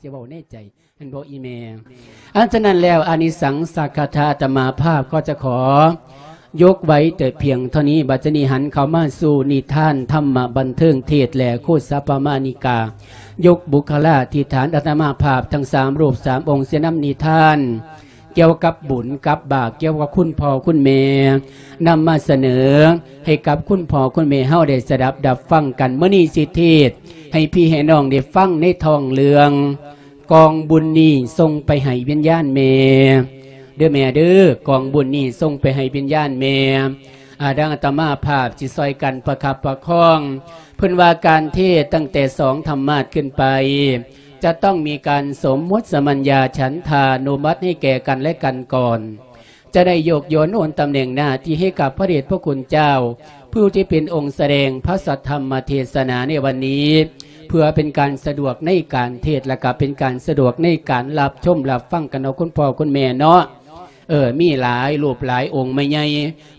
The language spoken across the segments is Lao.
ຈະເວົ້າໃນໃຈ ແມ່ນບໍ່ອີ່ແມ່? ອັນສະນັ້ນແລ້ວ ອານິສັງສະກະຖາອາດຕະມາພາບກໍຈະຂໍຍົກໄວ້ແຕ່ພຽງເທົ່ານີ້. ບັດນີ້ຫັນເຂົ້າມາສູ່ນິທານທຳມະບັນເທີງເທດ ແລະ ຄູດສະປະມານິກາ ຍົກບຸກຄະລາທິຖານອາດຕະມາພາບທັງສາມຮູບສາມອົງ ເສຍນຳນິທານ ກ່ຽວກັບບຸນກັບບາບ ກ່ຽວກັບຄຸນພໍ່ຄຸນແມ່ ນຳມາສະເໜີໃຫ້ກັບຄຸນພໍ່ຄຸນແມ່ເຮົາໄດ້ສະດັບດັບຟັງກັນ. ມື້ນີ້ຊິເທດໃຫ້ພີ່ໃຫ້ນ້ອງໄດ້ຟັງໃນທ້ອງເລື່ອງ ກອງບຸນນີ້ສົ່ງໄປໃຫ້ວິນຍານແມ່ ເດີແມ່ເດີ ກອງບຸນນີ້ສົ່ງໄປໃຫ້ວິນຍານແມ່. ອາ ດັ່ງອາດຕະມາພາບຊິຊ່ອຍກັນປະຄັບປະຄອງ. ເພິ່ນວ່າການເທດຕັ້ງແຕ່ສອງທຳມາດຂຶ້ນໄປ ຈະຕ້ອງມີການສົມມຸດສະມັນຍາ ສັນທານຸມັດໃຫ້ແກ່ກັນແລະກັນກ່ອນ ຈະໄດ້ຍົກຍ້ອນໂອນຕຳແໜ່ງໜ້າທີ່ໃຫ້ກັບພະເດດພະຄຸນເຈົ້າ ຜູ້ທີ່ເປັນອົງສະແດງພະສັດທຳມະເທດສະໜາໃນວັນນີ້ ເພື່ອເປັນການສະດວກໃນການເທດ ແລະກະເປັນການສະດວກໃນການຮັບຊົມຮັບຟັງກັນເນາະ ຄຸນພໍ່ຄຸນແມ່ເນາະ. ເອີ ມີຫຼາຍຮູບຫຼາຍອົງ ແມ່ໃຫຍ່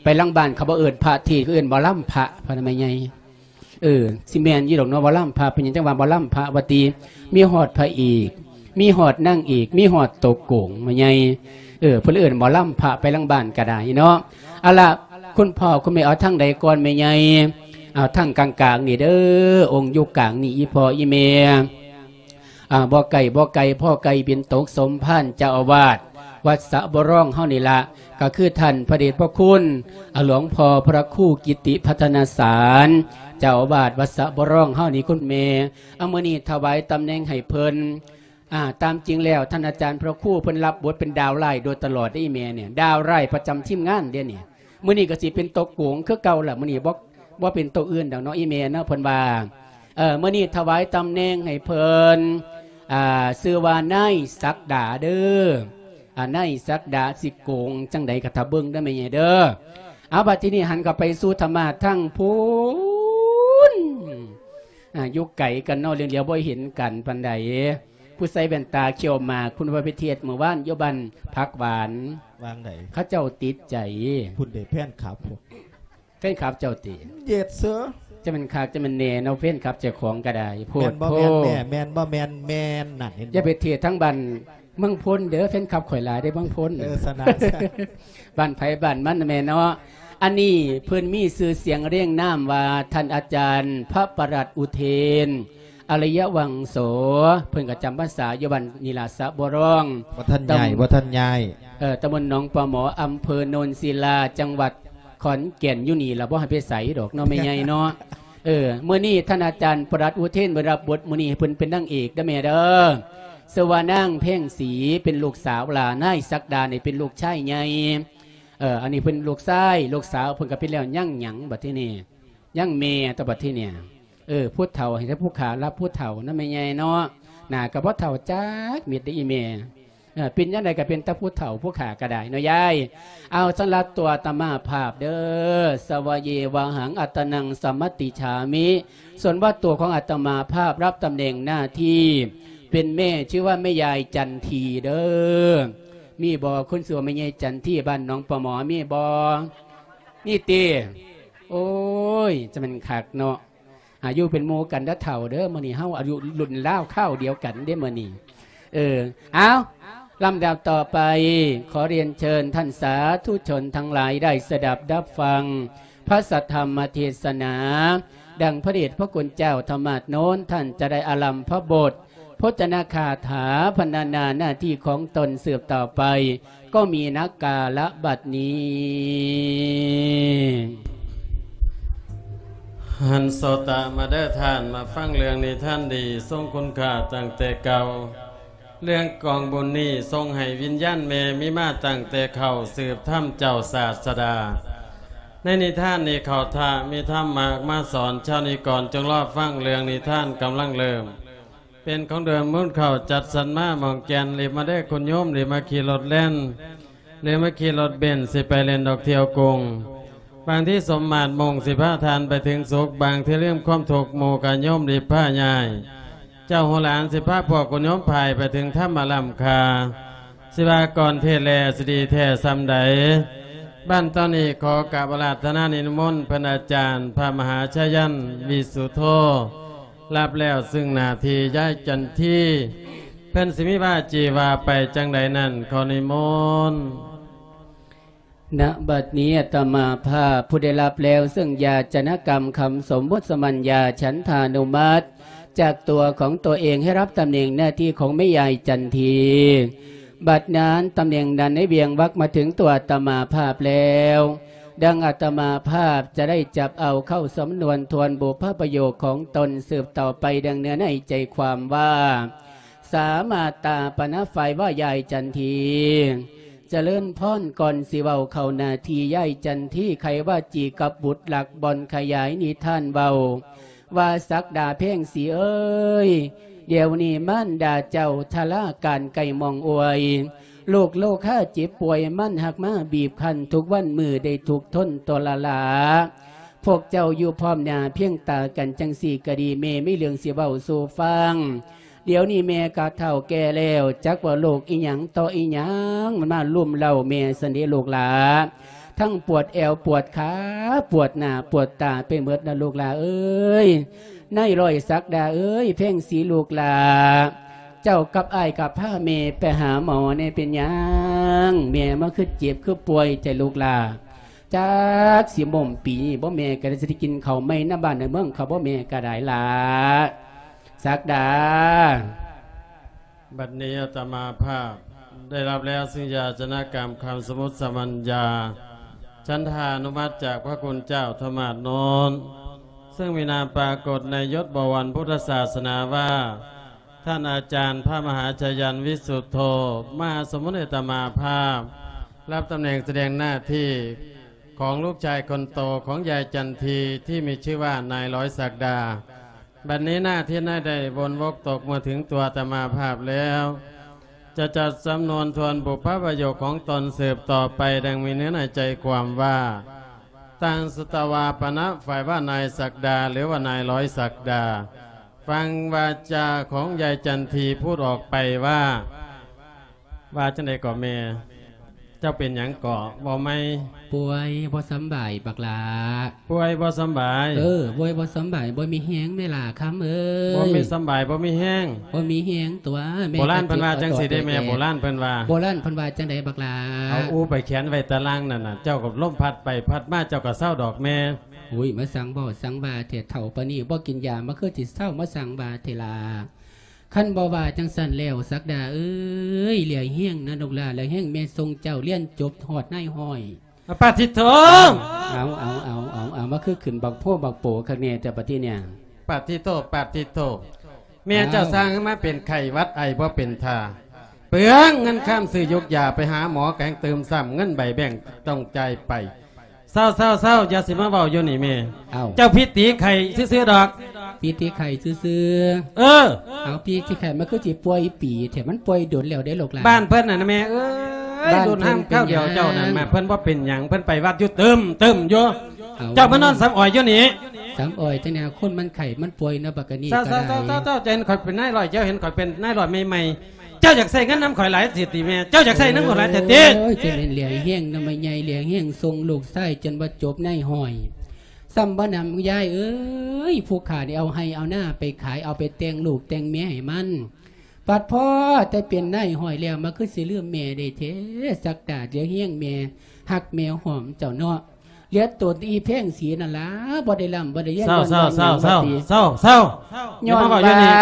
ໄປຫຼັງບ້ານເຂົາບໍ່ເອີ້ນພະເທດ ເຂົາເອີ້ນໝໍລຳພະ ພະແມ່ໃຫຍ່. ເອີ ຊິແມ່ນຢູ່ດອກເນາະ ໝໍລຳພະ ເປັນຫຍັງຈັ່ງວ່າໝໍລຳພະວ່າຕິ? ມີຮອດພະເອກ ມີຮອດນາງເອກ ມີຮອດຕົວໂກງ ແມ່ໃຫຍ່. ເອີ ເພິ່ນເອີ້ນໝໍລຳພະ ໄປຫຼັງບ້ານກໍໄດ້ເນາະ. ເອົາລະ ຄຸນພໍ່ຄຸນແມ່ ເອົາທາງໃດກ່ອນແມ່ໃຫຍ່? ເອົາທາງກາງໆນີ້ເດີ ອົງຢູ່ກາງນີ້ ອີ່ພໍ່ອີ່ແມ່. ອ່າ ບໍ່ໄກບໍ່ໄກ ພໍ່ໄກ່ບິນຕົກ ສົມພານເຈົ້າອາວາດວັດສະບໍ່ລອງເຮົານີ້ລະ ກໍຄືທ່ານພະເດດພະຄຸນ ອາ ຫຼວງພໍ່ພະຄູກິດຕິພັດທະນາສານ ເຈົ້າອາວາດວັດສະບໍ່ລອງເຮົານີ້ ຄຸນແມ່. ອາ ມື້ນີ້ຖວາຍຕຳແໜ່ງໃຫ້ເພິ່ນ. ອ່າ ຕາມຈິງແລ້ວທ່ານອາຈານພະຄູເພິ່ນຮັບບົດເປັນດາວຮ້າຍໂດຍຕະຫຼອດເດ້ ອີ່ແມ່ນີ້ ດາວຮ້າຍປະຈຳທີມງານເດ້ນີ້. ມື້ນີ້ກໍຊິເປັນຕົວໂກງຄືເກົ່າລະ ມື້ນີ້ບໍ່ ບໍ່ເປັນຕົວອື່ນດອກເນາະ ອີ່ແມ່ເນາະ ເພິ່ນວ່າ. ເອີ ມື້ນີ້ຖວາຍຕຳແໜ່ງໃຫ້ເພິ່ນ ອ່າ ຊື່ວ່ານາຍສັກດາເດີ. ອ່າ ນາຍສັກດາຊິໂກງຈັ່ງໃດກໍຖ້າເບິ່ງເດີແມ່ໃຫຍ່ເດີ. ເອົາ ບັດທີນີ້ຫັນເຂົ້າໄປສູ່ທຳມາດທາງພຸ້ນ ອ່າ ຢູ່ໄກກັນເນາະ ຫຼຽວໆບໍ່ເຫັນກັນປານໃດ. ຜູ້ໃສ່ແວ່ນຕາຂຽວໝາກ ຄຸນວ່າໄປທຽດມື້ວານຢູ່ບ້ານຜັກຫວານ ວ່າງໃດ? ເຂົາເຈົ້າຕິດໃຈ ພຸ້ນເດ ແຟນຄລັບພວກ ແຟນຄລັບເຈົ້າຕິ? ເຢດເຊີ ຈະແມ່ນຄັກຈະແມ່ນແນ່ເນາະ ແຟນຄລັບເຈົ້າຂອງກໍໄດ້ ໂພດໂພ. ແມ່ນບໍ່ແມ່ນແມ່? ແມ່ນບໍ່ແມ່ນແມ່ນ? ນັ້ນເຫັນບໍ່? ຢ່າໄປທຽດທາງບ້ານເມືອງພົນເດີ ແຟນຄລັບຂ້ອຍຫຼາຍເດ້ເມືອງພົນ. ເອີ ສະນະ ບ້ານໃຜບ້ານມັນແມ່ເນາະ. ອັນນີ້ເພິ່ນມີຊື່ສຽງຮຽງນາມວ່າທ່ານອາຈານພະປະຫຼັດອຸເທນ ອາລິຍະວັງໂສ ເພິ່ນກໍຈຳພັນສາຢູ່ບ້ານນີ້ລະ ສະບໍ່ລອງ ບໍ່ທັນຍ້າຍ ຕຳ ບໍ່ທັນຍ້າຍ ເອີ ຕຳບົນໜອງປາໝໍ ອຳເພີໂນນສິລາ ຈັງຫວັດຂອນແກ່ນ ຢູ່ນີ້ລະ ບໍ່ໃຫ້ໄປໃສດອກເນາະ ແມ່ໃຫຍ່ເນາະ. ເອີ ມື້ນີ້ທ່ານອາຈານປະຫຼັດອຸເທນໄດ້ຮັບບົດມື້ນີ້ ໃຫ້ເພິ່ນເປັນນາງເອກເດີແມ່ເດີ ຊື່ວ່ານາງແພງສີ ເປັນລູກສາວຫຼ້າ ນາຍສັກດານີ້ເປັນລູກຊາຍໃຫຍ່. ເອີ ອັນນີ້ເພິ່ນລູກຊາຍ ລູກສາວເພິ່ນກໍເປັນແລ້ວ ຍັງຫຍັງບັດທີນີ້? ຍັງແມ່ຕົວະບັດທີນີ້. ເອີ ຜູ້ເຖົ້າໃຫ້ແຕ່ຜູ້ຂ້າຮັບຜູ້ເຖົ້ານຳແມ່ໃຫຍ່ເນາະ ໜ້າກໍບໍ່ເຖົ້າຈັກເມັດເດ້ອີ່ແມ່. ເອີ ເປັນຈັ່ງໃດກໍເປັນແຕ່ຜູ້ເຖົ້າຜູ້ຂ້າກໍໄດ້ເນາະຍາຍ. ເອົາ ສຳລັບຕົວອາດຕະມາພາບເດີ ສະວະເຍວະຫັງອັດຕະນັງສະມັດຕິຈາມິ ສ່ວນວ່າຕົວຂອງອາດຕະມາພາບຮັບຕຳແໜ່ງໜ້າທີ່ເປັນແມ່ ຊື່ວ່າແມ່ຍາຍຈັນທີເດີ. ມີບໍ່ຄົນຊື່ວ່າແມ່ຍາຍຈັນທີ ບ້ານໜອງປາໝໍ ມີບໍ່? ມີຕິ? ໂອ້ຍ ຈະແມ່ນຄັກເນາະ ອາຍຸເປັນໝູ່ກັນເດີເຖົ້າເດີ. ມື້ນີ້ເຮົາອາຍຸລຸ້ນລາວຄາວດຽວກັນເດ້ມື້ນີ້. ເອີ ເອົາ ລຳດັບຕໍ່ໄປ ຂໍຮຽນເຊີນທ່ານສາທຸຊົນທັງຫຼາຍໄດ້ສະດັບດັບຟັງພະສັດທຳມະເທດສະໜາ ດັ່ງພະເດດພະຄຸນເຈົ້າທຳມາດໂນນ ທ່ານຈະໄດ້ອາລຳພະບົດ ພົດທະນາຄາຖາພັນນາໜ້າທີ່ຂອງຕົນສືບຕໍ່ໄປ ກໍມີນັກກາລະບັດນີ້. ຫັນໂສຕະມາເດີທ່ານ ມາຟັງເລື່ອງນິທານດີຊົງຄຸນຄ່າຕັ້ງແຕ່ເກົ່າ. ເລື່ອງກອງບຸນນີ້ຊົງໃຫ້ວິນຍານແມ່ມີມາຕັ້ງແຕ່ເຄົ້າ ສືບທຳເຈົ້າສາດສະດາ. ໃນນິທານນີ້ເຂົາທ່າມີທຳມາກມາສອນ ຊາວນິກອນຈົ່ງລໍຟັງເລື່ອງນິທານກຳລັງເລີ່ມ. ເປັນຂອງເດືອນມູນເຂົ້າຈັດສັນມາໝ່ອງແກ່ນ ລີບມາເດີຄຸນໂຍມ ລີບມາຂີ່ລົດແລ່ນ ຫຼືມາຂີ່ລົດເບັນຊິໄປເລ່ນດອກທ່ຽວກຸງ. ບາງທີສົມມາດມຸ່ງຊິພາທ່ານໄປເຖິງສຸກ ບາງທີລືມຄວາມທຸກໝູ່ກະໂຍມລີບພາຍ້າຍ. ເຈົ້າຮູ້ຫຼານຊິພາພວກຄຸນໂຍມພາຍໄປເຖິງທຳມະລ້ຳຄ່າ ຊິວ່າກ່ອນເທດແລຊິດີແທ້ສ່ຳໃດ. ບັດຕອນນີ້ຂໍກາບອາລາທະນານິມົນເພິ່ນອາຈານພະມະຫາຊາຍັນ ວິສຸໂທ ຮັບແລ້ວຊຶ່ງໜ້າທີ່ຍາຍຈັນທີ ເພິ່ນຊິມີວາຈີວ່າໄປຈັ່ງໃດນັ້ນ ຂໍນິມົນ. ນະບັດນີ້ອາດຕະມາພາບຜູ້ໄດ້ຮັບແລ້ວເຊິ່ງຢາຈະນະກຳຄຳສົມມຸດສະມັນຍາ ສັນທານຸມັດ ຈາກຕົວຂອງຕົວເອງໃຫ້ຮັບຕຳແໜ່ງໜ້າທີ່ຂອງແມ່ຍາຍຈັນທີ. ບັດນັ້ນຕຳແໜ່ງນັ້ນໄດ້ວຽງວັກມາເຖິງຕົວອາດຕະມາພາບແລ້ວ, ດັ່ງອາດຕະມາພາບຈະໄດ້ຈັບເອົາເຂົ້າສຳນວນທວນບຸບພະປະໂຫຍກຂອງຕົນສືບຕໍ່ໄປ ດັ່ງເນື້ອໃນໃຈຄວາມວ່າ ສາມາດຕາປະນະຝ່າຍວ່າຍາຍຈັນທີ. ຈະເລີນພອນ ກ່ອນຊິເວົ້າເຂົ້າໜ້າທີ່ ຍາຍຈັນທີໄຂວາຈີກັບບຸດລັກ ບ່ອນຂະຫຍາຍນິທານເວົ້າວ່າ ສັກດາແພງສີເອີຍ, ດຽວນີ້ມານດາເຈົ້າຊະລາການໄກໝ່ອງອວຍ, ໂລກໂລຄາເຈັບປ່ວຍ ມັນຫາກມາບີບຄັ້ນທຸກວັນມື້ໄດ້ທຸກທົນທໍລະລາ. ພວກເຈົ້າຢູ່ພ້ອມໜ້າພຽງຕາກັນຈັ່ງຊີ້ກໍດີ, ແມ່ມີເລື່ອງຊິເວົ້າສູ່ຟັງ. ດຽວນີ້ແມ່ກໍເຖົ້າແກ່ແລ້ວ, ຈັກວ່າໂລກອີ່ຫຍັງຕໍ່ອີ່ຫຍັງ ມັນມາລຸມເລົ້າແມ່ຊັ້ນເດລູກຫຼາ. ທັງປວດແອວປວດຂາ, ປວດໜ້າປວດຕາໄປໝົດນະລູກຫຼາເອີຍ. ນາຍຮ້ອຍສັກດາເອີຍ, ແພງສີລູກຫຼາ, ເຈົ້າກັບອ້າຍກໍພາແມ່ໄປຫາໝໍແດ່. ເປັນຫຍັງແມ່ມາຄືເຈັບຄືປ່ວຍແທ້ລູກຫຼາ? ຈັກຊິໝົ້ມປີນີ້ບໍ່ ແມ່ກໍໄດ້ ຊິໄດ້ກິນເຂົ້າໃໝ່ນຳບ້ານນຳເມືອງເຂົາບໍ່ ແມ່ກໍໄດ້ລະ ສັກດາ. ບັດນີ້ອາດຕະມາພາບໄດ້ຮັບແລ້ວເຊິ່ງຢາຈະນະກຳຄຳສົມມຸດສະມັນຍາ ສັນທານຸມັດຈາກພະຄຸນເຈົ້າທຳມາດໂນນ ເຊິ່ງມີນາມປາກົດໃນຍົດບໍວອນພຸດທະສາສະໜາວ່າ ທ່ານອາຈານພະມະຫາຊາຢັນ ວິສຸດໂທ ມະຫາສົມມຸດອາດຕະມາພາບ ຮັບຕຳແໜ່ງສະແດງໜ້າທີ່ຂອງລູກຊາຍຄົນໂຕຂອງຍາຍຈັນທີ ທີ່ມີຊື່ວ່ານາຍຮ້ອຍສັກດາ. ບັດນີ້ໜ້າທີ່ນາຍໄດ້ວົນວົກຕົກມາເຖິງຕົວອາດຕະມາພາບແລ້ວ ຈະຈັດສຳນວນທວນບຸບພະປະໂຫຍກຂອງຕົນສືບຕໍ່ໄປ ດັ່ງມີເນື້ອໃນໃຈຄວາມວ່າ ຕັງ ສຸຕະວາ ປະນະ ຝ່າຍວ່ານາຍສັກດາ ຫຼືວ່ານາຍຮ້ອຍສັກດາ. ຟັງວາຈາຂອງຍາຍຈັນທີພູດອອກໄປວ່າ ວ່າຈັ່ງໃດເກາະແມ່? ເຈົ້າເປັນຫຍັງເກາະ? ເວົ້າໃໝ່. ປ່ວຍບໍ່ສຳບາຍບັກຫຼ້າ. ປ່ວຍບໍ່ສຳບາຍ? ເອີ ປ່ວຍບໍ່ສຳບາຍ, ບໍ່ມີແຮງແມ່ຫຼ້າຄຳເອີຍ. ບໍ່ມີສຳບາຍ, ບໍ່ມີແຮງ. ບໍ່ມີແຮງຕົວແມ່. ໂບລານເພິ່ນວ່າຈັ່ງຊີ້ເດ້ແມ່, ໂບລານເພິ່ນວ່າ. ໂບລານເພິ່ນວ່າຈັ່ງໃດບັກຫຼ້າ? ເອົາອູໄປແຂວນໄວ້ຕາລ່າງນັ້ນນະ, ເຈົ້າກັບລົມພັດໄປພັດມາ ເຈົ້າກໍເຊົາດອກແມ່. ໂອ້ຍ ມາສັ່ງເວົ້າສັ່ງວ່າແທ້ ເຖົ້າປານນີ້ບໍ່ກິນຢາມາຄືຊິເຊົາ ມາສັ່ງວ່າແທ້ລະ. ຄັນບໍ່ວ່າຈັ່ງຊັ້ນແລ້ວ ສັກດາເອີຍ, ຫຼຽງແຮງນະລູກຫຼ້າ, ຫຼຽງແຮງແມ່ສົ່ງເຈົ້າຮຽນຈົບຮອດນາຍຮ້ອຍ. ປາດທິໂທ! ເອົາ ເອົາ ເອົາ ເອົາ ເອົາ ມາຄືຂຶ້ນບັກໂພບັກໂປຄັກແນ່ແຕ່ບັດທີເນີ້ຍ. ປາດທິໂທ ປາດທິໂທ! ແມ່ເຈົ້າ ອ້າວ ສ້າງໃຫ້ມາເປັນໄຂ້ຫວັດໄອບໍ່ເປັນທ່າ, ເປືອງເງິນຄຳຊື້ຢູກຢາ, ໄປຫາໝໍກໍແຮ່ງຕື່ມຊ້ຳ, ເງິນໃບແບັງຕ້ອງຈ່າຍໄປ. ເຊົາ ເຊົາ ເຊົາ, ຢ່າຊິມາເວົ້າຢູ່ນີ້ແມ່. ເອົ້າ ເຈົ້າຜິດຕີໄຂ້ຊື່ໆດອກ. ຜິດຕີໄຂ້ຊື່ໆ. ເອີ. ເອົາ ຜິດຕີໄຂ້ ມັນຄືຊິປ່ວຍປີແທ້, ມັນປ່ວຍດົນແລ້ວເດ້ລູກຫຼານ. ບ້ານເພິ່ນນັ້ນນະແມ່ເອີຍ, ລຸ້ນຫ້າມຄາວດຽວເຈົ້ານັ້ນ ບ້ານເພິ່ນເປັນຫຍັງ? ເພິ່ນໄປວັດຢູ່ຕຶ້ມໆຢູ່. ເອົາ ເຈົ້າມານອນສຳອອຍຢູ່ນີ້. ສຳອອຍຈັ່ງໃດ? ຄົນມັນໄຂ້ມັນປ່ວຍເນາະ ບັກອັນນີ້ກໍໄດ້. ເຈົ້າ ເຈົ້າ ເຈົ້າ ເຈົ້າ ເຈົ້າເຫັນຂ້ອຍເປັນນາຍຮ້ອຍ, ເຈົ້າເຫັນຂ້ອຍເປັນນາຍຮ້ອຍໃໝ່ໆ. ເຈົ້າຢາກໃຊ້ເງິນນຳຂ້ອຍຫຼາຍແທ້ຕິແມ່? ເຈົ້າຢາກໃຊ້ນຳຂ້ອຍຫຼາຍແທ້ຕິ? ໂອ້ຍ ຈະແມ່ນຫຼຽງແຮງນຳແມ່ໃຫຍ່, ຫຼຽງແຮງສົ່ງລູກຊາຍຈົນວ່າຈົບນາຍຮ້ອຍ. ຊ້ຳບໍ່ນຳຍາຍເອີຍ, ຜູ້ຂ້າໄດ້ເອົາໄຮ່ເອົານາໄປຂາຍ, ເອົາໄປແຕ່ງລູກແຕ່ງເມຍໃຫ້ມັນ. ປາດພໍ້ແຕ່ເປັນນາຍຮ້ອຍແລ້ວ ມາຄືຊິລືມແມ່ໄດ້ແທ້. ສັກດາຫຼຽງແຮງແມ່, ຮັກແມ່ຫອມເຈົ້າເນາະ. ເຫຼືອຕົນອີແພງສີນັ້ນລະ ບໍ່ໄດ້ລ່ຳບໍ່ໄດ້ລຽນ. ເຊົາ ເຊົາ ເຊົາ ເຊົາ ເຊົາ ເຊົາ. ຢ່າມາເວົ້າຢູ່ນີ້,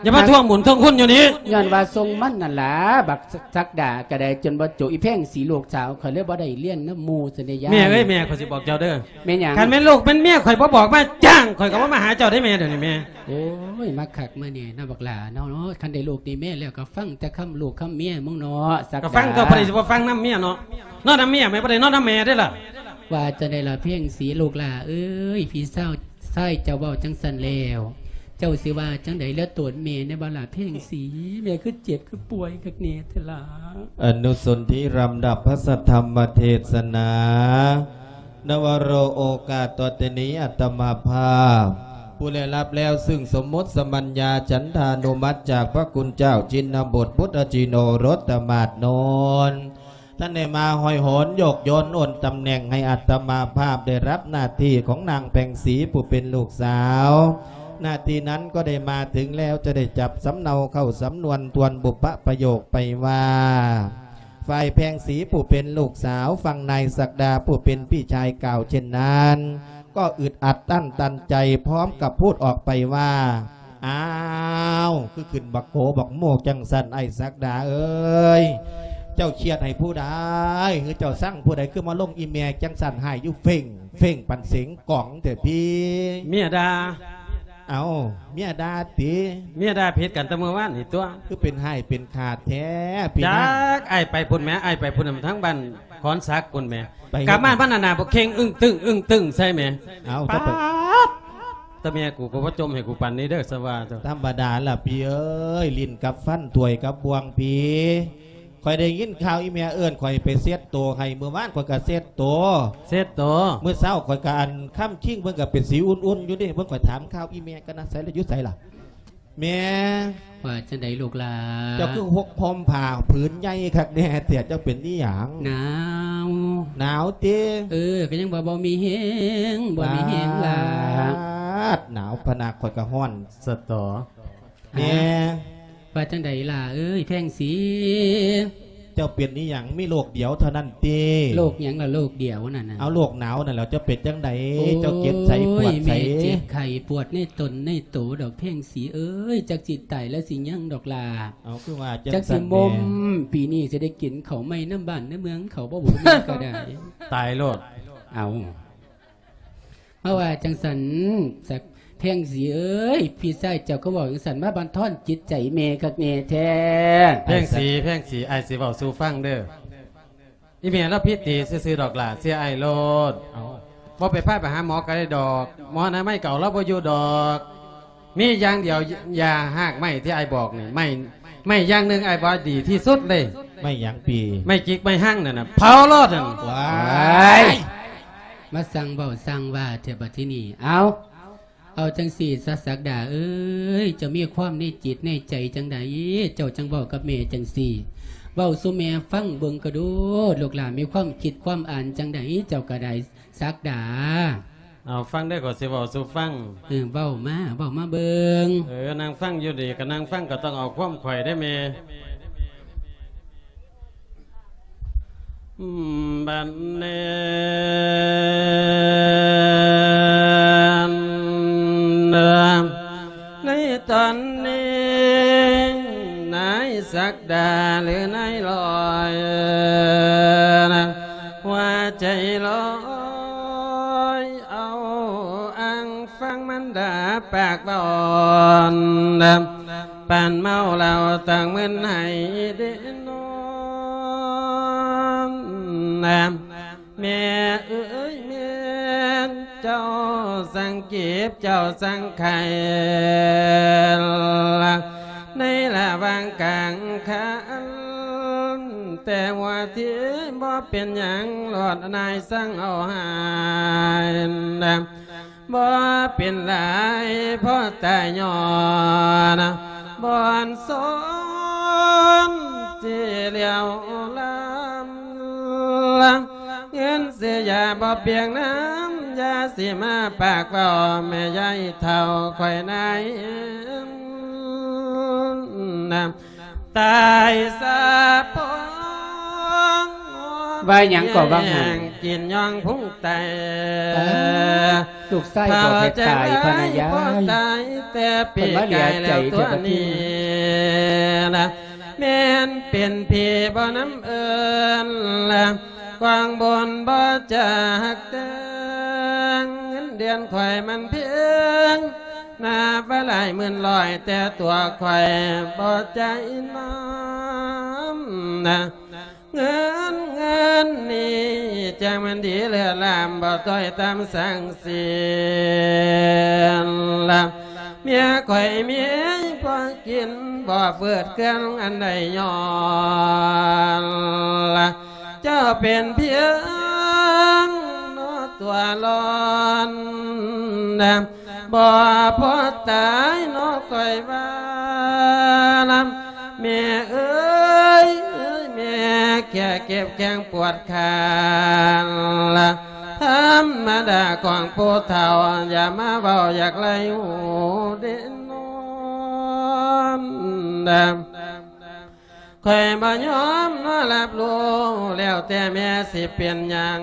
ຍ້ອນວ່າ ຢ່າມາທວງບຸນທວງຄຸນຢູ່ນີ້. ຍ້ອນວ່າສົ່ງມັນນັ້ນລະ ບັກສັກດາກໍໄດ້ ຈົນບໍ່ຈົບ. ອີແພງສີລູກສາວຂ້ອຍເລີຍບໍ່ໄດ້ລຽນນຳໝູ່ຊັ້ນເດ້ຍາຍ. ແມ່ເອີຍ ແມ່ ຂ້ອຍຊິບອກເຈົ້າເດີ. ແມ່ນຫຍັງ? ຄັນແມ່ນລູກແມ່ນເມຍຂ້ອຍບໍ່ບອກມາຈ້າງ ຂ້ອຍກໍບໍ່ມາຫາເຈົ້າເດ້ແມ່. ດຽວນີ້ແມ່ ໂອ້ຍ ມາຄັກມາແນ່ເນາະບັກຫຼ້າເນາະ. ຄັນໄດ້ລູກໄດ້ເມຍແລ້ວກໍຟັງແຕ່ຄຳລູກຄຳເມຍມຶງເນາະ ສັກດາ. ກໍຟັງຕົວະ, ໃຜຊິບໍ່ຟັງນຳເມຍເນາະ. ນອນນຳເມຍ ແມ່ນບໍ່ໄດ້ນອນນຳແມ່ເດ້ລະ. ວ່າຈັ່ງໃດລະເພງສີລູກຫຼ້າເອີຍ, ພີ່ສາວຊາຍເຈົ້າເວົ້າຈັ່ງຊັ້ນແລ້ວ ເຈົ້າຊິວ່າຈັ່ງໃດເຫຼືອໂຕນແມ່ແດ່ບໍ່ລະເພງສີ? ແມ່ຄືເຈັບຄືປ່ວຍຄັກແນ່ແທ້ລະ. ອະນຸສົນທິລຳດັບພະສັດທຳມະເທດສະໜາ. ນະວະໂລ ໂອກາດຕໍ່ແຕ່ນີ້ ອາດຕະມາພາບ ຜູ້ໄດ້ຮັບແລ້ວຊຶ່ງສົມມຸດສະມັນຍາ ສັນທານຸມັດຈາກພະຄຸນເຈົ້າ ຈິນນະບົດ ພຸດທະຈິນໂອລົດຕະມາດໂນນ ທ່ານໄດ້ມາຫ້ອຍໂຫນຍົກຍົນໂອນຕຳແໜ່ງໃຫ້ອາດຕະມາພາບໄດ້ຮັບໜ້າທີ່ຂອງນາງແພງສີ ຜູ້ເປັນລູກສາວ ณ ທີ່ນັ້ນກໍໄດ້ມາເຖິງແລ້ວ ຈະໄດ້ຈັບສຳເນົາເຂົ້າສຳນວນທວນບຸບປະປະໂຫຍກໄປວ່າ ຝ່າຍແພງສີຜູ້ເປັນລູກສາວ ຝັ່ງນາຍສັກດາຜູ້ເປັນພີ່ຊາຍກ່າວເຊັ່ນນັ້ນ ກໍອຶດອັດອັ້ນຕັນໃຈ ພ້ອມກັບພູດອອກໄປວ່າ ອ້າວ ຄືຂຶ້ນບັກໂກບັກໂມກຈັ່ງຊັ້ນ ອ້າຍສັກດາເອີຍ ເຈົ້າຄຽດໃຫ້ຜູ້ໃດ ຫຼືເຈົ້າຊັງຜູ້ໃດ ຄືມາລົງອີ່ແມ່ຈັ່ງຊັ້ນ ຮ້າຍຢູ່ເຟັ່ງ ເຟັ່ງປານເສັງກອງແທ້ພີ້? ເມຍດ່າ. ເອົ້າ ເມຍດ່າຕິ? ເມຍດ່າຜິດກັນແຕ່ມື້ວານນີ້ຕົວະ. ຄືເປັນຮ້າຍເປັນຂາດແທ້ພີ່ນາງ? ຈັກ ອ້າຍໄປພຸ້ນແໝ ອ້າຍໄປພຸ້ນນຳທາງບ້ານຂອນສັກພຸ້ນແໝ. ໄປ ກັບມາມັນໜ້າໆ ບໍ່ເຄັ່ງອຶ້ງຕຶ້ງ ອຶ້ງຕຶ້ງໃສ່ແໝ. ເອົ້າ ປາດ ແຕ່ເມຍກູກໍບໍ່ຈົ່ມໃຫ້ກູປານນີ້ເດີ ສະວ່າເຈົ້າ. ທຳມະດາລະພີ່ເອີຍ ຫຼິ້ນກັບຟັນ ຖ້ວຍກັບບ່ວງພີ້. ຂ້ອຍໄດ້ຍິນຂ່າວອີ່ແມ່ເອີ້ນຂ້ອຍໄປເຊັດໂຕໃຫ້ ມື້ວານຂ້ອຍກໍເຊັດໂຕ ເຊັດໂຕ ມື້ເຊົ້າຂ້ອຍກໍອັນຄຳຄິງ ເພິ່ນກໍເປັນສີອຸ່ນໆຢູ່ເດ້. ເບິ່ງ ຂ້ອຍຖາມຂ່າວອີ່ແມ່ກັນນະ ໃສລະ ຢູ່ໃສລະແມ່? ວ່າຈັ່ງໃດລູກຫຼານ? ເຈົ້າຄືຫົກຫົ່ມຜ້າຜືນໃຫຍ່ຄັກແນ່ແທ້ ເຈົ້າເປັນອີ່ຫຍັງ? ໜາວ. ໜາວຕິ? ເອີ ກໍຍັງວ່າບໍ່ມີແຮງ ບໍ່ມີແຮງຫຼາ. ປາດ ໜາວພະນະ ຂ້ອຍກໍຮ້ອນສະຕໍ. ແມ່ ວ່າຈັ່ງໃດຫຼ້າເອີຍ ແພງສີ? ເຈົ້າເປັນອີ່ຫຍັງ? ມີໂລກດຽວເທົ່ານັ້ນຕິ? ໂລກຫຍັງລະໂລກດຽວນັ້ນນະ? ເອົາ ໂລກໜາວນັ້ນແຫຼະ. ເຈົ້າເປັນຈັ່ງໃດ? ໂອ້ຍ ເຈົ້າເຈັບໃສປວດໃສ? ແມ່ເຈັບໄຂ້ປວດໃນຕົນໃນໂຕດອກແພງສີເອີຍ ຈັກຊິຕາຍແລ້ວຊິຍັງດອກຫຼ້າ. ເອົາ ຄືວ່າຈັ່ງຊັ້ນແມ່? ຈັກຊິໝົມ ປີນີ້ຊິໄດ້ກິນເຂົ້າໃໝ່ນຳບ້ານນຳເມືອງເຂົາບໍ່ບຸ ແມ່ກໍໄດ້. ຕາຍໂລດ. ເອົາ ມາວ່າຈັ່ງຊັ້ນ ສັກ ແພງສີເອີຍ ພີ່ຊາຍເຈົ້າກໍເວົ້າຈັ່ງຊັ້ນ ມາບັນທອນຈິດໃຈແມ່ຄັກແນ່ແທ້. ແພງສີ ແພງສີ ອ້າຍຊິເວົ້າສູ່ຟັງເດີ. ອີ່ແມ່ລາວຜິດຕີຊື່ໆດອກຫຼ້າ ເຊື່ອອ້າຍໂລດ. ເອົ້າ ບໍ່ໄປພາໄປຫາໝໍກໍໄດ້ດອກ ໝໍອະນາໄມກໍເອົາລາວບໍ່ຢູ່ດອກ. ມີຢ່າງດຽວ ຢາຮາກໄມ້ທີ່ອ້າຍບອກນີ້ ໄມ້ ໄມ້ຢ່າງໜຶ່ງອ້າຍວ່າດີທີ່ສຸດເລີຍ. ໄມ້ຫຍັງປີ? ໄມ້ຈິກໄມ້ຮັງນັ້ນນະ ເຜົາໂລດນັ້ນ. ວ້າຍ ມາສັ່ງເວົ້າສັ່ງວ່າແທ້ບັດທີນີ້. ເອົາ ເອົາຈັ່ງຊີ້ຊະ ສັກດາເອີຍ ເຈົ້າມີຄວາມໃນຈິດໃນໃຈຈັ່ງໃດ ເຈົ້າຈັ່ງເວົ້າກັບແມ່ຈັ່ງຊີ້? ເວົ້າສູ່ແມ່ຟັງເບິ່ງກະດູ ລູກຫຼ້ານມີຄວາມຄິດຄວາມອ່ານຈັ່ງໃດ ເຈົ້າກະໄດ້ ສັກດາ. ເອົາ ຟັງເດີ ຂ້ອຍຊິເວົ້າສູ່ຟັງ. ເອີ ເວົ້າມາ ເວົ້າມາເບິ່ງ. ເອີ ນັ່ງຟັງຢູ່ນີ້ ກະນັ່ງຟັງ ກະຕ້ອງເອົາຄວາມຂ້ອຍເດ້ແມ່. ບັດນີ້ ໃນຕອນນີ້ ນາຍສັກດາ ຫຼື ນາຍລອຍ ຫົວໃຈລອຍ ເອົາອ່າງຟັງມັນດາປາກເວົ້າ ປານເມົາເຫຼົ້າຕັ້ງມຶນໃຫ້ເດນອນ. ແມ່ເອີຍ ແມ່ນເຈົ້າສັງເຈັບ ເຈົ້າສັງໄຂ້ ໃນລະຫວ່າງກາງຄັນ ແຕ່ຫົວທີບໍ່ເປັນຫຍັງ ລອດນາຍສັ່ງເອົາໃຫ້ ບໍ່ເປັນຫຼາຍ ພໍຕາຍຍ້ອນບ່ອນຊອນທີ່ຫຼຽວລຳ ເງິນຊື້ຢາບໍ່ປຽງນ້ຳ ຢ່າຊິມາປາກເວົ້າ ແມ່ຍາຍເຖົ້າຂ້ອຍນາຍ ຕາຍສາພອງ ວ່າຫຍັງກໍວ່າ ແຮງກິນຍ່ອງພຸງໄຕ ເອີ ລູກຊາຍບອກໃຫ້ຕາຍພະນະຍາຍ ຕາຍແຕ່ປີກາຍແລ້ວຕົວນີ້ ແມ່ນເປັນຜີບໍ່ນຳເອີ້ນ ກວາງບົນບໍ່ຈາກແຕ່ງ ເງິນເດືອນຂ້ອຍມັນພຽງ ນັບວ່າຫຼາຍໝື່ນຮ້ອຍ ແຕ່ຕົວຂ້ອຍບໍ່ໃຈນຳ ເງິນ ເງິນນີ້ຈັ່ງມັນດີເລີດລ້ຳ ບໍ່ຕ້ອຍຕ່ຳສັງສີນ ເມຍຂ້ອຍມີພໍກິນ ບໍ່ຝືດເຄືອງອັນໃດຍ້ອນ ເຈົ້າເປັນພຽງເນາະຕົວຮ້ອນ ບໍ່ພໍຕາຍເນາະຂ້ອຍວ່າ ແມ່ເອີຍ ແມ່ແຄ່ເຈັບແຂ້ງປວດຂາ ທຳມະດາຂອງຜູ້ເຖົ້າ ຢ່າມາເວົ້າຢາກໄລ່ຮູ້ເດນອນ. ຂ້ອຍບໍ່ຍອມນອນຮັບຮູ້ ແລ້ວແຕ່ແມ່ຊິເປັນຫຍັງ.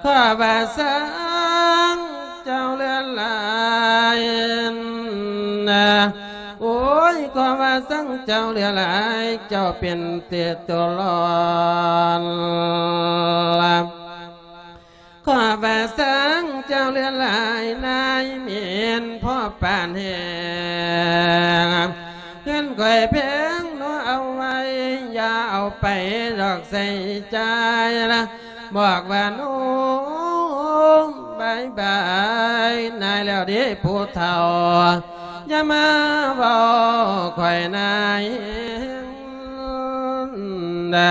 ຂໍວ່າຊ່າງເຈົ້າເຫຼືອຫຼາຍນະ ໂອ້ຍ ຂໍວ່າຊ່າງເຈົ້າເຫຼືອຫຼາຍ ເຈົ້າເປັນເຕໂຕລອນ. ຂໍວ່າຊ່າງເຈົ້າເຫຼືອຫຼາຍ ນາຍເໝັນພໍປານແຮງ ເງິນຂ້ອຍແພງເນາະ ເອົາໄວ້ ຢ່າເອົາໄປດອກໃຊ້ຈ່າຍລະ ບອກວ່າໂນ້ມບາຍບາຍນາຍແລ້ວເດ້ຜູ້ເຖົ້າ ຢ່າມາເວົ້າຂ້ອຍນາຍແຮງນະ.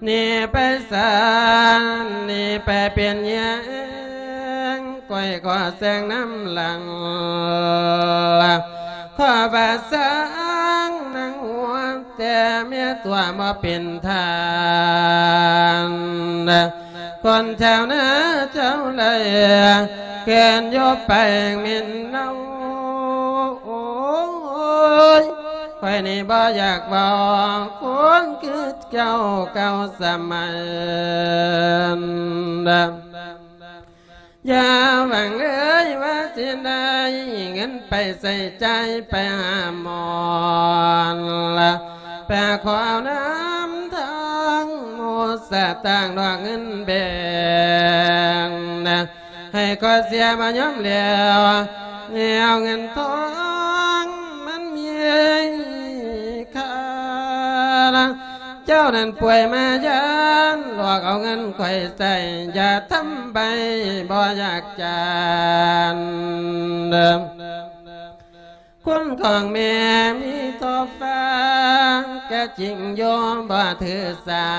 ໜີໄປສາ ໜີໄປເປັນຫຍັງ ຂ້ອຍກໍແຊງນຳຫຼັງ ຂໍວ່າຊ່າງນາງຫົວ ແຕ່ເມຕົວບໍ່ເປັນທ່ານ ຄົນແຖວໜ້າເຈົ້າໄດ້ ເກີນຢູ່ໄປເໝັນເນົ່າ. ໂອ້ຍ ຂ້ອຍນີ້ບໍ່ຢາກເວົ້າ ຄົນຄືເຈົ້າເກົ່າສະໄໝນັ້ນ ຢ່າຫວັງເອີຍວ່າຊິໄດ້ເງິນໄປໃຊ້ຈ່າຍໄປຫາໝໍລະ ໄປຂໍເອົານຳທາງໝູ່ສະຕາງດອກເງິນແບ່ງນະ ໃຫ້ຂ້ອຍເສຍມາຍອມແລ້ວ ແນວເງິນທອງມັນມີຄ່ານະ ເຈົ້ານັ້ນປ່ວຍມາຢ້ານ ຫຼອກເອົາເງິນຂ້ອຍໃຊ້ ຢ່າທຳໃບບໍ່ຢາກຈານເດີ ຄຸນຂອງແມ່ມີທໍ່ຟ້າ ກະຈິງໂຍມບໍ່ຖືສາ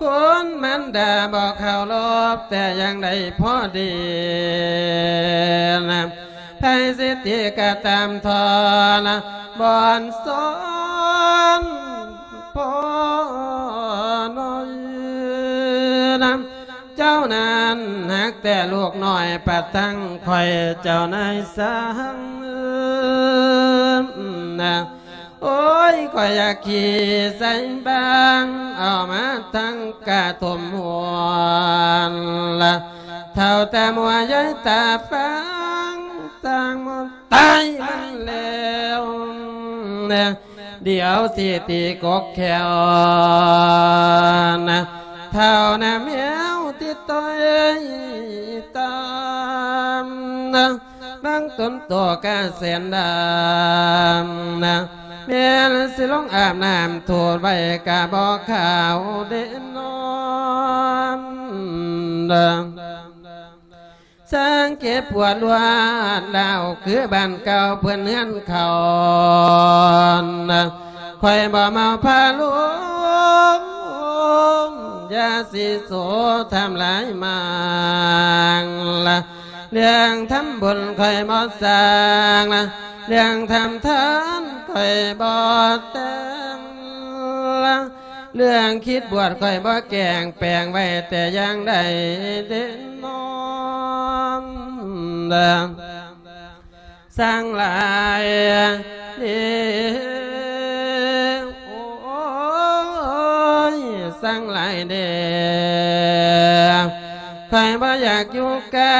ຄຸນມານດາບໍ່ເຄົາລົບ ແຕ່ຍັງໄດ້ພໍດີນະ ໃຜສິຕິກະຕາມທອນ ບ່ອນສອນພໍ່ນ້ອຍນະ ເຈົ້ານັ້ນຮັກແຕ່ລູກນ້ອຍ ປະທັງຂ້ອຍເຈົ້ານາຍຊ່າງນະ ໂອ້ຍ ຂ້ອຍຢາກຂີ່ໃສ່ບາງ ເອົາມາທັງກະຖົມຫົວນລະ ເຖົ້າຕາມົວຍາຍຕາຟາງ ຊ່າງໝົດຕາຍມັນແລ້ວນະ ດຽວຊິຕີກົກແຂ້ວນະ ເຖົ້ານະແມວຕິດຕ່ອຍຕາມນະ ບາງຕົນໂຕກະແສນດຳນະ ແມ່ນຊິລົງອາບນ້ຳໂທດໄວ້ກະບໍ່ຂາວເດນອນນະ. ຊ່າງເຈັບປວດລວດລາວ ຄືບ້ານເກົ່າເພິ່ນເຮືອນເຂົານະ ຂ້ອຍບໍ່ເມົາພາລົມ ຢ່າຊິໂສທຳລາຍມາງລະ ເລື່ອງທຳບຸນຂ້ອຍບໍ່ສ້າງລະ ເລື່ອງທຳທານຂ້ອຍບໍ່ແຕ່ງລະ ເລື່ອງຄິດບວດຂ້ອຍບໍ່ແກງ ແປງໄວ້ແຕ່ຢ່າງໃດເດນອນ ຊ່າງຫຼາຍເດ ໂອ້ຍ ຊ່າງຫຼາຍເດ ຂ້ອຍບໍ່ຢາກຢູ່ໃກ້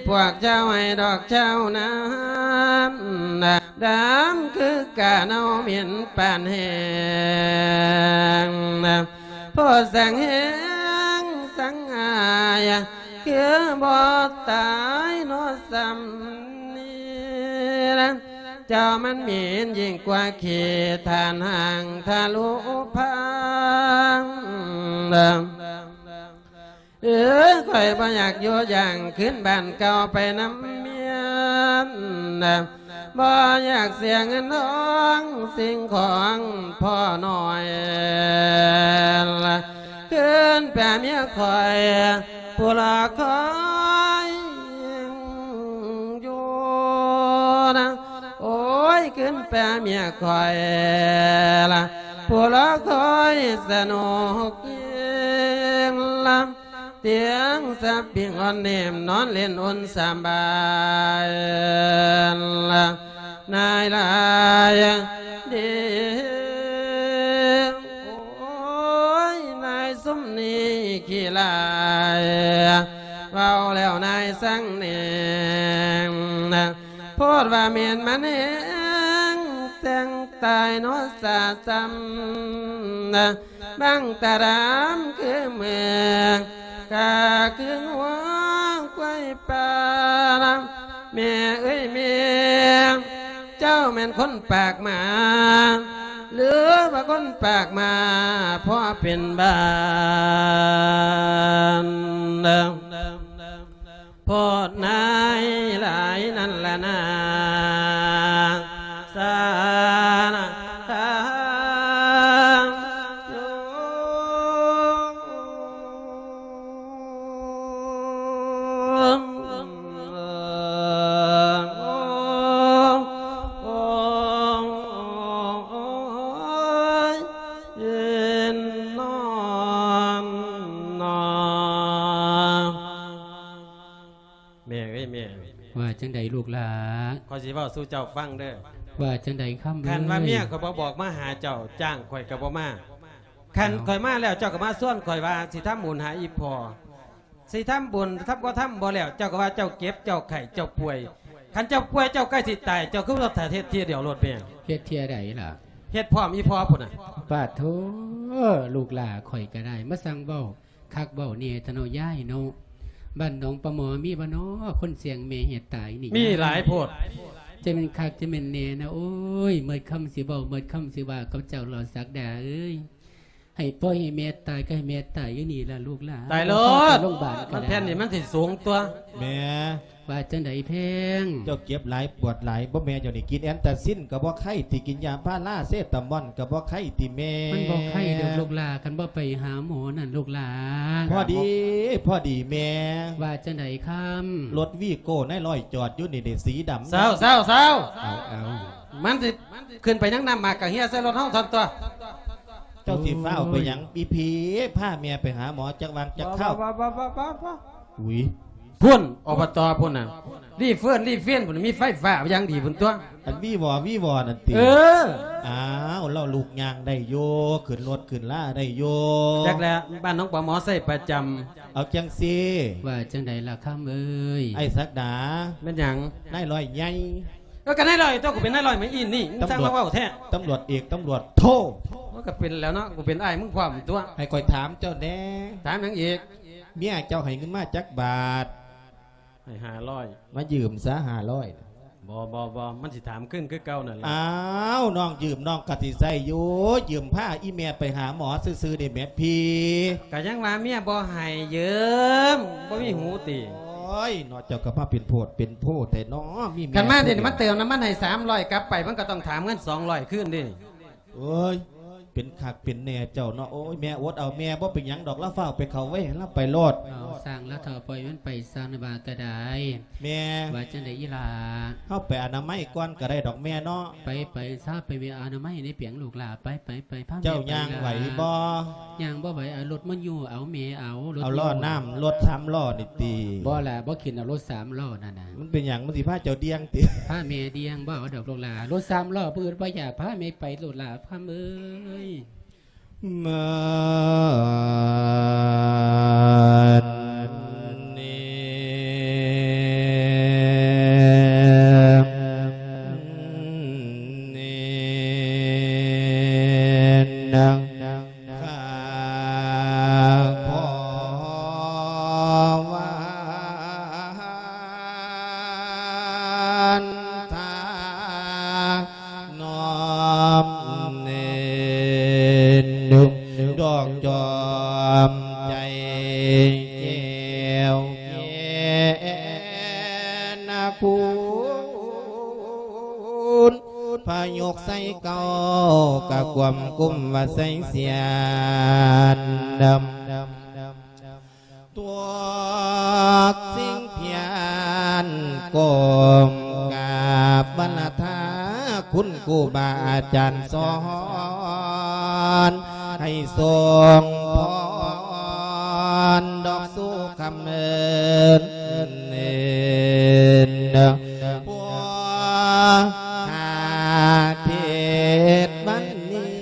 ພວກເຈົ້າໃຫ້ດອກເຈົ້ານັ້ນ ດຳຄືກາເນົ່າເໝັນປານແຫ້ງນະ ໂພດສັງແຮງສັງອາຍ ຄືບໍ່ຕາຍເນາະສ່ຳນີ້ນະ ເຈົ້າມັນເໝັນຍິ່ງກວ່າຂີ້ ທ່ານຮ່າງທະລຸພັງນະ. ເອີ ຂ້ອຍບໍ່ຢາກຢູ່ຢ່າງຄືນບ້ານເກົ່າໄປນຳເມຍນະ ບໍ່ຢາກເສຍເງິນທອງສິ່ງຂອງພໍ່ນ້ອຍລະ ຄືນໄປຫາເມຍຂ້ອຍ ຜູ້ລໍຄອຍຢູ່ນະ ໂອ້ຍ ຄືນໄປຫາເມຍຂ້ອຍລະ ຜູ້ລໍຄອຍສະໜຸກ ຕຽງສະປິງອ່ອນເນມ ນອນຫຼິ້ນອຸ່ນສະບາຍ ນາຍຫຼາຍເດ ໂອ້ຍ ນາຍຊຸມນີ້ຂີ້ຫຼາຍ ເວົ້າແລ້ວນາຍສັງເໜງ ໂພດວ່າແມ່ນມັນແຮງ ແຈ້ງຕາຍເນາະສາຊ້ຳ ບັງຕາດຳຄືເມືອ ກະຄືງົວຄວາຍປ່າ ແມ່ເອີຍແມ່ ເຈົ້າແມ່ນຄົນປາກໝາ ຫຼືວ່າຄົນປາກໝາພໍເປັນບ້ານ? ໂພດນາຍຫຼາຍນັ້ນລະນາ ສານະທາໂຍ ໂອ້ ໂອ້ ໂອ້ຍ ເຢັນນອນນອ ແມ່ເອີຍແມ່ ວ່າຈັ່ງໃດລູກຫຼ້າ? ຂ້ອຍຊິເວົ້າສູ່ເຈົ້າຟັງເດີ້. ວ່າຈັ່ງໃດຄຳເອີຍ? ຄັນວ່າເມຍຂ້ອຍບໍ່ບອກມາຫາເຈົ້າ ຈ້າງຂ້ອຍກໍບໍ່ມາ. ຄັນຂ້ອຍມາແລ້ວ ເຈົ້າກໍມາຊວນຂ້ອຍວ່າຊິທຳບຸນຫາອີ່ພໍ່. ຊິທຳບຸນ ທຳ ບໍ່ທຳບໍ່ແລ້ວ ເຈົ້າກໍວ່າເຈົ້າເຈັບ ເຈົ້າໄຂ້ ເຈົ້າປ່ວຍ. ຄັນເຈົ້າປ່ວຍ ເຈົ້າໃກ້ຊິຕາຍ ເຈົ້າຄືບໍ່ເຮັດເທື່ອດຽວໂລດແມ່? ເຮັດເທື່ອໃດລະ? ເຮັດພ້ອມອີ່ພໍ່ພຸ້ນນະ. ປາດໂທ ລູກຫຼ້າຂ້ອຍກໍໄດ້ ມາຊ່າງເວົ້າ ຄັກເວົ້າແດ່ເຖາະເນາະຍາຍເນາະ. ບ້ານໜອງປາໝໍມີບໍ່ເນາະ ຄົນສ່ຽງແມ່ເຮັດຕາຍນີ້? ມີຫຼາຍໂພດ. ຈະແມ່ນຄັກຈະແມ່ນແນ່ນະ. ໂອ້ຍ ໝົດຄຳຊິເວົ້າ ໝົດຄຳຊິວ່າກັບເຈົ້າຫຼໍ່ສັກດາເອີຍ. ໃຫ້ພໍ່ໃຫ້ແມ່ຕາຍກໍໃຫ້ແມ່ຕາຍຢູ່ນີ້ລະລູກຫຼ້າ. ຕາຍໂລດ ໂລງບານກໍ ມັນແຜ່ນນີ້ມັນຊິສູງຕົວະ. ແມ່ ວ່າຈັ່ງໃດແພງ? ເຈົ້າເຈັບຫຼາຍປວດຫຼາຍບໍ່? ແມ່ເຈົ້ານີ້ກິນແອນຕາຊິນກໍບໍ່ໄຄຕິ ກິນຢາພາລາເຊຕາມອນກໍບໍ່ໄຄຕິແມ່? ມັນບໍ່ໄຄດອກລູກຫຼ້າ ຄັນບໍ່ໄປຫາໝໍນັ້ນລູກຫຼ້າ. ພໍດີ ພໍດີແມ່. ວ່າຈັ່ງໃດຄຳ? ລົດວີໂກ້ນາຍຮ້ອຍຈອດຢູ່ນີ້ເດ ສີດຳ. ເຊົາ ເຊົາ ເຊົາ. ເອົາ ເອົາ ມັນຊິຂຶ້ນໄປຍັງນ້ຳໝາກກະເຮຍໃສ່ລົດເຮົາທັນຕົວະ. ເຈົ້າຊິຟ້າວໄປຫຍັງ? ອີ່ພີ ພາແມ່ໄປຫາໝໍຈັກວັງຈັກຄາວ. ອຸ້ຍ ພຸ້ນ ອບຕ ພຸ້ນນະ ຣີເຟີນ ຣີເຟນ ພຸ້ນ ມີໄຟຟ້າຢ່າງດີພຸ້ນຕົວະ. ອັນວີວໍວີວໍນັ້ນຕິ? ເອີ ອ້າວ ລາວລູກຍ່າງໄດ້ຢູ່ ຂຶ້ນລົດຂຶ້ນລາໄດ້ຢູ່. ຈັກແຫຼະ ບ້ານໜອງປາໝໍໃຊ້ປະຈຳ. ເອົາຈັ່ງຊີ້ ວ່າຈັ່ງໃດລະຄຳເອີຍ? ອ້າຍສັກດາ. ແມ່ນຫຍັງ? ນາຍຮ້ອຍໃຫຍ່. ເອີ ກໍນາຍຮ້ອຍຕົວະ ກູເປັນນາຍຮ້ອຍມາອີ່ນີ້ ມຶງຊ່າງມາເວົ້າແທ້. ຕຳຫຼວດເອກ ຕຳຫຼວດໂທ. ໂອ້ຍ ກໍເປັນແລ້ວເນາະ ກູເປັນອ້າຍມຶງພ້ອມຕົວະ. ໃຫ້ຂ້ອຍຖາມເຈົ້າແດ່. ຖາມຫຍັງອີກ? ເມຍເຈົ້າໃຫ້ເງິນມາຈັກບາດ? ໃຫ້ຫ້າຮ້ອຍ. ມາຢືມຊະຫ້າຮ້ອຍ. ບໍ່ ບໍ່ ບໍ່ ມັນຊິຖາມຄືນຄືເກົ່ານັ້ນລະ. ອ້າວ ນ້ອງຢືມນ້ອງກໍຊິໃຊ້ຢູ່ ຢືມພາອີ່ແມ່ໄປຫາໝໍຊື່ໆ ເດ້ແມ່ພີ່. ກໍຍັງວ່າເມຍບໍ່ໃຫ້ຢືມ ບໍ່ມີຫູຕິ? ໂອ້ຍ ເນາະ ເຈົ້າກໍມາເປັນໂພດເປັນໂພແທ້ເນາະ ມີແມ່. ຄັນມາເດນີ້ ມາເຕີມນ້ຳມັນໃຫ້ສາມຮ້ອຍ ກັບໄປມັນກໍຕ້ອງຖາມເງິນສອງຮ້ອຍຄືນເດ້. ໂອ້ຍ ເປັນຄັກເປັນແນ່ເຈົ້າເນາະ. ໂອ້ຍ ແມ່ອົດເອົາ ແມ່ບໍ່ເປັນຫຍັງດອກ ລາວຟ້າວໄປເຂົ້າເວີຍ ລາວໄປໂລດ. ເອົາ ຊ່າງລາວເຖົ້າ ປ່ອຍມັນໄປ ຊ່າງນະວ່າກໍໄດ້. ແມ່ ວ່າຈັ່ງໃດອີ່ຫຼ້າ? ເຮົາໄປອະນາໄມກ່ອນກໍໄດ້ດອກແມ່ເນາະ. ໄປ ໄປຊາ ໄປເວະອະນາໄມໃນປຽງລູກຫຼ້າ ໄປ ໄປ ໄປ ພາແມ່ໄປ. ເຈົ້າຍ່າງໄຫວບໍ່? ຍ່າງບໍ່ໄຫວ ເອົາລົດມາຍູ້ເອົາແມ່ເອົາ ລົດ ເອົາລໍ້ນ້ຳ ລົດສາມລໍ້ນີ້ຕິ? ບໍ່ລະ ບໍ່ຂຶ້ນເອົາລົດສາມລໍ້ນັ້ນນະ. ມັນເປັນຫຍັງ? ມັນຊິພາເຈົ້າດ່ຽງຕິ? ພາແມ່ດ່ຽງ ບໍ່ເອົາດອກລູກຫຼ້າ ລົດສາມລໍ້ ຜູ້ອື່ນບໍ່ຢາກ ພາແມ່ໄປໂລດຫຼ້າ ຄຳເອີຍ. ມານີ້ ນີ້ ນາງ ຂ້າຂໍວານທາ ນ້ອມເນນ ດອກຈອມໃຈແກ້ວແກ່ນະຄູນ ພະຍົກໄຊເກົ່າກະກວມກຸມວ່າໄຊສຽນດຳ. ຕົວະສິ່ງພຽນກົ້ມກາບວັນລະທາ ຄຸນຄູບາອາຈານສອນ ໃຫ້ຊົງພອນ ກຳເນີນ ຜູ້ຫາເທດວັນນີ້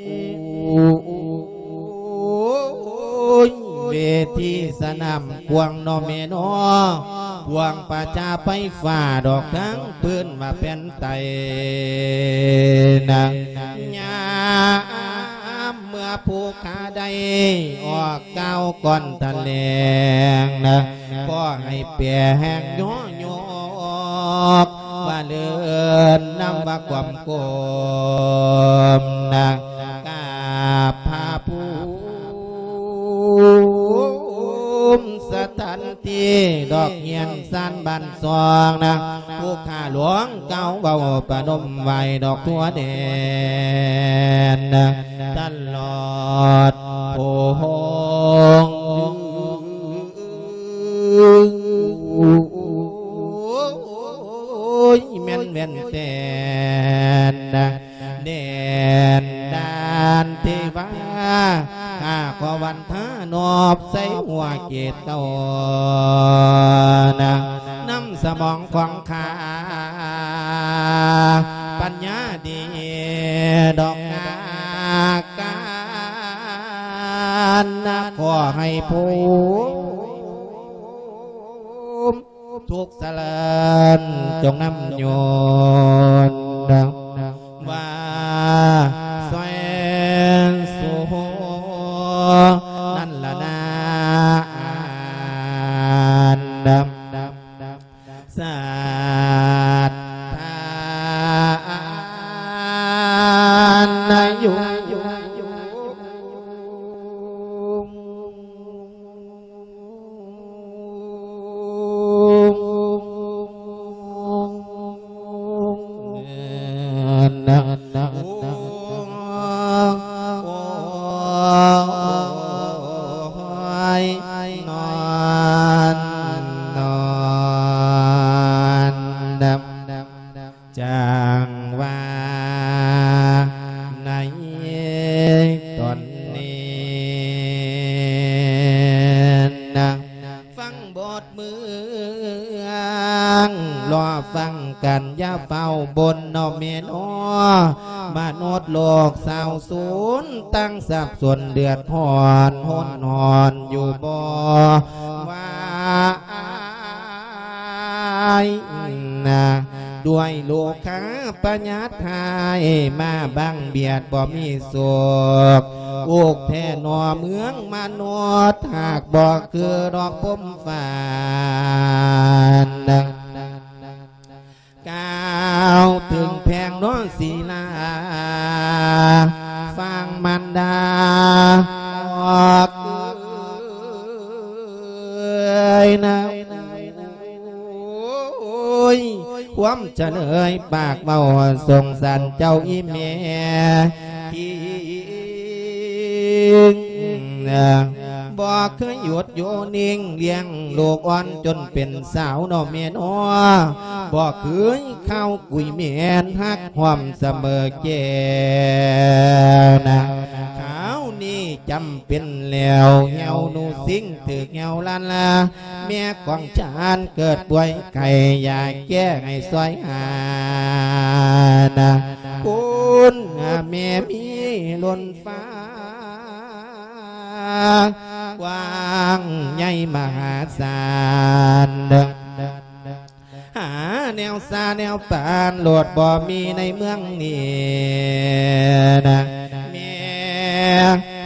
ໂອ້ຍ ເວທີສະໜາມກວ້າງເນາະແມ່ເນາະ ພວກປະຊາໄຟຟ້າດອກທັງ ເພິ່ນວ່າແຜ່ນໄຕນະ ຍາມເມື່ອຜູ້ຂ້າໄດ້ອອກກ່າວກ່ອນຖະແຫຼງນະ ຂໍໃຫ້ແປແຮງຍໍຍົກ ວ່າເລີນນຳວ່າຄວາມກົມນະ ກາບພະພູມສະຖານທີ່ດອກຮຽນ ສານບ້ານຊ່ອງນະ ຜູ້ຂ້າຫຼວງກ່າວເວົ້າປະນົມໄຫວ້ດອກທົ່ວແດນນະ ຕະຫຼອດໂພງ ໂອ້ຍ ແມ່ນແວ່ນແຕ່ນນະ ແດນດານເທວາ ຂ້າຂໍວັນທານອບໃສ່ຫົວເກດເຕົ້ານະ ນຳສະໝອງຂອງຂ້າ ປັນຍາດີດອກກາການນະ ຂໍໃຫ້ພົມ ທຸກສະເລີນຈົ່ງນຳຍົນ ວ່າແສນສຸໂຫ ນັ້ນລະນາ ອັນດຳ ສັດທານາຍຸ ຈັງວ່າໃນຕອນນີ້ນະ ຟັງບົດເມືອງ ລໍຟັງກັນຢ່າຟ້າວບົ່ນເນາະແມ່ເນາະ ມະນຸດໂລກສາວສູນ ຕັ້ງສັບສົນເດືອດຮ້ອນ ຮົນຮ້ອນຢູ່ບໍ່ວ່າ ນະ ດ້ວຍໂລຄາພະຍາດຮ້າຍມາບັງບຽດບໍ່ມີສຸກ ອຸກແທ້ໜໍ່ເມືອງມະນຸດ ຫາກບໍ່ຄືດອກພົມຟ້ານະ ກ່າວເຖິງແພງເນາະສີລາ ຟັງມານດາອອກເອີຍນະ ໂອ້ຍ ຄວາມຈະເລີຍປາກເວົ້າສົງສານເຈົ້າອີ່ແມ່ທີ່ບໍ່ເຄີຍຢຸດຢູ່ນິ່ງ ລ້ຽງລູກອ່ອນຈົນເປັນສາວເນາະແມ່ເນາະ ບໍ່ເຄີຍເຄົາກຸຍແມ່ນ ຮັກຮ່ວມສະເໝີແກ້ວນະ ຄາວນີ້ຈຳເປັນແລ້ວ ແຫ້ວໜູຊິງຖືກແຫ້ວລັນລາ ແມ່ຂອງຊານເກີດປ່ວຍໄຂ້ ຢາກແກ້ໃຫ້ຊ່ອຍຫານະ ຄຸນແມ່ມີລົ້ນຟ້າ ກວ້າງໃຫຍ່ມະຫາສານ ຫາແນວສາແນວປານໂລດບໍ່ມີໃນເມືອງນີ້ນະ ແມ່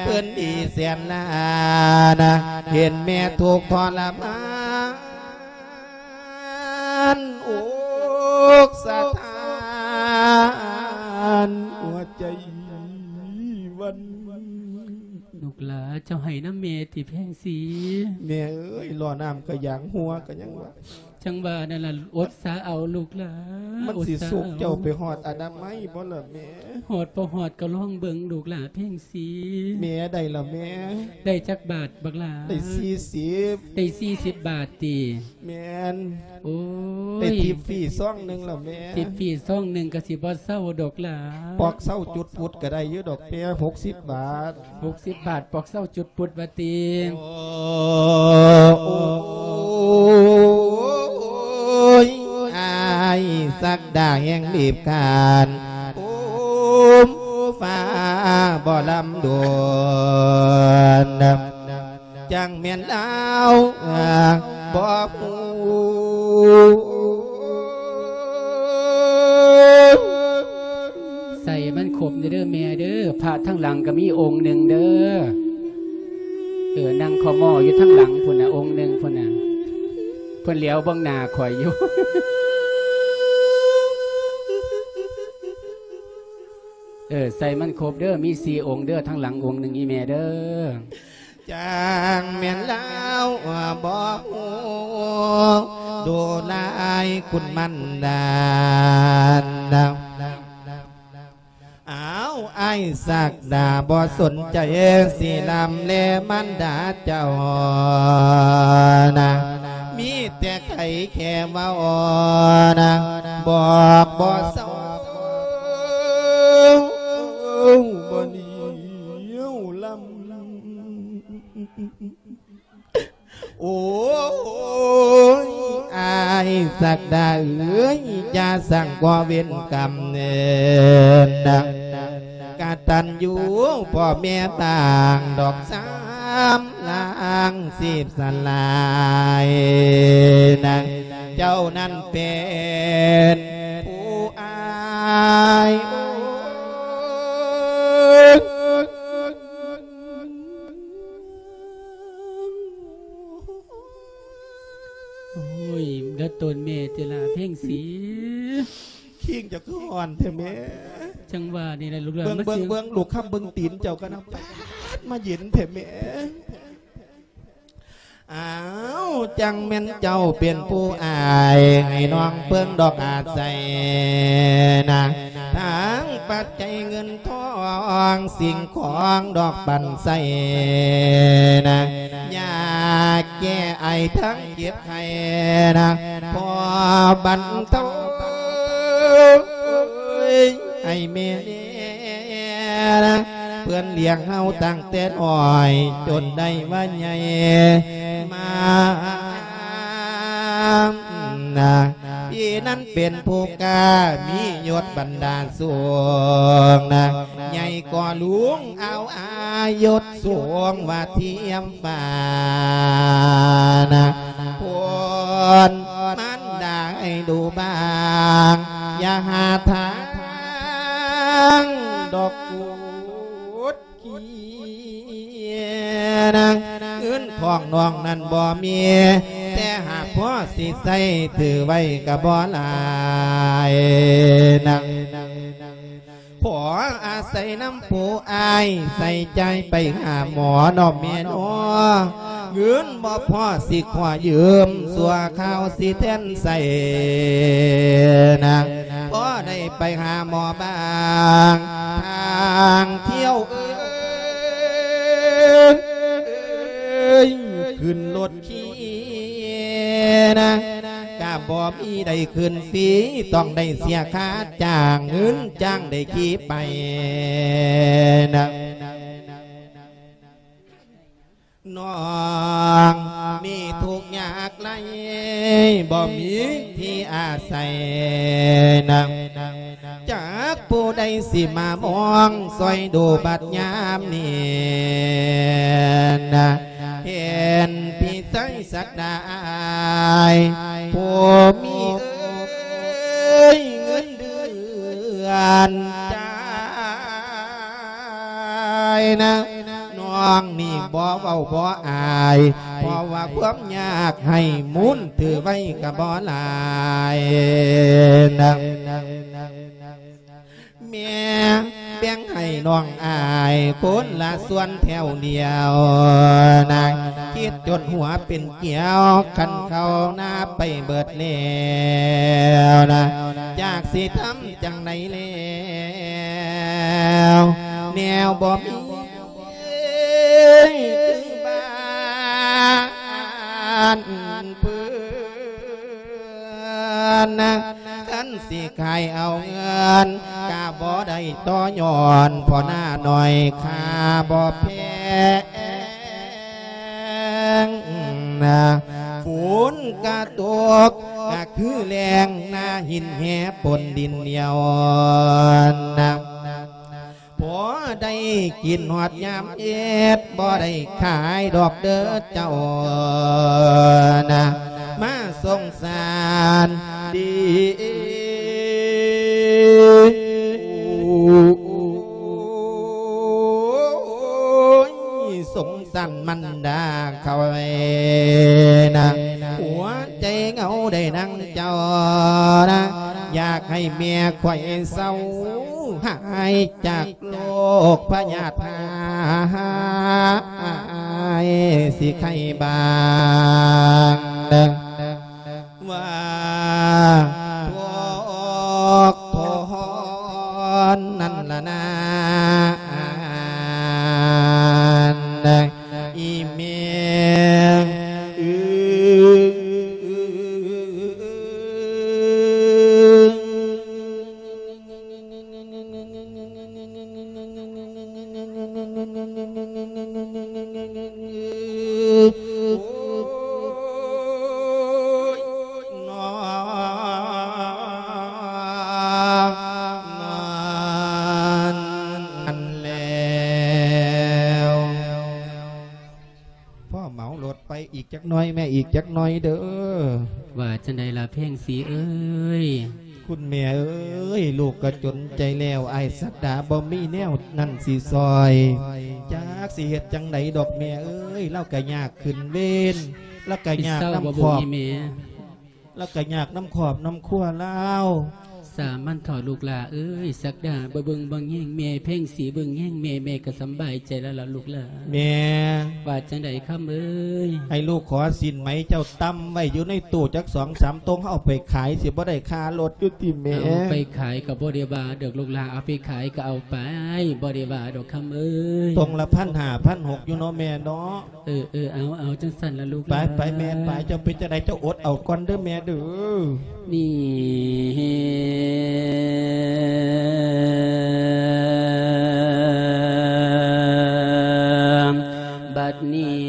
ເພິ່ນດີແສນຫຼານະ ເຫັນແມ່ທຸກທໍລະມານ ອົກສະທ້ານຫົວໃຈວັນ. ລູກຫຼາ ເຈົ້າໄຫ້ນຳແມ່ຕິແພງສີ? ແມ່ເອີຍ ລໍນ້ຳກະຢາງຫົວກະຍັງວ່າ ຈັ່ງວ່ານັ້ນລະ ອົດສາເອົາລູກຫຼາ ມັນຊິ ອົດສາ ສຸກເຈົ້າໄປຮອດອະນາໄມບໍ່ລະແມ່? ຮອດບໍ່ຮອດກໍລອງເບິ່ງລູກຫຼາເພັງສີ. ແມ່ ໄດ້ລະແມ່? ໄດ້ຈັກບາດບັກຫຼາ? ໄດ້ສີ່ສິບ. ໄດ້ສີ່ສິບບາດຕິ? ແມ່ນ. ໂອ້ຍ ໄດ້ທິບຟຣີຊອງໜຶ່ງລະແມ່. ທິບຟຣີຊອງໜຶ່ງກໍຊິບໍ່ເຊົາດອກຫຼາ. ປອກເຊົາຈຸດພຸດກໍໄດ້ຢູ່ດອກແມ່ ຫົກສິບບາດ. ຫົກສິບບາດ ປອກເຊົາຈຸດພຸດວ່າຕິ. ໂອ້ ໂອ້ຍ ອ້າຍສັກດາແຫ່ງລີບຄານ ໂອ້ມຟ້າບໍ່ລຳດວນ ຈັ່ງແມ່ນລາວບໍ່ຮູ້. ໃສ່ມັນຄົບເດີແມ່ເດີ ພະທາງຫຼັງກໍມີອົງໜຶ່ງເດີ. ເອີ ນັ່ງຄໍ່ມໍຢູ່ທາງຫຼັງພຸ້ນນະ ອົງໜຶ່ງພຸ້ນນະ ເພິ່ນຫຼຽວເບິ່ງໜ້າຂ້ອຍຢູ່. ເອີ ໃສ່ມັນຄົບເດີ ມີສີ່ອົງເດີ ທາງຫຼັງອົງໜຶ່ງອີ່ແມ່ເດີ. ຈັ່ງແມ່ນລາວບໍ່ຮູ້ ດູລາຍຄຸນມັນດານ. ອ້າວ ອ້າຍສັກດາບໍ່ສົນໃຈ ຊິລຳແລມານດາເຈົ້ານະ ມີແຕ່ໄຂແຄ່ເວົ້ານະ ບອກບໍ່ເຊົາ ບໍ່ໜຽວລຳ. ໂອ້ຍ ອ້າຍສັກດາເອີຍ ຢ່າສ້າງກໍ່ເວນກຳເນີນນະ ກະຕັນຢູ່ພໍ່ແມ່ຕ່າງດອກ ສາມລ້າງສິບສະຫຼາຍນະ ເຈົ້ານັ້ນເປັນຜູ້ອ້າຍ. ໂອ້ຍ ລະຕົນແມ່ຕິລະເພັງສີ ຄີງເຈົ້າຄືຮ້ອນແທ້ແມ່. ຈັ່ງວ່ານີ້ລະລູກຫຼານ ເບິ່ງ ມາ ເບິ່ງ ເບິ່ງລູກຄຳ ເບິ່ງຕີນເຈົ້າກັນນະ ປາດ ມາເຢັນແທ້ແມ່. ອ້າວ ຈັ່ງແມ່ນເຈົ້າເປັນຜູ້ອ້າຍ ໃຫ້ນ້ອງເພິ່ງດອກອາໄສນະ ທັງປັດໄຈເງິນທອງ ສິ່ງຂອງດອກປັນໃສ່ນະ ຢາແກ້ໄອທັງເຈັບໄຂ້ນະ ພໍບັນເທົາໃຫ້ແມ່ແດ່ນະ ເພິ່ນລ້ຽງເຮົາຕັ້ງແຕ່ນ້ອຍ ຈົນໄດ້ວ່າໃຫຍ່ມານະ ພີ່ນັ້ນເປັນຜູ້ກ້າ ມີຍົດບັນດາສູງນະ ໃຫຍ່ກວ່າລຸງ ເອົາອາຍຸສູງວ່າທຽມຟ້ານະ ຄົນມັນໄດ້ດູບາງ ຢ່າຫາທາງດອກ ກຸດກີນະ ເງິນຂອງນ້ອງນັ້ນບໍ່ມີ ແຕ່ຫາກພໍຊິໃຊ້ ຖືໄວ້ກໍບໍ່ຫຼາຍນະ ຂໍອາໄສນຳຜູ້ອ້າຍ ໃສ່ຈ່າຍໄປຫາໝໍເນາະແມ່ເນາະ ເງິນບໍ່ພໍຊິຂໍຢືມ ຊົ່ວຄາວຊິແທນໃຊ້ນະ ພໍໄດ້ໄປຫາໝໍບາງ ທາງທ່ຽວເອີຍ ຂຶ້ນລົດຂີ່ນະ ກະບໍ່ມີໄດ້ຂຶ້ນຟຣີ ຕ້ອງໄດ້ເສຍຄ່າຈ້າງ ເງິນຈ້າງໄດ້ຂີ່ໄປນະ. ນ້ອງນີ້ທຸກຍາກໄຮ້ ບໍ່ມີທີ່ອາໄສນະ ຈັກຜູ້ໃດຊິມາມອງຊ່ອຍດູບັດຍາມນີ້ນະ ເຫັນພີ່ໄຊສັກດາອ້າຍ ຜູ້ມີເອີຍ ເງິນເດືອນຈ່າຍນະ ນ້ອງນີ້ບໍ່ເວົ້າບໍ່ອາຍ ເພາະວ່າຄວາມຍາກໃຫ້ໝູນຖືໄວ້ກໍບໍ່ຫຼາຍນະ ແມ່ ແບ່ງໃຫ້ນ້ອງອ້າຍຄົນລະສ່ວນແຖວດຽວນະ ຄິດຈົນຫົວເປັນກຽວ ຄັນເຂົ້ານາໄປເບິດແລ້ວນະ ຈັກຊິທຳຈັ່ງໃດແລ້ວ ແນວບໍ່ມີຄືບ້ານເພິ່ນນະ ຄັນຊິຂາຍເອົາເງິນກະບໍ່ໄດ້ຕໍ່ຍ້ອນ ເພາະໜ້າໜ້ອຍຄ່າບໍ່ແພງນະ ຝົນກະຕົກກະຄືແລ້ງ ໜ້າຫີນແຮ່ປົນດິນໜຽວນະ ພໍໄດ້ກິນຮອດຍາມເຮັດ ບໍ່ໄດ້ຂາຍດອກເດີເຈົ້ານະ ມາສົງສານດີ ສົງສານມັນດາເຂົາເອີຍນະ ຫົວໃຈເຫງົາໄດ້ນາງເຈົ້ານະ ຢາກໃຫ້ແມ່ຂ້ອຍເຊົາ ຫາຍຈາກໂລກພະຍາດຮ້າຍ ຊິໄຄບ້າງເດີ ວ່າທຸກທອນນັ້ນລະນາ ອີແມ່ເອີຍ ໂອ້ຍ ນອນ ນອນແລ້ວ ພໍ່ເໝົາລົດໄປອີກຈັກໜ້ອຍແມ່ ອີກຈັກໜ້ອຍເດີ. ວ່າຈັ່ງໃດລະແພງສີເອີຍ? ຄຸນແມ່ເອີຍ ລູກກໍຈົນໃຈແລ້ວ ອ້າຍສັກດາບໍ່ມີແນວນັ້ນຊິຊ່ອຍ ຈັກຊິເຮັດຈັ່ງໃດດອກແມ່ເອີຍ ລາວກໍຍາກຂຶ້ນເວນ ລາວກໍຍາກນຳຄອບ ລາວກໍຍາກນຳຄອບນຳຄົວລາວ. ສາມັນເຖາະລູກຫຼ້າເອີຍ ສັກດາບໍ່ເບິ່ງບໍ່ແຍງແມ່ ແພງສີເບິ່ງແຍງແມ່ ແມ່ກໍສຳບາຍໃຈແລ້ວລະລູກຫຼ້າ. ແມ່ ວ່າຈັ່ງໃດຄຳເອີຍ? ໃຫ້ລູກຂໍສິນໄໝເຈົ້າຕຳໄວ້ຢູ່ໃນຕູ້ຈັກສອງສາມຕົງ ເຮົາເອົາໄປຂາຍ ຊິບໍ່ໄດ້ຄ່າລົດຢູ່ຕິແມ່? ເອົາໄປຂາຍກໍບໍ່ໄດ້ວ່າດອກລູກຫຼ້າ ເອົາໄປຂາຍກໍເອົາໄປ ບໍ່ໄດ້ວ່າດອກຄຳເອີຍ. ຕົງລະພັນຫ້າ ພັນຫົກຢູ່ເນາະແມ່ເນາະ. ເອີ ເອີ ເອົາ ເອົາ ຈັ່ງຊັ້ນລະລູກ ໄປ ໄປແມ່ໄປ ເຈົ້າເປັນຈັ່ງໃດ ເຈົ້າອົດເອົາກ່ອນເດີແມ່ເດີ. ນີ້ ບັດນີ້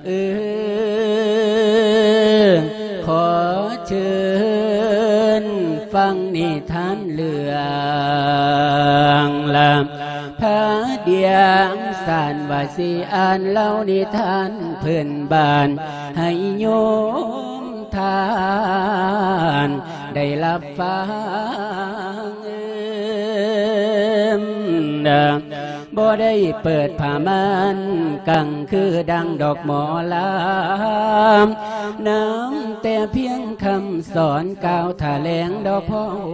ເອີ ຂໍເຊີນຟັງນິທານເລື່ອງລາມພະດຽງສານ ວ່າຊິອ່ານເລົ່ານິທານພື້ນບ້ານໃຫ້ໂຍມທ່ານໄດ້ຮັບຟັງ. ບໍ່ໄດ້ເປີດຜ້າມ່ານກັງຄືດັ່ງດອກໝໍລຳ ນຳແຕ່ພຽງຄຳສອນກ່າວຖະແຫຼງດອກພໍ່ໂຮ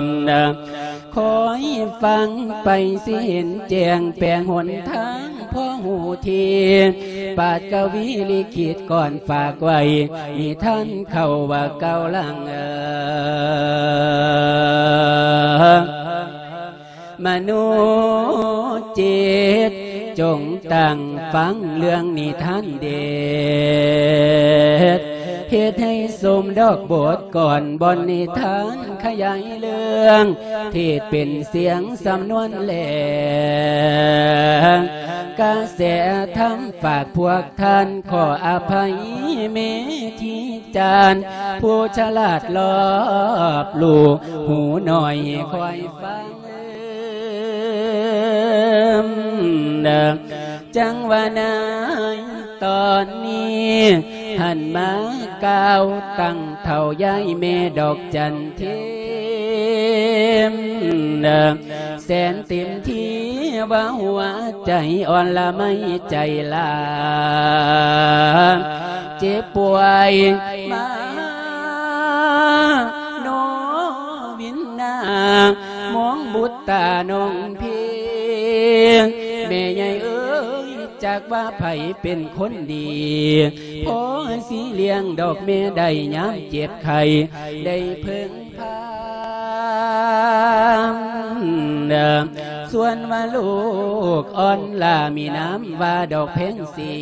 ມ ຄອຍຟັງໄປຊິເຫັນແຈ້ງແປງຫົນທາງ ພໍຮູ້ທີ ປາດກະວີລິຂິດກ່ອນຝາກໄວ້ ນິທານເຂົາວ່າເກົ່າຫຼັງ ມະໂນຈິດ ຈົ່ງຕັ້ງຟັງເລື່ອງນິທານເດັດ ເຮັດໃຫ້ສົມດອກບົດກ່ອນ ບ່ອນນິທານຂະຫຍາຍເລື່ອງ ທີ່ເປັນສຽງສຳນວນແລງ ກະແສທຳຝາກພວກທ່ານ ຂໍອະໄພເມທີຈານ ຜູ້ສະຫຼາດລອບຮູ້ ຫູໜ້ອຍຄອຍຟັງ ຈັ່ງວ່າໃນຕອນນີ້ ຫັນມາກ່າວຕັ້ງເຖົ້າຍາຍແມ່ດອກຈັນເທມ ແສນເຕັມທີ່ວ່າຫົວໃຈອ່ອນລະໄມໃຈລາ ເຈ ປ່ວຍມາ ໂນວິນນາ ມອງບຸດຕານ້ອງເພງ ແມ່ໃຫຍ່ເອີຍ ຈັກວ່າໃຜເປັນຄົນດີ ພໍຊິລ້ຽງດອກແມ່ໄດ້ຍາມເຈັບໄຂ້ ໄດ້ເພິ່ງພາ ສ່ວນວ່າລູກອ່ອນລາມີນາມວ່າດອກແພງສີ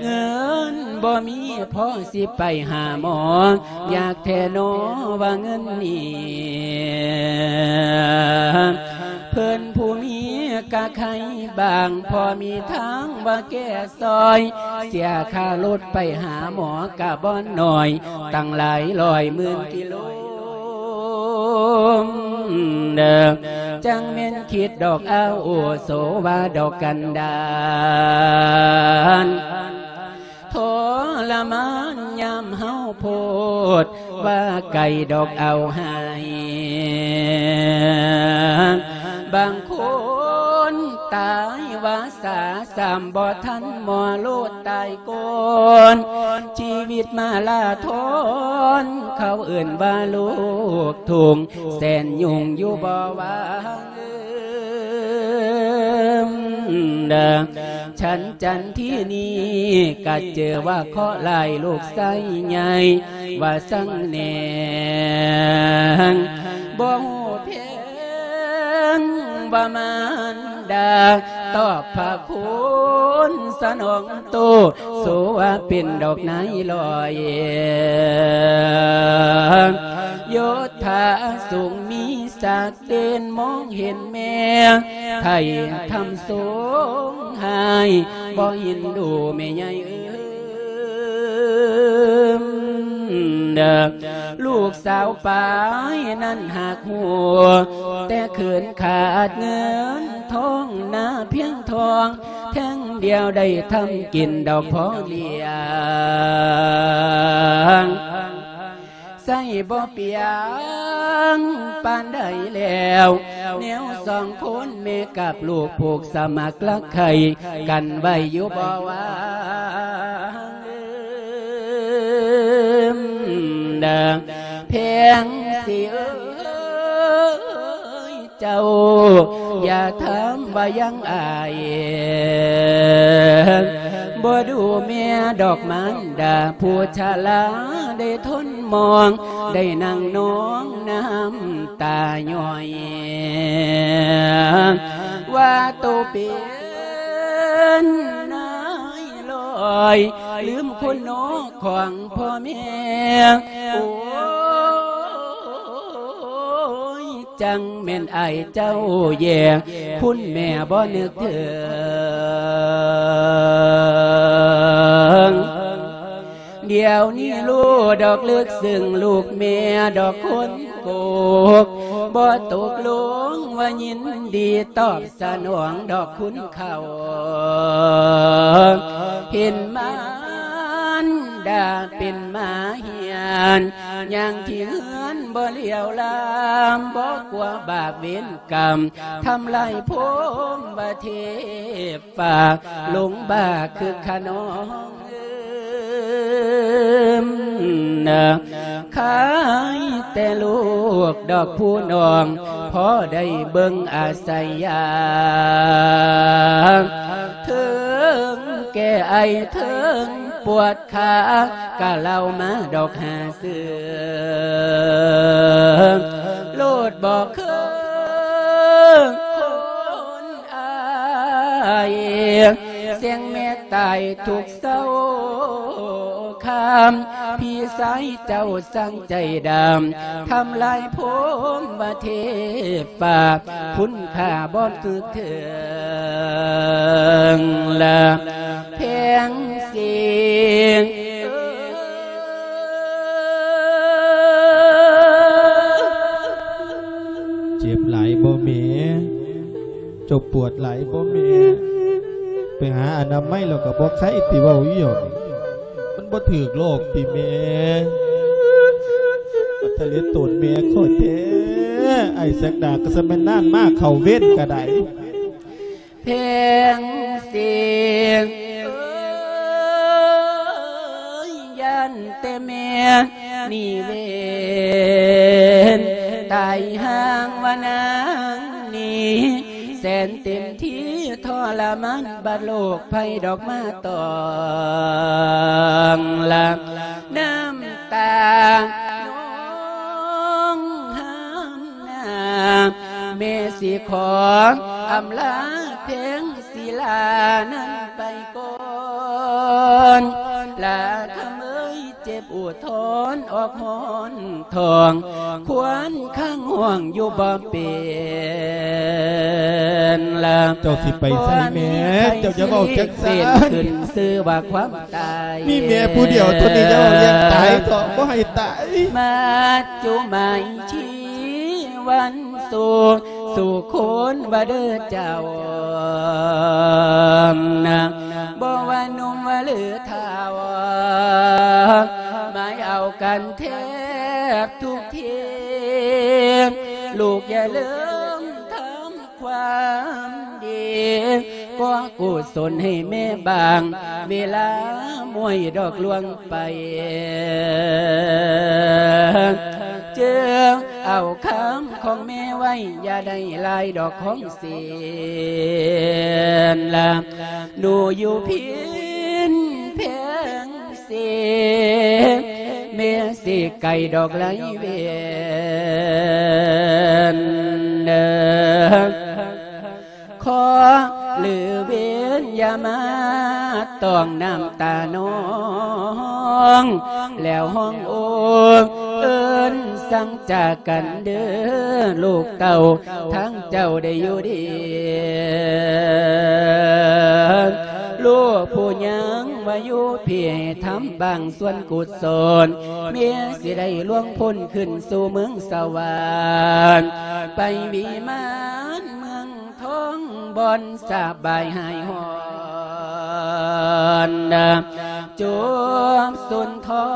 ເງິນບໍ່ມີພໍຊິໄປຫາໝໍ ຢາກແທ້ໜໍວ່າເງິນນີ້ ເພິ່ນຜູ້ມີກະໄຄບາງ ພໍມີທາງວ່າແກ່ຊ່ອຍ ເສຍຄ່າລົດໄປຫາໝໍກະບໍ່ໜ້ອຍ ຕັ້ງຫຼາຍຮ້ອຍໝື່ນກິໂລ ເດີ ຈັ່ງແມ່ນຄິດດອກອາວຸໂສ ວ່າດອກກັນດານ ທໍລະມານຍາມເຮົາໂພດ ວ່າໄກດອກເອົາໃຫ້ ບາງຄົນຕາຍວ່າສາ ຊ້ຳບໍ່ທັນໝໍໂລດຕາຍກ່ອນ ຊີວິດມາລາທອນ ເຂົາເອີ້ນວ່າລູກທຸ່ງ ແສນຫຍຸ້ງຢູ່ບໍ່ວ່າງ ເອີມ ເດີ ສັນຈັນທີ່ນີ້ກະເຈີວ່າເຄາະຮ້າຍ ລູກຊາຍໃຫຍ່ວ່າສັງແນງ ບໍ່ຮູ້ແພງວ່າມານດາ ຕອບພະຄຸນສະໜອງໂຕ ໂສວ່າເປັນດອກນາຍລອຍ ຍົດຖາສູງມີສັກ ເດັ່ນມອງເຫັນແມ່ ໄຖ່ທຳສົງຫາຍ ບໍ່ເຫັນດູແມ່ໃຫຍ່ເອີມ ເດີ ລູກສາວປາຍນັ້ນຫາກຮູ້ ແຕ່ເຂີນຂາດເງິນທອງ ນາພຽງທອງແທ່ງດຽວ ໄດ້ທຳກິນດອກພໍລ້ຽງ ໃຊ້ບໍ່ປຽງປານໃດແລ້ວ ແນວສອງຄົນແມ່ກັບລູກ ຜູກສະໝັກລັກໃຄ່ກັນໄວ້ຢູ່ບໍ່ວ່າງ ເດີ ແພງສີເອີຍ ເຈົ້າ ຢ່າຖາມວ່າຍັງອາຍ ບໍ່ດູແມ່ດອກມານດາ ຜູ້ຊະລາໄດ້ທົນມອງ ໄດ້ນັ່ງນອງນ້ຳຕາຍ້ອຍ ວ່າໂຕເປັນນາຍລອຍ ລືມຄຸນນອກຂອງພໍ່ແມ່ ໂອ້ຍ ຈັ່ງແມ່ນອ້າຍເຈົ້າແຍ່ ຄຸນແມ່ບໍ່ນຶກເຖິງ ດຽວນີ້ຮູ້ດອກເລິກເຊິ່ງ ລູກແມ່ດອກຄົນໂກກ ບໍ່ຕົກລົງວ່າຍິນດີ ຕອບສະໜອງດອກຄຸນເຂົາ ເຫັນມານດາເປັນໝາ ເຮືອນ ຍ່າງທີ່ເຮືອນບໍ່ຫຼຽວລາມ ບໍ່ກົວບາບເວນກຳ ທຳລາຍພົມວ່າເທບຟ້າ ຫຼົງບ້າຄືຂະນອງເອີມ ຄາຍແຕ່ລູກດອກຜູ້ນ້ອງ ພໍໄດ້ເບິ່ງອາໄສຢາ ເທິງແກ່ໄອ ເທິງປວດ ຂາກະເລົ່າມາດອກຫາເຊື່ອ ໂລດບໍ່ເຄີຍຄົນອາຍ ສຽງແມ່ຕາຍທຸກເຊົ້າຄ່ຳ ພີ່ຊາຍເຈົ້າຊ່າງໃຈດຳ ທຳລາຍພົມວ່າເທບຟ້າ ຄຸນຄ່າບໍ່ຖືກເຖິງລະ ແພງສີ ເຈັບຫຼາຍບໍ່ແມ່? ເຈົ້າປວດຫຼາຍບໍ່ແມ່? ໄປຫາອະນາໄມແລ້ວກໍບໍ່ໄຄຕິ ເວົ້າອີ່ຫຍັງ ມັນບໍ່ຖືກໂລກຕິແມ່? ມັນທະເລໂຕນແມ່ຂ້ອຍແທ້ ໄອ້ສັກດາກໍສະແມ່ນນານມາເຂົ້າເວນກໍໄດ້. ແພງສີ ເອີ ນີ້ເວນ ຕາຍຫ່າງວ່ານາງນີ້ ແສນເຕັມທີ່ທໍລະມານ ບັດໂລກໄພດອກມາຕອງລະ ນ້ຳຕານອງຫານນາ ແມ່ຊິຂໍອຳລາແພງສີລານັ້ນໄປກ່ອນ ລາຄຳເອີຍ ເຈັບອຸທອນອອກຮ້ອນທ້ອງ ຄວນຄ້າງຫ້ອງຢູ່ບໍ່ເປັນລະ ເຈົ້າຊິໄປໃສແມ່? ເຈົ້າຢ່າເວົ້າຈັງຊັ້ນ ເປັນຂຶ້ນຊື່ວ່າຄວາມຕາຍ ມີແມ່ຜູ້ດຽວເທົ່ານີ້ ຢ່າເວົ້າເລື່ອງຕາຍເຖາະ ບໍ່ໃຫ້ຕາຍ ມາຈຸໝາຍຊີວັນສຸກ ສູ່ຄົນວ່າເດີເຈົ້ານະ ບໍ່ວ່າໜຸ່ມວ່າຫຼືທ້າວ ໝາຍເອົາກັນແທບທຸກທີ ລູກຢ່າລືມທຳຄວາມດີ ກໍ່ກຸສົນໃຫ້ແມ່ບາງເວລາ ມວຍດອກລວງໄປ ເຈີເອົາຄຳ ຂອງແມ່ໄວ້ ຢ່າໄດ້ຫຼາຍດອກຂອງເສນລະ ໜູຢູ່ພິນແພງເສນ ແມ່ຊິໄກດອກໄລເວນເດີ ຂໍຫຼືເວນຢ່າມາຕ້ອງນ້ຳຕານ້ອງ ແລ້ວຮ້ອງໂອ ເອີ້ນສັ່ງຈາກັນເດີ ລູກເຕົ້າທາງເຈົ້າໄດ້ຢູ່ດີ ລູກຜູ້ຍັງວ່າຢູ່ພີ້ ໃຫ້ທຳບາງສ່ວນກຸສົນ ເມຍຊິໄດ້ລ່ວງພົ້ນຂຶ້ນສູ່ເມືອງສະຫວັນ ໄປວິມານເມືອງ ທ້ອງບ່ອນສະບາຍຫາຍຮ້ອນ ຈົບສຸນທອ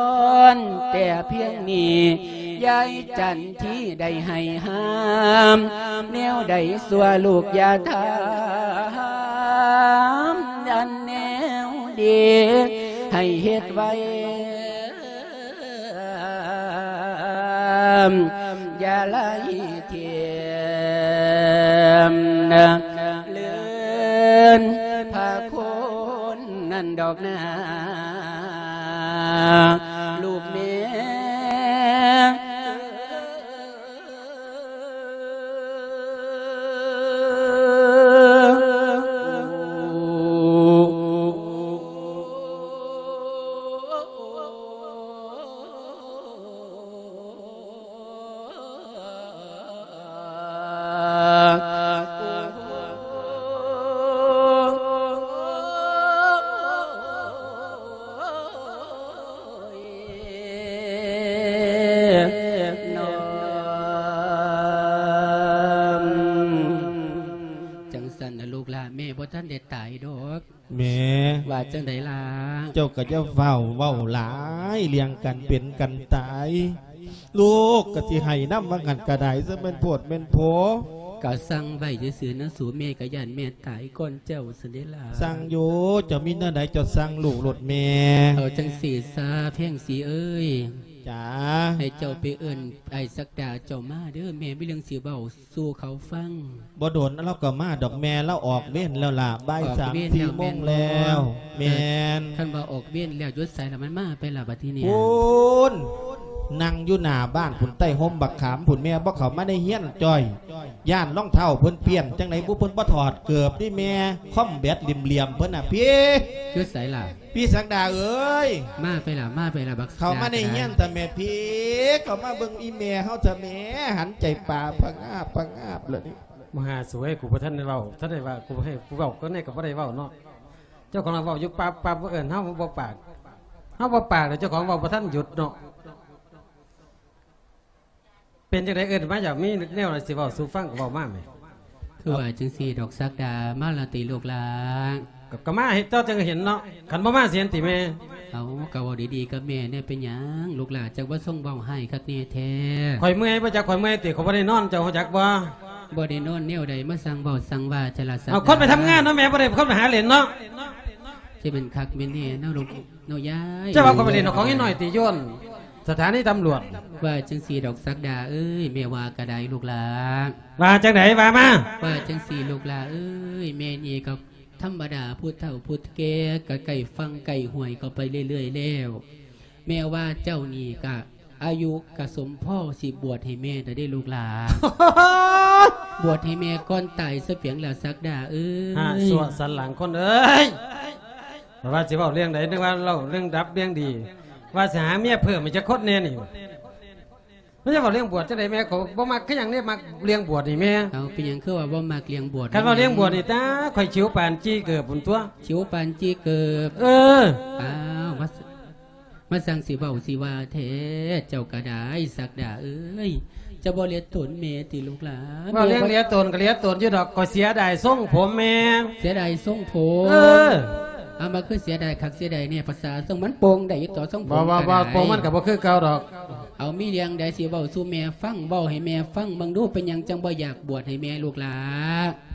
ນແຕ່ພຽງນີ້ ຍາຍຈັນທີໄດ້ໃຫ້ຫ້າມ ແນວໃດຊົ່ວລູກຢ່າຖາມ ອັນແນວດີໃຫ້ເຮັດໄວ ຢ່າໄລ່ຖິ້ມ ເລື່ອນພາຄົນນັ້ນດອກນາ ລູກແມ່. ຈັ່ງຊັ້ນນະລູກຫຼານ ແມ່ບໍ່ທັນໄດ້ຕາຍດອກ. ແມ່ ວ່າຈັ່ງໃດລະ? ເຈົ້າກໍຢ່າຟ້າວເວົ້າຫຼາຍເລື່ອງການເປັນການຕາຍ ລູກກໍຊິໄຫ້ນຳວ່າຫັ້ນກໍໄດ້ ຊະແມ່ນໂພດແມ່ນໂພ. ກໍສັ່ງໄວ້ຊື່ໆນະສູ ແມ່ກໍຢ້ານແມ່ຕາຍກ່ອນເຈົ້າຊັ້ນເດລະ. ສັ່ງຢູ່ ເຈົ້າມີແນວໃດເຈົ້າສັ່ງລູກໂລດແມ່. ເອົາຈັ່ງຊີ້ຊະ ແພງສີເອີຍ. ຈ້າ. ໃຫ້ເຈົ້າໄປເອີ້ນອ້າຍສັກດາເຈົ້າມາເດີ ແມ່ມີເລື່ອງຊິເວົ້າ ສູ່ເຂົາຟັງ. ບໍ່ດົນລາວກໍມາດອກແມ່ ລາວອອກເວນແລ້ວລະ ບ່າຍສາມສີ່ໂມງແລ້ວ. ແມ່ນ. ຄັນວ່າອອກເວນແລ້ວ ຢູ່ໃສລະ ມັນມາໄປລະບັດທີນີ້? ພຸ້ນ ນັ່ງຢູ່ໜ້າບ້ານພຸ້ນ ໃຕ້ຮົ່ມບັກຂາມພຸ້ນແມ່ ບໍ່ເຂົ້າມາໃນເຮືອນຈ້ອຍ ຢ້ານລອງເທົ້າເພິ່ນປ່ຽນ. ຈັ່ງໃດບຸ ເພິ່ນບໍ່ຖອດເກີບຕິແມ່ ຄອມແບັດຫຼ່ຽມໆເພິ່ນນະພີ້. ຢູ່ໃສລະ? ພີ່ສັກດາເອີຍ ມາໄປລະ ມາໄປລະ ບັກ ເຂົ້າມາໃນເຮືອນຕະແມ່ພີ້ ເຂົ້າມາເບິ່ງອີ່ແມ່ເຮົາຕະແມ່ ຫັນໃຈປາພະງາບພະງາບລະນີ້. ມະຫາສວຍ ກູບໍ່ທັນໄດ້ເວົ້າ ທັນໄດ້ວ່າ ກູໃຫ້ກູເວົ້າ ກໍແນ່ກໍບໍ່ໄດ້ເວົ້າເນາະ. ເຈົ້າຂອງລາວເວົ້າຢູ່ປັບໆ ບໍ່ເອີ້ນເຮົາບໍ່ປາກ ເຮົາບໍ່ປາກ ແລ້ວເຈົ້າຂອງເວົ້າບໍ່ທັນຢຸດເນາະ. ເປັນຈັ່ງໃດເອີ້ນມາ ຢາກມີແນວໃດຊິເວົ້າສູ່ຟັງກໍເວົ້າມາແໝ່. ຄືວ່າຈັ່ງຊີ້ດອກສັກດາ ມາລະຕິລູກຫຼານ? ກໍ ກໍມາເຮັດຕົວະ ຈັ່ງເຫັນເນາະ ຄັນບໍ່ມາຊິເຫັນຕິແມ່? ເອົາ ກໍເວົ້າດີໆກັບແມ່ແດ່ ເປັນຫຍັງລູກຫຼານ ຈັ່ງວ່າຊົງເວົ້າຮ້າຍຄັກແນ່ແທ້? ຂ້ອຍເມື່ອຍບໍ່ຈັກ ຂ້ອຍເມື່ອຍຕິ ຂ້ອຍບໍ່ໄດ້ນອນ ເຈົ້າຮູ້ຈັກບໍ່? ບໍ່ໄດ້ນອນແນວໃດ ມາສັ່ງເວົ້າສັ່ງວ່າແທ້ລະສັກດາ. ເອົາ ຄົນໄປທຳງານເນາະແມ່ ບໍ່ໄດ້ຄົນໄປຫາເຫຼັ້ນເນາະ. ຈະແມ່ນຄັກແມ່ນແນ່ເນາະລູກ ເນາະຍາຍ. ເຈົ້າວ່າຂ້ອຍບໍ່ໄດ້ນອກຂອງອີ່ນ້ອຍຕິໂຍນ? ສະຖານີຕຳຫຼວດ. ວ່າຈັ່ງຊີ້ດອກສັກດາເອີຍ ແມ່ວ່າກະໄດ້ລູກຫຼາ. ວ່າຈັ່ງໃດ ວ່າມາ. ວ່າຈັ່ງຊີ້ລູກຫຼາເອີຍ ແມ່ນີ້ກໍທຳມະດາ ຜູ້ເຖົ້າຜູ້ແກ່ກໍໃກ້ຝັ່ງໃກ້ຫ້ວຍເຂົ້າໄປເລື້ອຍໆແລ້ວ. ແມ່ວ່າເຈົ້ານີ້ກະອາຍຸກະສົມພໍຊິບວດໃຫ້ແມ່ແລ້ວເດ້ລູກຫຼາ. ບວດໃຫ້ແມ່ກ່ອນຕາຍຊະເປນຫຍັງລະສັກດາເອີຍ. ຫາຊົ່ວສັນຫຼັງຄົນເອີຍ. ວ່າຊິເວົ້າເລື່ອງໃດ ນຶກວ່າເລົ່າເລື່ອງດັບເລື່ອງດີ ວ່າຊິຫາເມຍເພີ່ມໃຫ້ຈັກຄົນແດ່ນີ້. ມັນຈະເວົ້າເລື່ອງບວດຈັ່ງໃດແມ່ ຂ້ອຍບໍ່ມັກຄືຫຍັງເດ້ ມັກເລື່ອງບວດນີ້ແມ່. ເອົາ ເປັນຫຍັງຄືວ່າບໍ່ມັກເລື່ອງບວດ? ຄັນເວົ້າເລື່ອງບວດນີ້ ຕາ ຂ້ອຍຂິວປານຈີ່ເກີບພຸ້ນຕົວະ. ຂິວປານຈີ່ເກີບ. ເອີ. ອ້າວ ມາ ມາຊ່າງຊິເວົ້າຊິວ່າແທ້ ເຈົ້າກະໄດ້ສັກດາເອີຍ. ເຈົ້າບໍ່ເລັດຕົນແມ່ຕິລູກຫຼາ? ເວົ້າເລື່ອງເລັດຕົນກະເລັດຕົນຢູ່ດອກ ຂ້ອຍເສຍດາຍຊົງຜົມແມ່. ເສຍດາຍຊົງຜົມ? ເອີ. ເອົາ ມາຄືເສຍດາຍຄັກເສຍດາຍແນ່ ພາສາຊົງມັນໂປ່ງໄດ້ຢູ່ຕົວະ ຊົງຜົມ. ບໍ່ ບໍ່ ບໍ່ ໂປ່ງມັນກະບໍ່ຄືເກົ່າດອກ. ເອົາ ມີເລື່ອງໃດຊິເວົ້າສູ່ແມ່ຟັງ ເວົ້າໃຫ້ແມ່ຟັງເບິ່ງດູ ເປັນຫຍັງຈັ່ງບໍ່ຢາກບວດໃຫ້ແມ່ລູກຫຼາ?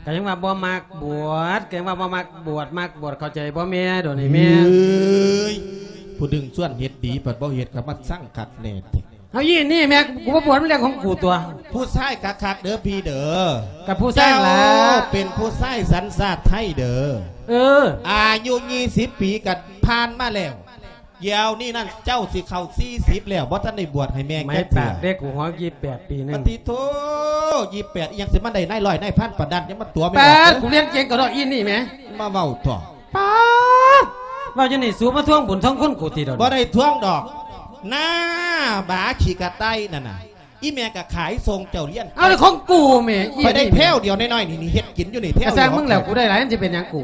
ກະຍັງວ່າບໍ່ມັກບວດ ກະຍັງວ່າບໍ່ມັກບວດ ມັກບວດ ເຂົ້າໃຈບໍ່ແມ່ ດຽວນີ້ແມ່. ເອີຍ ຜູ້ດຶງຊວນເຮັດດີ ບັດບໍ່ເຮັດກໍມາຊັງຄັກແນ່. ເອົາ ອີ່ນີ້ແມ່ ກູບໍ່ບວດ ມັນເລື່ອງຂອງກູຕົວະ. ຜູ້ຊາຍຄັກໆເດີພີ່ເດີ. ກັບຜູ້ຊາຍລະ ເຈົ້າເປັນຜູ້ຊາຍສັນຊາດໄທເດີ. ເອີ. ອາຍຸຊາວປີກໍຜ່ານມາແລ້ວ ດຽວນີ້ນັ້ນເຈົ້າຊິເຂົ້າສີ່ສິບແລ້ວ ບໍ່ທັນໄດ້ບວດໃຫ້ແມ່ຈັກເທື່ອ. ເດັກກູຮອດຊາວແປດປີໜຶ່ງ. ປະຕິໂທ ຊາວແປດ ອີ່ຫຍັງຊິມາໄດ້ນາຍຮ້ອຍນາຍພັນປານນັ້ນ ຢ່າມາຕົວະແມ່. ປາດ ກູລຽນເກັ່ງກະດອກອີ່ນີ້ແມ່. ມາເວົ້າຕົວະ. ປາດ ເວົ້າຈັ່ງນີ້ ສູມາທວງບຸນທວງຄຸນກູຕິດອກ. ບໍ່ໄດ້ທວງດອກ ໜ້າບາຂີ້ກະຕ່າຍນັ້ນນະ. ອີ່ແມ່ກະຂາຍສົ່ງເຈົ້າຮຽນ. ເອົາ ແລ້ວຂອງກູແມ່ ຂ້ອຍໄດ້ແຖວດຽວນ້ອຍໆນີ້ ນີ້ເຮັດກິນຢູ່ນີ້ແຖວດຽວ. ກະຊ່າງມຶງແລ້ວ ກູໄດ້ຫຼາຍ ມັນຊິເປັນຫຍັງກູ?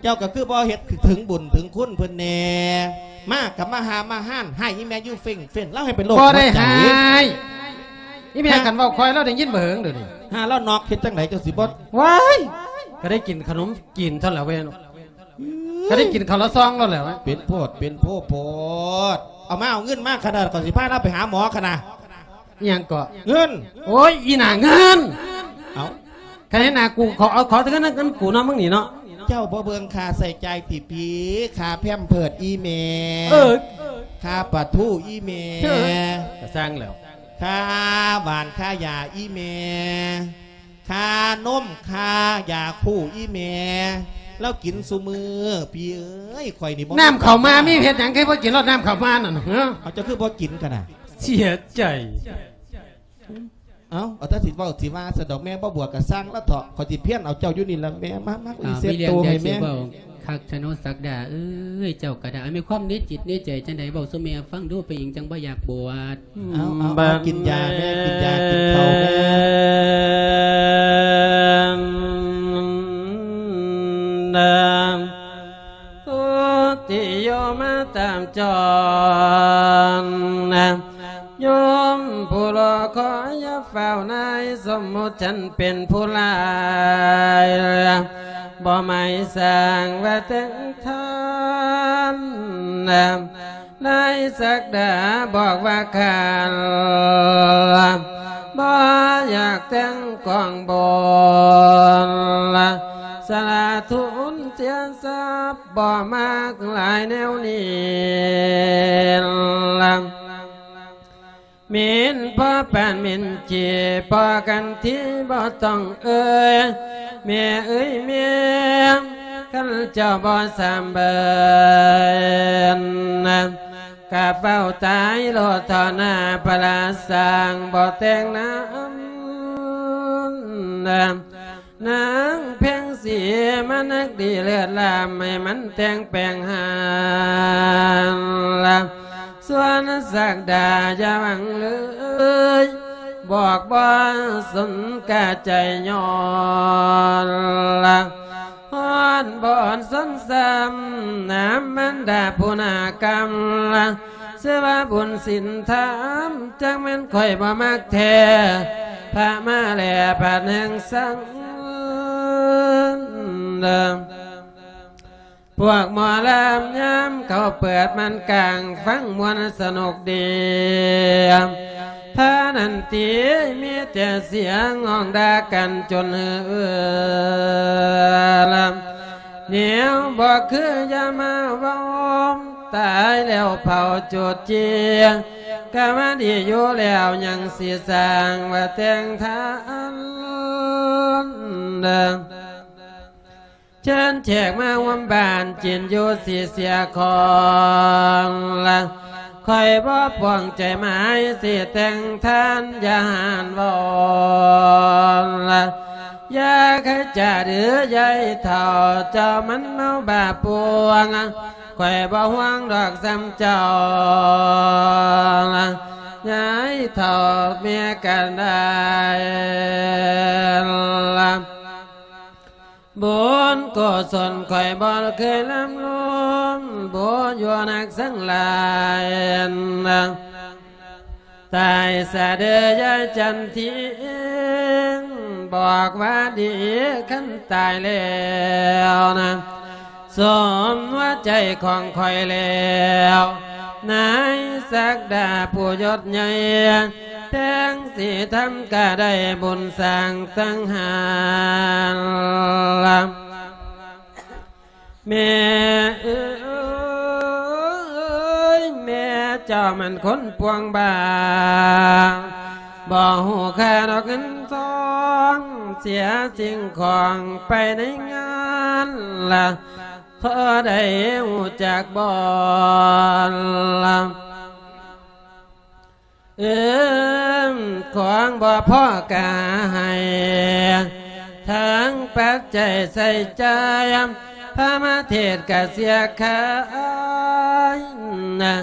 ເຈົ້າກໍຄືບໍ່ເຮັດເຖິງບຸນເຖິງຄຸນເພິ່ນແດ່. ມາກໍມາຫາມາຮ້ານ ໃຫ້ອີ່ແມ່ຢູ່ເຟັ່ງໆ ລາວໃຫ້ເປັນໂລກຫົວໃຈ. ບໍ່ໄດ້ໃຫ້ ອີ່ແມ່ ຮະ? ຄັນເວົ້າຄ່ອຍລາວໄດ້ຍິນບໍ່ເຫິງດຽວນີ້. ຫາລາວນອກເຮັດຈັ່ງໃດ ເຈົ້າຊິບໍ່. ວ້າຍ ກໍໄດ້ກິນຂະໜົມຈີນເທົ່ານັ້ນລະເວີຍ. ກໍໄດ້ກິນເຂົ້າລະຊອງແລ້ວແຫຼະ. ເປັນໂພດເປັນໂພໂພດ. ເອົາມາ ເອົາເງິນມາຂະໜາດ ຂ້ອຍຊິພາລາວໄປຫາໝໍຂະໜາດ. ອີ່ຫຍັງເກາະ? ເງິນ. ໂອ້ຍ ອີ່ໜ້າເງິນ. ເອົ້າ ຄັນເຫັນໜ້າກູ ຂໍ ເອົາ ຂໍແຕ່ເງິນ ເງິນກູເນາະ ມຶງນີ້ເນາະ. ເຈົ້າບໍ່ເບິ່ງຄ່າໃຊ້ຈ່າຍຕິປີ ຄ່າແພມເພີດອີ່ແມ່. ເອີ. ຄ່າປາທູອີ່ແມ່. ເອີ. ກະຊ່າງແລ້ວ. ຄ່າຫວ່ານຄ່າຢາອີ່ແມ່. ຄ່ານົມຄ່າຢາຄູ່ອີ່ແມ່ ລາວກິນຊຸມື້ ພີ່ເອີຍ. ຂ້ອຍນີ້ບໍ່ ນ້ຳເຂົ້າໝາມີເຮັດຫຍັງຄືບໍ່ກິນໂລດ ນ້ຳເຂົ້າໝານັ້ນ. ເອົ້າ ເຈົ້າຄືບໍ່ກິນກະນະ? ເສຍໃຈ. ເອົ້າ ເອົາແຕ່ຊິເວົ້າຊິວ່າຊັ້ນດອກ ແມ່ບໍ່ບວດກະຊ່າງລະເຖາະ ຂ້ອຍຊິພຽນເອົາເຈົ້າຢູ່ນີ້ລະແມ່. ມາ ມາ ອີ່ເຊັດໂຕໃຫ້ແມ່. ຄັກຊະເນາະສັກດາເອີຍ ເຈົ້າກະດາຍ ມີຄວາມໃນຈິດໃນໃຈຈັ່ງໃດ ເວົ້າສູ່ແມ່ຟັງດູ ເປັນຫຍັງຈັ່ງບໍ່ຢາກບວດ? ເອົາ ເອົາ ເອົາ ກິນຢາແມ່ ກິນຢາ ກິນເຂົ້າແມ່. ໂຍມຜູ້ລໍຄອຍ ຢ່າຟ້າວນາຍ ສົມມຸດສັນເປັນຜູ້ຮ້າຍ ບໍ່ໝາຍສ້າງວ່າແຕ່ງທ່ານ ນາຍສັກດາບອກວ່າຂ້າ ບໍ່ຢາກແຕ່ງກອງບຸນ ສະຫຼະທຸນເສຍຊັບ ບໍ່ມັກຫຼາຍແນວນີ້. ມິນພໍປານມິນຈີ່ ພໍກັນທີບໍ່ຕ້ອງເອີຍ ແມ່ເອີຍແມ່ ຄັນເຈົ້າບໍ່ສຳເບີນ ກະເຝົ້າຕາຍໂລດເຖາະນາ ພະລາຊ່າງບໍ່ແຕ່ງນຳ ນາງເພັງສີມານັກດີເລີດລ້ຳ ໃຫ້ມັນແຕ່ງແປງຫານລະ ສ່ວນສັກດາຢ່າຫວັງເລີຍ ບອກບໍ່ສົນກະໃຈຍ້ອນລະ ຮ້ອນບໍ່ສົນຊ້ຳ ນາມມັນດາຜູ້ໜ້າກຳລະ ຊື່ວ່າບຸນສິນທຳ ຈັກແມ່ນຂ້ອຍບໍ່ມັກແທ້ ພະມາແລະບາດແຫ່ງສັງ ພວກໝໍລຳຍາມເຂົາເປີດມ່ານກາງ ຟັງມ່ວນສະໜຸກດີ ພານັ້ນຕິມີແຕ່ສຽງຮ້ອງດ່າກັນຈົນເຮືອລຳ ແນວບໍ່ຄືຢ່າມາເວົ້າ ຕາຍແລ້ວເຜົາຈູດຈີ່ ກະວ່າດີຢູ່ແລ້ວ ຍັງຊິສ້າງວ່າແຕ່ງທານ ເຊີນແຂກມາຮ່ວມບ້ານ ກິນຢູ່ຊິເສຍຂອງລະ ຂ້ອຍບໍ່ປວງໃຈໝາຍ ຊິແຕ່ງທານຢ່າຫານເວົ້າລະ ຢ່າຂະຈາດເອີຍາຍເຖົ້າ ເຈົ້າມັນເມົາບ້າປວງ ຂ້ອຍບໍ່ຫ່ວງດອກສ່ຳເຈົ້າ ຍາຍເຖົ້າແມ່ກະໄດ້ລະ ບຸນກຸສົນຂ້ອຍບໍ່ເຄີຍລຳລຸມ ບໍ່ຢູ່ນັກສັງຫຼາຍນະ ຕາຍສາເດີຍາຍຈັນທີ ບອກວ່າດີຄັນຕາຍແລ້ວນະ ສົມຫົວໃຈຂອງຂ້ອຍແລ້ວ ນາຍສັກດາຜູ້ຍົດໃຫຍ່ ແພງສີທຳກະໄດ້ບຸນສ້າງຕັ້ງຫານລະ ແມ່ເອີຍ ແມ່ເຈົ້າມັນຄົນປວງບ້າ ບໍ່ຮູ້ຄ່າດອກເງິນທອງ ເສຍສິ່ງຂອງໄປໃນງານລະ ພໍໄດ້ຮູ້ຈັກບໍ່ລະ? ເອີ ຂອງບໍ່ພໍກະໃຫ້ ທັງປັດໄຈໃຊ້ຈ່າຍ ພະມະເທດກະເສຍຂາຍນະ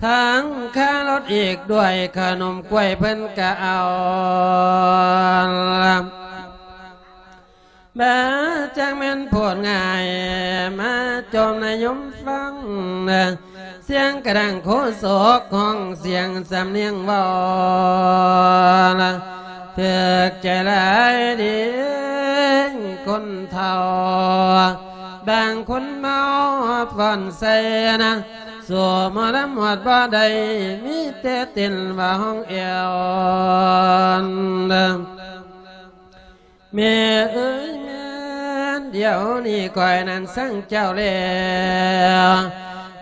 ທັງຄ່າລົດອີກດ້ວຍ ຂະໜົມກ້ວຍເພິ່ນກະເອົາ ບາຈັກແມ່ນໂພດງ່າຍ ມາຈົ່ມນາຍົມຟັງ ສຽງກະດັງໂຄສົກ ຮ້ອງສຽງສຳນຽງເວົ້າ ຖືກໃຈຫຼາຍເດ ຄົນເຖົ້າ ບາງຄົນເມົາຟ້ອນໃສ່ນະ ສູ້ໝໍລຳຮອດບໍ່ໄດ້ ມີແຕ່ເຕັ້ນວ່າຮ້ອງແອວ ແມ່ເອີຍແມ່ນ ດຽວນີ້ຂ້ອຍນັ້ນສັງເຈົ້າແລ້ວ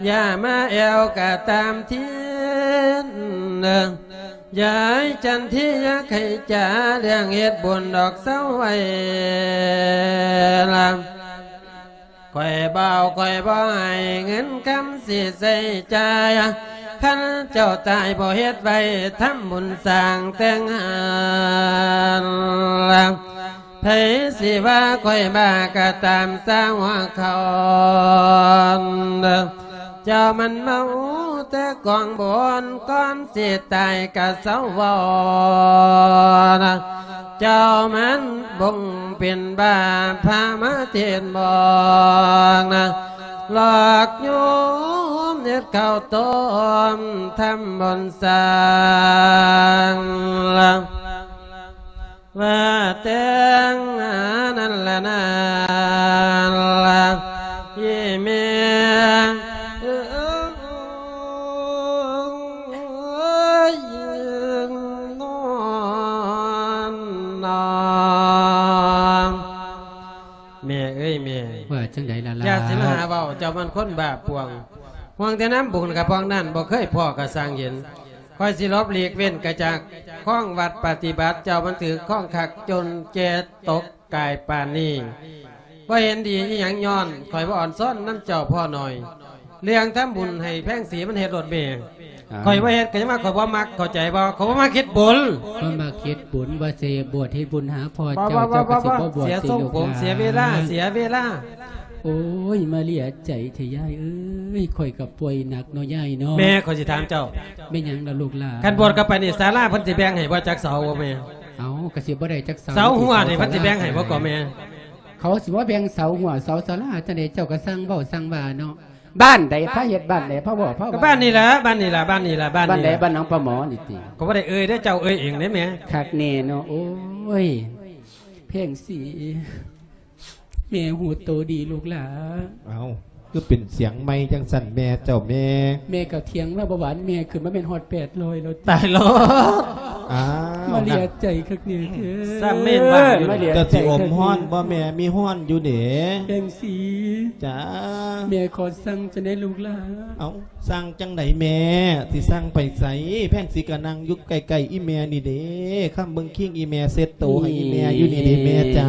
ຢ່າມາແອວກະຕາມທີນ ຍາຍຈັນທີຢ່າໄຂຈາ ເລື່ອງເຮັດບຸນດອກເຊົາໄວ້ລະ ຂ້ອຍເບົາ ຂ້ອຍບໍ່ໃຫ້ເງິນຄຳຊິໃຊ້ຈ່າຍ ຄັນເຈົ້າຕາຍບໍ່ເຮັດໄວ້ ທຳບຸນສ້າງແຕ່ງຫານລະ ໃຜຊິວ່າຂ້ອຍບ້າກະຕາມສາຫົວເຂົາ ເຈົ້າມັນເມົາແຕ່ກອງບຸນ ກ່ອນຊິຕາຍກະເຊົາເວົ້ານະ ເຈົ້າມັນບົງເປັນບ້າ ພະມາເທດບອກນະ ຫຼອກໂຍມເຮັດເຂົ້າຕົ້ມ ທຳບຸນສ້າງລະ ວ່າແຕ່ງອັນນັ້ນລະນານລະ ອີ່ແມ່ເອີຍ ນອນນອນ ແມ່ເອີຍແມ່ ວ່າຈັ່ງໃດລະຫຼານ? ຢ່າຊິມາຫາເວົ້າ ເຈົ້າມັນຄົນບ້າປ່ວງ ຫ່ວງແຕ່ນຳບຸນກະພອງນັ້ນ ບໍ່ເຄີຍພໍ້ກະຊ່າງເຫັນ ຂ້ອຍຊິຫຼົບຫຼີກເວັ້ນກະຈາກຄອງວັດປະຕິບັດ ເຈົ້າມັນຖືກຄອງຄັກຈົນແກ່ຕົກກາຍປານນີ້ ບໍ່ເຫັນດີອີ່ຫຍັງຍ້ອນ ຂ້ອຍບໍ່ອອນຊ້ອນນຳເຈົ້າພໍໜ້ອຍ ເລື່ອງທຳບຸນໃຫ້ແພງສີມັນເຮັດໂລດແມ່ ອ່າ ຂ້ອຍບໍ່ເຮັດກະຍັງວ່າຂ້ອຍບໍ່ມັກ ເຂົ້າໃຈບໍ່? ຂ້ອຍບໍ່ມັກເຮັດບຸນ ບໍ່ມັກເຮັດບຸນ ວ່າຊິບວດເຮັດບຸນຫາພໍ່ເຈົ້າ ເຈົ້າກະຊິບໍ່ບວດ ເສຍຊົງຜົມ ເສຍເວລາ ເສຍເວລາ. ໂອ້ຍ ມາເລຍໃຈແທ້ຍາຍເອີຍ ຂ້ອຍກະປ່ວຍໜັກເນາະຍາຍເນາະ. ແມ່ ຂ້ອຍຊິຖາມເຈົ້າ ແມ່ນຫຍັງລະລູກຫຼານ? ຄັນບວດເຂົ້າໄປນີ້ ສາລາເພິ່ນຊິແບ່ງໃຫ້ບໍ່ຈັກເສົາບໍ່ແມ່? ເອົ້າ ກະຊິບໍ່ໄດ້ຈັກເສົາ ເສົາຫົວນີ້ເພິ່ນຊິແບ່ງໃຫ້ບໍ່ກໍແມ່? ເຂົາຊິມາແບ່ງເສົາຫົວເສົາສາລາຈັ່ງໃດ ເຈົ້າກະຊ່າງເວົ້າຊ່າງວ່າເນາະ. ບ້ານໃດພາເຮັດ ບ້ານໃດພາເວົ້າພາວ່າ? ກະບ້ານນີ້ລະ ບ້ານນີ້ລະ ບ້ານນີ້ລະ ບ້ານນີ້ລະ. ບ້ານໃດ? ບ້ານໜອງປາໝໍນີ້ຕິ? ກະບໍ່ໄດ້ເອີ່ຍເດ້ ເຈົ້າເອີ່ຍເອງເດ້ແມ່. ຄັກແນ່ເນາະ ໂອ້ຍ ແພງສີ ແມ່ຮູ້ໂຕດີລູກຫຼານ. ເອົ້າ ຄືເປັນສຽງໃໝ່ຈັ່ງຊັ້ນແມ່ເຈົ້າແມ່? ແມ່ກະຖຽງລາວບໍ່ຫວານ ແມ່ຂຶ້ນມາແມ່ນຮອດແປດຮ້ອຍແລ້ວຕິ. ຕາຍແລ້ວ ອ້າວ ມາເລຍໃຈຄັກແນ່ແທ້ ຊ້ຳແມ່ນວ່າຢູ່. ເຈົ້າຊິອົມຮ້ອນບໍ່ແມ່? ມີຮ້ອນຢູ່ເດ້ ແພງສີ. ຈ້າ ແມ່ຂໍສັ່ງຈັ່ງໃດລູກຫຼ້າ? ເອົ້າ ສັ່ງຈັ່ງໃດແມ່ ຊິສັ່ງໄປໃສ? ແພງສີກະນັ່ງຢູ່ໃກ້ໆອີ່ແມ່ນີ້ເດ້ ຄຳເບິ່ງຄີງອີ່ແມ່ເຊັດໂຕໃຫ້ອີ່ແມ່ຢູ່ນີ້ເດ້ແມ່ຈ້າ.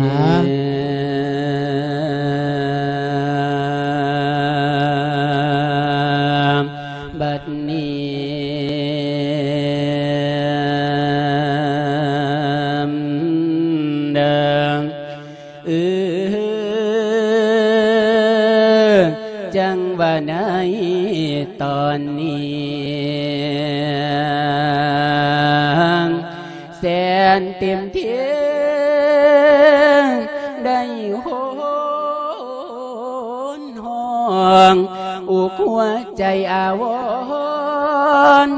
ບັດນີ້ເດີ ເອີ ຈັ່ງວ່າໃນຕອນນີ້ ແສນເຕັມເທງ ໄດ້ໂຫນຮ້ອງ ອຸກຫົວໃຈອາວອນ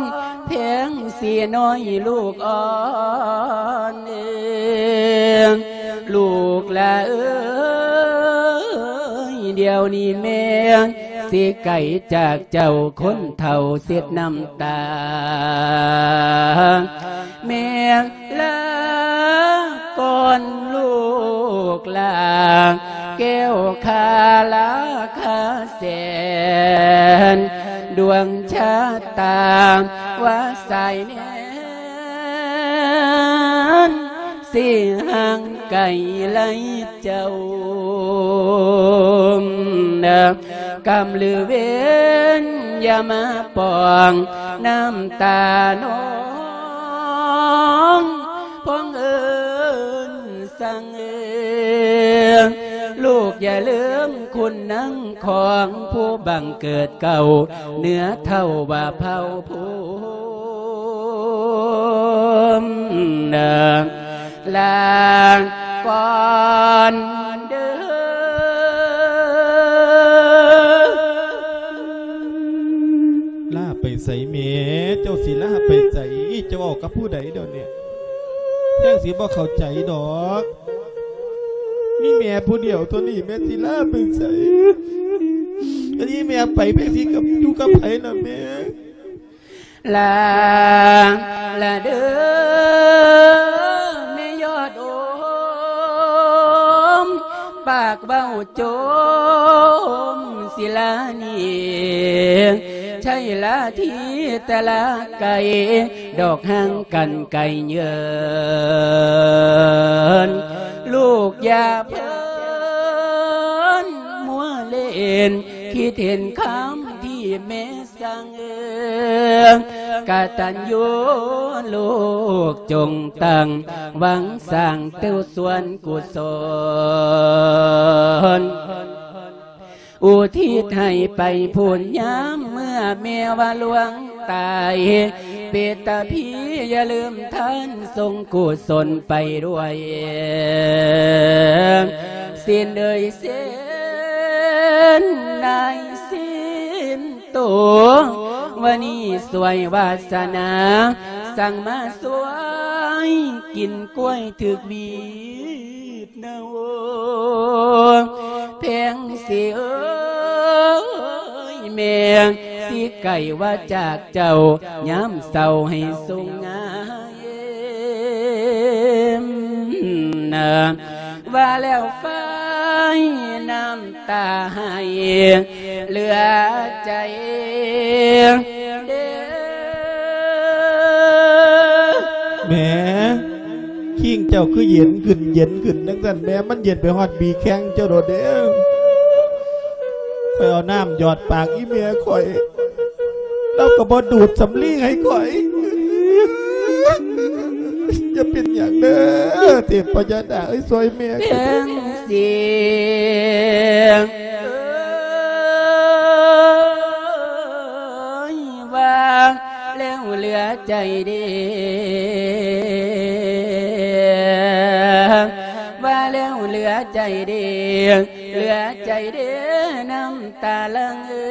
ແພງສີນ້ອຍລູກອ່ອນເອີຍ ລູກຫຼ້າເອີຍ ດຽວນີ້ແມ່ຊິໄກຈາກເຈົ້າ ຄົນເຖົ້າເຊັດນ້ຳຕາ ແມ່ລາກ່ອນລູກຫຼ້າ ແກ້ວຄາລາຄາແສນ ດວງຊະຕາວ່າສາຍແນນ ຊິຫ່າງໄກໄລເຈົ້າ ກຳລືເວນຢ່າມາປອງນ້ຳຕານ້ອງ ພອງເອີນສັງເອີ ລູກຢ່າລືມຄຸນນາງຂອງ ຜູ້ບັງເກີດເກົ່າ ເໜືອເຖົ້າວ່າເຜົ່າພູມ ລາກ່ອນເດີ. ລາໄປໃສແມ່? ເຈົ້າຊິລາໄປໃສ? ເຈົ້າເວົ້າກັບຜູ້ໃດດຽວນີ້? ແພງສີບໍ່ເຂົ້າໃຈດອກ. ມີແມ່ຜູ້ດຽວເທົ່ານີ້ ແມ່ຊິລາໄປໃສ? ອັນນີ້ແມ່ໄປ ແພງສີກັບ ຢູ່ກັບໃຜລະແມ່? ລາລະເດີ ແມ່ຍອດໂອມ ປາກເວົ້າຈົ່ມຊິລາໜີ ໃຊ່ລາທີ່ແຕ່ລາໄກ ດອກຫ່າງກັນໄກເຍີນ ລູກຢ່າເພີນມົວເລ່ນ ຄິດເຫັນຄຳທີ່ແມ່ ສັງເອີ ກະຕັນຍູລູກຈົ່ງຕັ້ງ ຫວັງສ້າງແຕ່ສ່ວນກຸສົນ ອຸທິດໃຫ້ໄປພຸ້ນ ຍາມເມື່ອແມ່ວ່າລ່ວງຕາຍ ເປດຕາຜີຢ່າລືມທ່ານ ສົ່ງກຸສົນໄປດ້ວຍ ສິນເອີຍ ສິນນາຍສິນ ໂຕ ວານີຊ່ວຍວາສະໜາ ສັ່ງມາຊ່ວຍກິນກ້ວຍຖືກຫວີດນະໂອ ແພງສີເອີຍ ແມ່ຊິໄກວ່າຈາກເຈົ້າ ຍາມເຊົ້າໃຫ້ສຸງງາມ ວ່າແລ້ວໄຟນ້ຳຕາໄຫ້ເຫຼືອໃຈເດ້ ແມ່ ຄີງເຈົ້າຄືເຢັນຂຶ້ນ ເຢັນຂຶ້ນຈັ່ງຊັ້ນແມ່ ມັນເຢັນໄປຮອດບີແຂ້ງເຈົ້າໂດດເດ້. ຂ້ອຍເອົານ້ຳຢອດປາກອີ່ແມ່ຂ້ອຍ ລາວກໍບໍ່ດູດສຳລີໃຫ້ຂ້ອຍ. ຢ່າເປັນຫຍັງເດີ ເທບພະຍານາກເອີຍ ຊ່ວຍແມ່ ແພງສີເອີຍ ວ່າແລ້ວເຫຼືອໃຈເດ້ ວ່າແລ້ວເຫຼືອໃຈເດ້ ເຫຼືອໃຈເດ້ ນ້ຳຕາຫຼັ່ງເອີ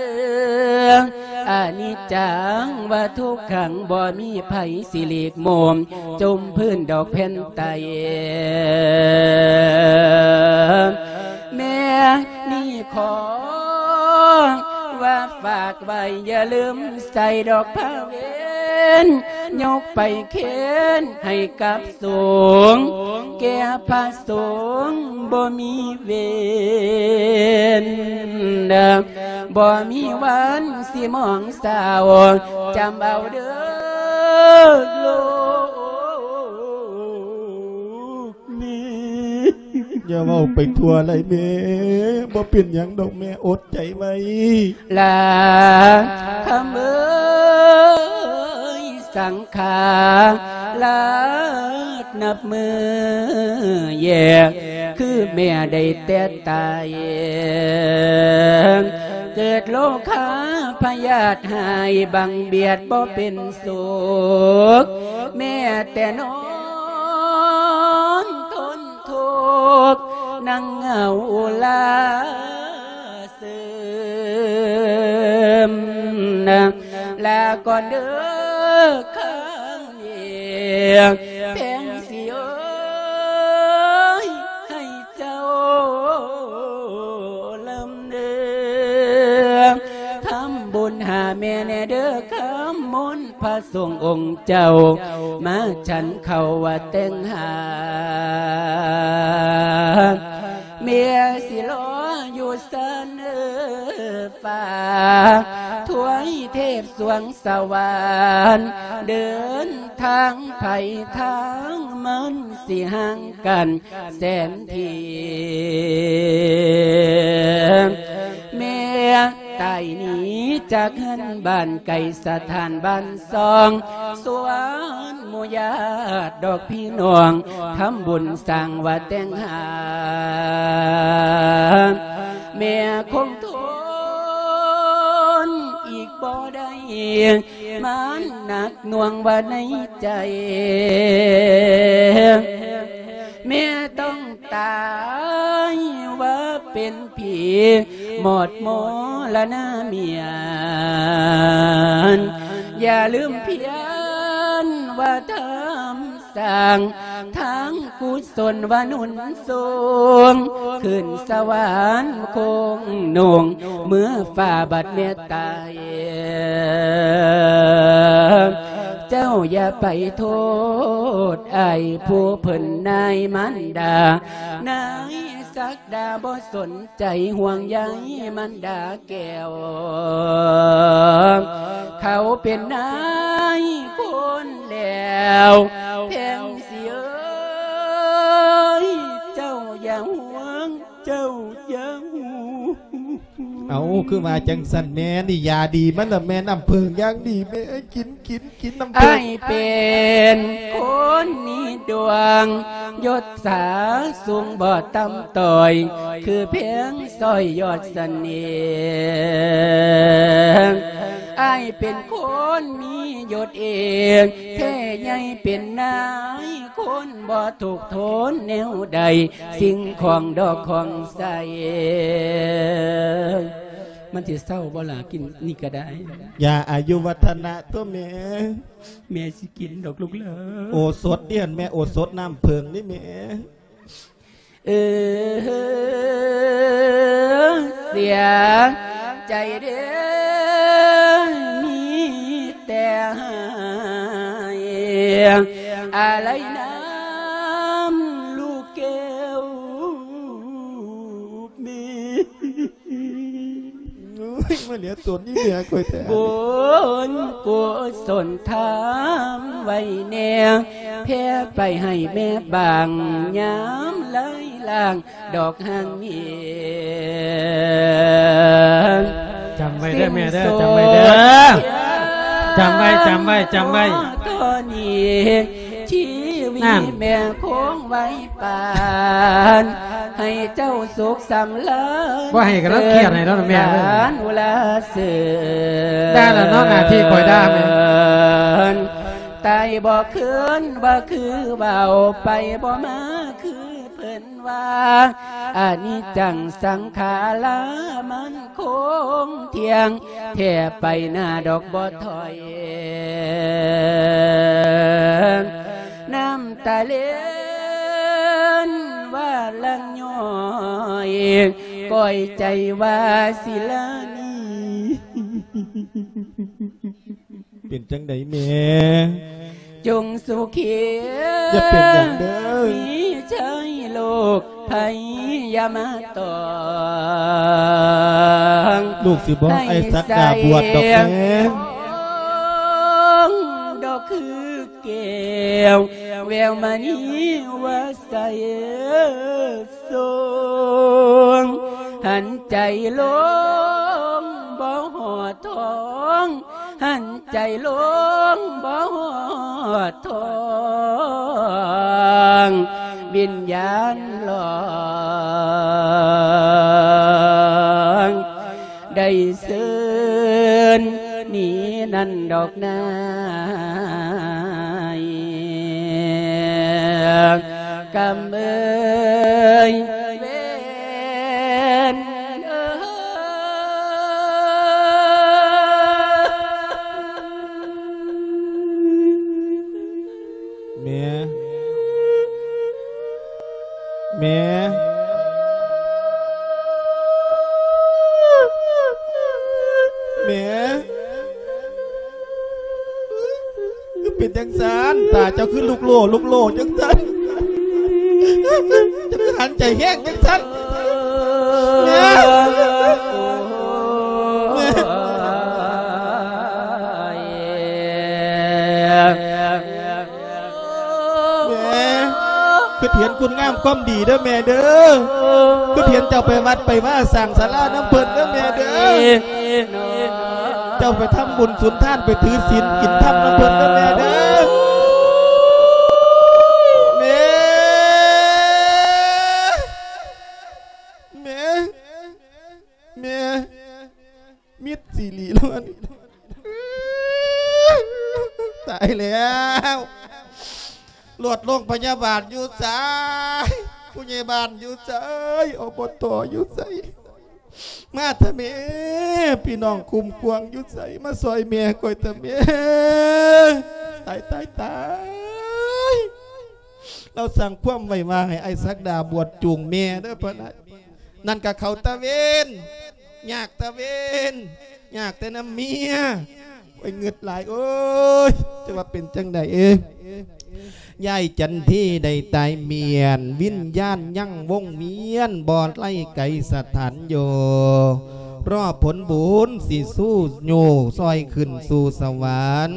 ອະນິດຈັງ ວ່າທຸກຂັງ ບໍ່ມີໃຜຊິຫຼີກໂມມ ຈົ່ມພື້ນດອກແຜ່ນໃຕ້ ແມ່ນີ້ຂໍວ່າຝາກໄວ້ ຢ່າລືມໃສ່ດອກພາເວ ນ ຍົກໄປເຄນໃຫ້ກັບສົງ ແກ່ພະສົງບໍ່ມີເວນ ບໍ່ມີວັນຊິມອງເສົ້າ ຈຳເອົາເດີລູກແມ່. ຢ່າເວົ້າໄປທົ່ວໄຫຼແມ່ ບໍ່ເປັນຫຍັງດອກແມ່ ອົດໃຈໄວ້ ຫຼານຄຳເອີຍ ສັງຂາລາດນັບມື້ແຍກ ຄືແມ່ໄດ້ແຕ່ຕາຍ ເກີດໂລຄາພະຍາດຮ້າຍ ບັງບຽດບໍ່ເປັນສຸກ ແມ່ແຕ່ນອນທົນທຸກ ນັ່ງເຫງົາລາເສີມ ລາກ່ອນເດີຄຳເອງ ແພງສີເອີຍ ໃຫ້ເຈົ້າລຳເດີ ທຳບຸນຫາແມ່ແດ່ເດີ ຄຳມົນ ພະສົງອົງເຈົ້າ ມາສັນເຂົ້າວ່າແຕ່ງຫາ ແມ່ຊິລໍຢູ່ຊັ້ນຟ້າ ທວາຍເທບສວງສະຫວານ ເດີນທາງໃຜທາງມັນ ຊິຫ່າງກັນແສນທີ່ ແມ່ ຕາຍໜີຈາກເຮືອນບ້ານ ໄກສະຖານບ້ານຊ່ອງ ຊວນໝູ່ຍາດດອກພີ່ນ້ອງ ທຳບຸນສ້າງວ່າແຕ່ງຫາ ແມ່ຄົງທົນອີກບໍ່ໄດ້ ມັນໜັກໜ່ວງວ່າໃນໃຈ ແມ່ຕ້ອງຕາຍວ່າເປັນ ຜີໝົດມໍລະນະມຽນ ຢ່າລືມພຽນວ່າທຳສ້າງ ທາງກຸສົນວ່າໜູນສູງ ຂຶ້ນສະຫວັນຄົງໜຸ່ງ ເມື່ອຟ້າບັດແມ່ຕາຍ ເຈົ້າຢ່າໄປໂທດອ້າຍຜູ້ເພິ່ນນາຍມານດາ ນາຍສັກດາບໍ່ສົນ ໃຈຫ່ວງໃຍມັນດາແກ້ວ ເຂົາເປັນນາຍຄົນແລ້ວ ແພງສີເອີຍ ເຈົ້າຢ່າຫ່ວງ ເຈົ້າຢ່າຫ່ວງ. ເອົ້າ ຄືວ່າຈັ່ງຊັ້ນແມ່ ນີ້ຢາດີມັນລະແມ່ ນ້ຳເຜິ້ງຢ່າງດີແມ່ ກິນ ກິນ ກິນນ້ຳເຜິ້ງ. ອ້າຍເປັນຄົນມີດວງ ຍົດສາສູງບໍ່ຕ່ຳຕ້ອຍ ຄືແພງສ້ອຍຍອດສະເໜ່ຫ ອ້າຍເປັນຄົນມີຍົດເອງ ແທ້ໃຫຍ່ເປັນນາຍຄົນ ບໍ່ທຸກທົນແນວໃດ ສິ່ງຂອງດອກຂອງໃສ ມັນຊິເຊົາບໍ່ລະ ກິນນີ້ກະໄດ້ ຢາອາຍຸວັດທະນະຕົວະແມ່. ແມ່ຊິກິນດອກລູກເອີຍ ໂອສົດເດຫັ້ນແມ່ ໂອສົດນ້ຳເຜິ້ງນີ້ແມ່. ເອີ ເສຍໃຈເດີ ມີແຕ່ຫາຍ ອາໄລນ້ຳລູກແກ້ວແມ່. ໂອ້ຍ ມາເຫຼືອຕົນນີ້ເຫຼືອຂ້ອຍແທ້ ບຸນກຸສົນທຳໄວ້ແດ່ ແຜ່ໄປໃຫ້ແມ່ບາງ ຍາມໄຫຼລ້າງດອກຫາງເຫງ ຈຳໄວ້ເດີແມ່ເດີ ຈຳໄວ້ເດີ ຈຳໄວ້ ຈຳໄວ້ ຈຳໄວ້ ເທົ່ານີ້ ຊີວິດ ນັ້ນ ແມ່ຄົງໄວປານ ໃຫ້ເຈົ້າສຸກສຳລານ ບໍ່ໃຫ້ກະລາວຄຽດໃຫ້ເນາະແມ່ເອີຍ ດານອຸລາເສີນ ດ່າລະເນາະ ໜ້າທີ່ຂ້ອຍດ່າແມ່ ຕາຍບໍ່ຄືນ ບໍ່ຄືເວົ້າ ໄປບໍ່ມາຄືເພິ່ນວ່າ ອະນິດຈັງສັງຂາລາ ມັນຄົງທ່ຽງ ແທ້ໄປໜ້າດອກບໍ່ຖອຍ ນ້ຳຕາເລັນວ່າຫຼັ່ງຍ້ອຍ ກ້ອຍໃຈວ່າຊິລາໜີ ເປັນຈັ່ງໃດແມ່? ຈົ່ງສຸຂີ ຢ່າເປັນຫຍັງເດີ້ ມີໄຊໂລກໄພຢ່າມາຕ້ອງ ລູກຊິບໍ່ໃຫ້ອ້າຍສັກດາບວດດອກແມ່ ດອກຄືແກ້ວ ແວວມະນີວ່າໃສ ສອງ ຫັນໃຈລົງບໍ່ຮອດທ້ອງ ຫັນໃຈລົງບໍ່ຮອດທ້ອງ ວິນຍານຫຼອງ ໄດ້ເຊີນໜີນັ້ນດອກນາຍ ກຳເອີຍເວນເອີຍ ແມ່ ແມ່ ແມ່ ຄືເປັນຈັ່ງຊັ້ນ? ຕາເຈົ້າຄືລຸກໂຫຼລຸກໂຫຼຈັ່ງຊັ້ນ? ເຈົ້າຄືຫັນໃຈແຮງຈັ່ງຊັ້ນ? ແມ່ ແມ່ ແມ່ ຄິດເຫັນຄຸນງາມຄວາມດີເດີແມ່ເດີ ຄິດເຫັນເຈົ້າໄປວັດໄປວາ ສ້າງສາລານຳເພິ່ນເດີແມ່ເດີ ເຈົ້າໄປທຳບຸນສຸນທານ ໄປຖືສິນກິນທຳນຳເພິ່ນເດີແມ່ເດີ ແມ່ ແມ່ ແມ່ ມິດຊີຣີລາວ ຕາຍແລ້ວ ລົດໂຮງພະຍາບານຢູ່ໃສ? ຜູ້ໃຫຍ່ບ້ານຢູ່ໃສ? ອບຕ ຢູ່ໃສ? ມາເຖາະແມ່ ພີ່ນ້ອງຄຸ້ມຄວາງຢູ່ໃສ? ມາຊ່ອຍແມ່ຂ້ອຍເຖາະແມ່ ຕາຍ ຕາຍ ຕາຍ ລາວສັ່ງຄວາມໄວ້ວ່າໃຫ້ອ້າຍສັກດາບວດຈູງແມ່ເດີ ພະນະ. ນັ້ນກະເຂົາຕາເວນ ຍາກຕາເວນ ຍາກແຕ່ນຳເມຍ ໂອ້ຍ ງຶດຫຼາຍ ໂອ້ຍ ຈະວ່າເປັນຈັ່ງໃດເອີຍ? ຍາຍຈັນທີໄດ້ຕາຍມ້ຽນ ວິນຍານຍັງວົງວຽນ ບໍ່ໄດ້ໄກສະຖານຢູ່ ລໍຜົນບຸນຊິຊູໂຍຊ່ອຍຂຶ້ນສູ່ສະຫວັນ.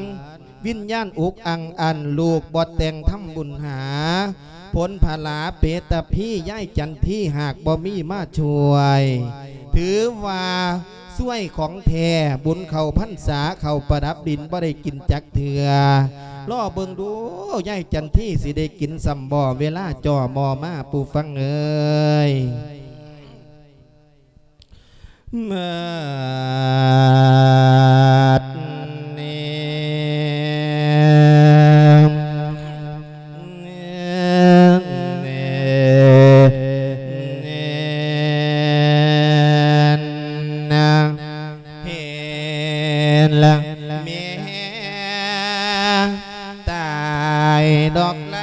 ວິນຍານອຸກອັ່ງອັ່ນ ລູກບໍ່ແຕ່ງທຳບຸນຫາ ຜົນຜະລາເປຕະພີ ຍາຍຈັນທີຫາກບໍ່ມີມາຊ່ວຍ ຖືວ່າຊ່ວຍຂອງແທ້ ບຸນເຂົ້າພັນສາ ເຂົ້າປະດັບດິນບໍ່ໄດ້ກິນຈັກເທື່ອ ລໍເບິ່ງດູ ຍາຍຈັນທີຊິໄດ້ກິນສ່ຳບໍ່ ເວລາຈ່ອມໍມາ ຜູ້ຟັງເອີຍ. ມາດເນ ເນ ເນ ນະ ເຮ ລະ ເມ ຕາຍດອກໄຫຼ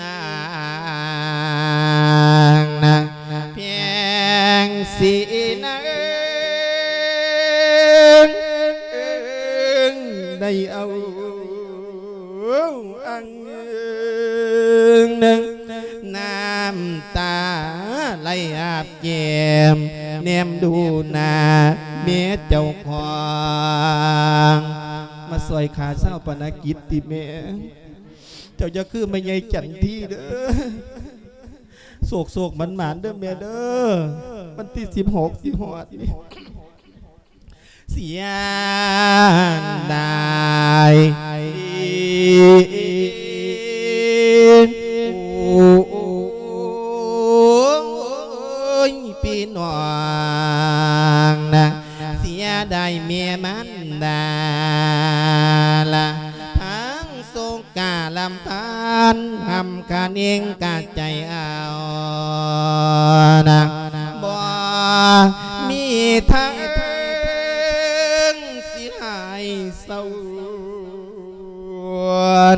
ລາງນະ ພຽງສີນາງ ໄດ້ເອົາອັງ ນ້ຳຕາໄຫຼອາບແກ້ມ ແນມດູໜ້າເມຍເຈົ້າຂອງ ມາຊ່ອຍຂ້າຊາວປະນະກິດຕິແມ່. ເຈົ້າຢ່າຄືແມ່ໃຫຍ່ຈັນທີເດີ ໂຊກໆໝານໆເດີແມ່ເດີ ວັນທີສິບຫົກຊິຮອດນີ້ ເສຍດາຍ ໂອ້ຍ ພີ່ນ້ອງນະ ເສຍດາຍແມ່ມັນດາລະ ທັງສົງກາລຳພັນ ຫ້ຳຄະເໜງກະໃຈເອົານະ ບໍ່ມີທາງຊິຫາຍເສົ້າ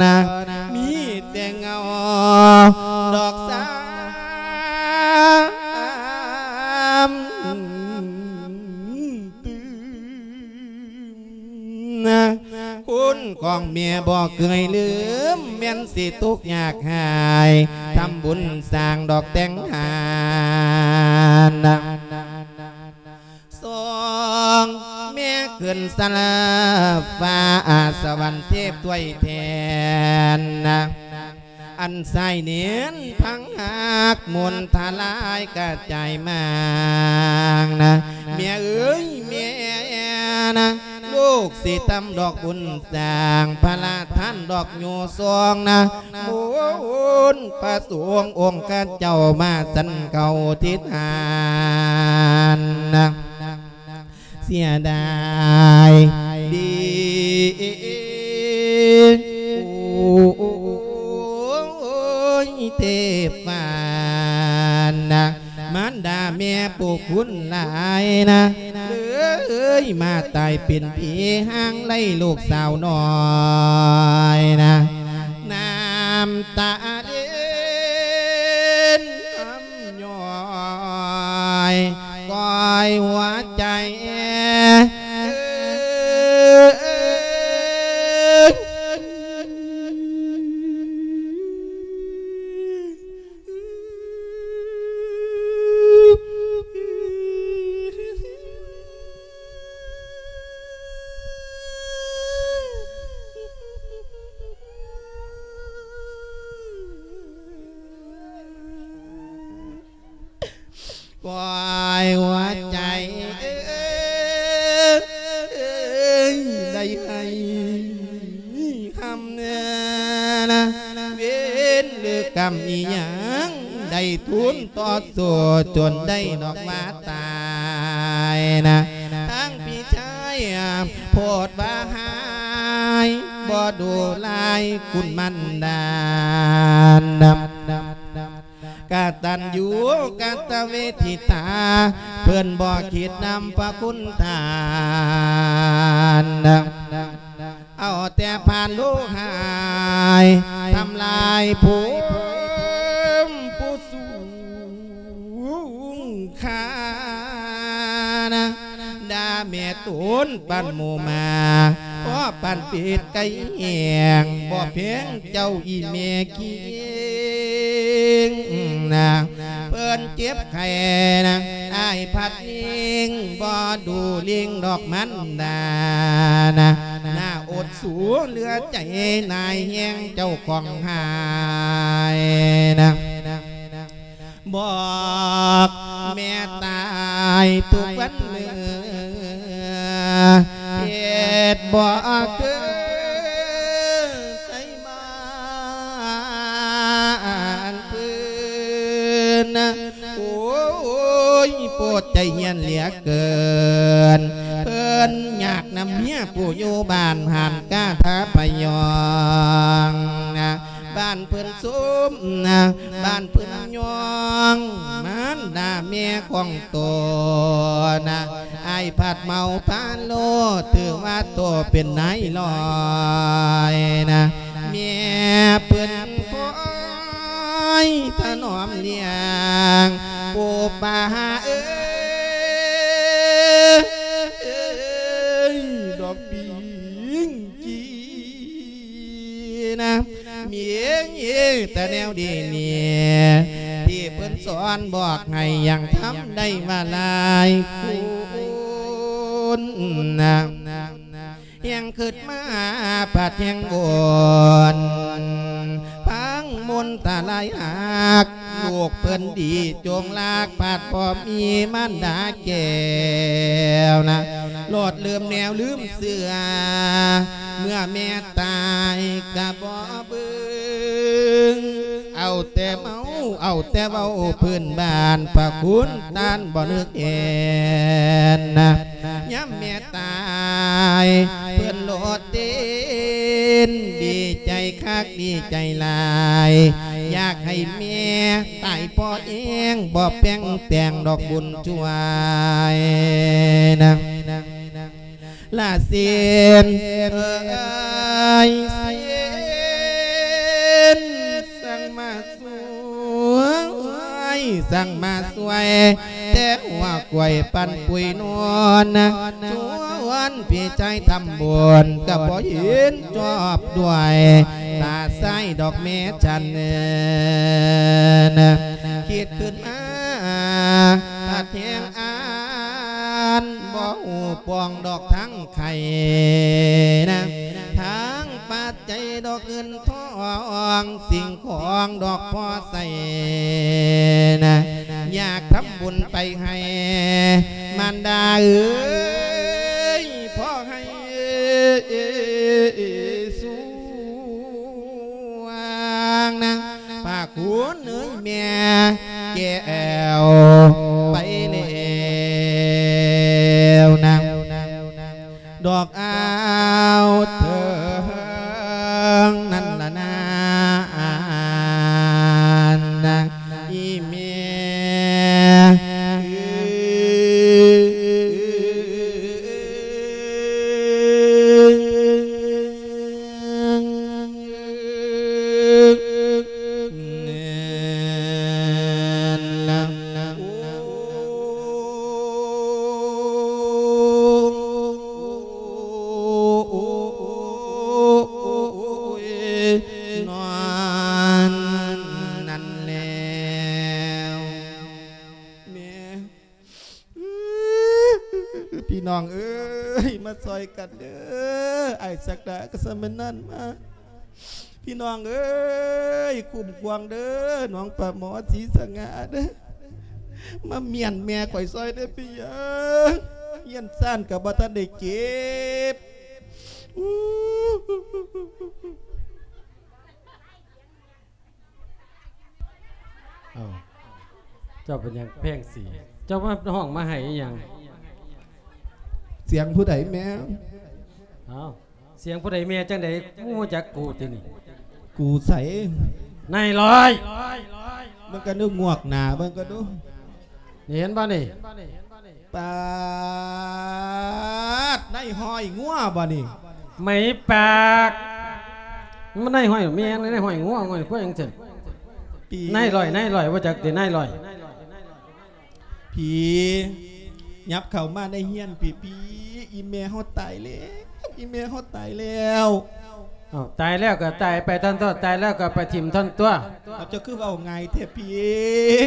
ນະ ມີແຕ່ເງົາດອກສາມຕື່. ຄຸນຂອງແມ່ບໍ່ເຄີຍລືມ ແມ່ນຊິທຸກຍາກຫາຍ ທຳບຸນສ້າງດອກແຕ່ງຫານ ສົ່ງແມ່ຂຶ້ນສະລາຟ້າ ອາສະຫວັນເທບຖ້ວຍແທນ ອັນສາຍເນນພັງຮັກ ມົນທະລາຍກະຈາຍມາງນະ ແມ່ເອີຍແມ່ນະ ລູກຊິທຳດອກບຸນສ້າງ ພະລາທານດອກໂຍຊອງນະ ມຸນພະສົງອົງຄະເຈົ້າມາສັນເຂົ້າທິດຫານນະ ເສຍດາຍດີ ໂອ້ຍ ເທບປານນະ ມານດາແມ່ຜູ້ຄຸນຫຼາຍນະ ເອີຍ ມາຕາຍເປັນຜີ ຫາງໄລ່ລູກສາວນ້ອຍນະ ນ້ຳຕາເລັນ ຍ້ອຍ ກ້ອຍຫົວໃຈ ກ້ອຍຫົວໃຈເອີຍ ໄດ້ໃຫ້ຄຳແນະນະ ເວນຫຼືກຳອີ່ຫຍັງ ໄດ້ທູນຕໍ່ສູ້ຈົນໄດ້ນອກວ່າຕາຍນະ ທັງພີ່ຊາຍໂພດວ່າຫາຍ ບໍ່ດູຫຼາຍຄຸນມັນດານະ ກະຕັນຍູກະຕະເວທິຕາ ເພິ່ນບໍ່ຄິດນຳພະຄຸນທ່ານ ເອົາແຕ່ຜ່ານໂລກຫາຍ ທຳລາຍພູມຜູ້ສູງຄ່ານະ ດ່າແມ່ໂຕນປານໝູໝາ ພໍປານເປັດໄກ່ແຫ້ງ ບໍ່ແພງເຈົ້າອີ່ແມ່ຄິງນະ ເພິ່ນເຈັບໄຂ້ນະ ອ້າຍພັດຍິງ ບໍ່ດູລິງດອກມັນດານະ ໜ້າອົດສູເຫຼືອໃຈ ນາຍແຮງເຈົ້າຂອງຫາຍນະ ບອກແມ່ຕາຍທຸກວັນເມື່ອ ເຮັດບໍ່ເຄີຍໃສ່ມາອັນພື້ນ ໂອ້ຍ ໂພດໃຈຮຽນເຫຼືອເກີນ ເພິ່ນຍາກນຳເມຍຜູ້ຢູ່ບ້ານ ຫານກາທາພະຍອງນະ ບ້ານເພິ່ນຊຸມນະ ບ້ານເພິ່ນຍອງ ມານດາແມ່ຂອງໂຕນະ ອ້າຍພັດເມົາພາໂລ ຖືວ່າໂຕເປັນນາຍລອຍນະ ແມ່ເພິ່ນຄອຍຖະໜອມລ້ຽງ ປູ່ປ້າເອີຍ ດອກປິງກີ ນະ ມີເອງເອງແຕ່ແນວດີນີ້ ທີ່ເພິ່ນສອນບອກໃຫ້ຍັງທຳໄດ້ວ່າຫຼາຍຄຸນນະ ແຮງຄິດມາພັດແຮງໂອນ ພັງມົນຕາລາຍຮັກ ລູກເພິ່ນດີຈົງລາກ ພັດບໍ່ມີມານດາແກ້ວນະ ໂລດລືມແນວລືມ ເຊື່ອ ເມື່ອແມ່ຕາຍກະບໍ່ເບິ່ງ ເອົາແຕ່ເມົາ ເອົາແຕ່ເວົ້າພື້ນບ້ານ ພະຄຸນທ່ານບໍ່ນຶກເຫັນນະ ຍາມແມ່ຕາຍ ເພິ່ນໂລດເຕັ້ນ ດີໃຈຄັກດີໃຈຫຼາຍ ຢາກໃຫ້ແມ່ຕາຍພໍແຮງ ບໍ່ແປງແຕ່ງດອກບຸນຊ່ວຍນະ ລາເຊນເອີຍ ເຊນ ສັງມາສວຍ ສັງມາສວຍ ແຕ່ຫົວກວຍປັນປຸຍນວນນະ ສວ ນພີ່ຊາຍທຳບຸນກໍບໍ່ເຫັນຈອບດ້ວຍ ຕາຊ້າຍດອກແມ່ສັນ ຄິດຂຶ້ນມາ ປາດແຮງອ່ານ ບໍ່ຮູ້ປ່ອງດອກທັງໄຂ່ນະ ທັງປັດໄຈດອກເງິນທອງ ສິ່ງຂອງດອກພໍໃຊ້ນະ ຢາກທຳບຸນໄປໃຫ້ມານດາເອີຍ ພໍໃຫ້ສວ່າງນະ ພາຄຸນເອີຍແມ່ແກ້ວໄປແລ້ວນະ ດອກອາວເຖິງນັ້ນລະນາ ອີແມ່. ນອນນັ້ນແລ້ວ ແມ່ ພີ່ນ້ອງເອີຍ ມາຊ່ອຍກັນເດີ ອ້າຍສັກດາກໍສະມານານມາ ພີ່ນ້ອງເອີຍ ຄຸ້ມຄວາງເດີ ນ້ອງປາໝໍ ສີສະຫງ່າເດີ ມາມ້ຽນແມ່ຂ້ອຍຊ່ອຍເດີ ພີ່ເອີຍ ຮຽນຊານກໍບໍ່ທັນໄດ້ເກັບ. ເອົ້າ ເຈົ້າເປັນຫຍັງແພງສີ? ເຈົ້າມາຮ້ອງມາໄຫ້ອີ່ຫຍັງ? ສຽງຜູ້ໃດແມ່? ເອົ້າ ສຽງຜູ້ໃດແມ່ຈັ່ງໃດ? ຮູ້ຈັກກູຕິນີ້? ກູໃສ? ນາຍຮ້ອຍ ເບິ່ງກັນດູ ງວກໜ້າເບິ່ງກັນດູ ນີ້ເຫັນບໍ່ນີ້? ປາດ ນາຍຮ້ອຍງົວບໍ່ນີ້? ໄໝປາກ ມັນນາຍຮ້ອຍແມ່ນນາຍຮ້ອຍງົວ ນາຍຮ້ອຍຄວາຍຈັ່ງຊັ້ນ ນາຍຮ້ອຍ ນາຍຮ້ອຍ ບໍ່ຈັກຕິ ນາຍຮ້ອຍ. ຜີ ຫຍັບເຂົ້າມາໃນເຮືອນ ຜີ ຜີ ອີ່ແມ່ເຮົາຕາຍແລ້ວ ອີ່ແມ່ເຮົາຕາຍແລ້ວ. ເອົ້າ ຕາຍແລ້ວກໍຕາຍໄປທ່ອນຕົວະ ຕາຍແລ້ວກໍໄປຖິ້ມທ່ອນຕົວະ. ເອົາ ເຈົ້າຄືເວົ້າງ່າຍແທ້ ຜີ?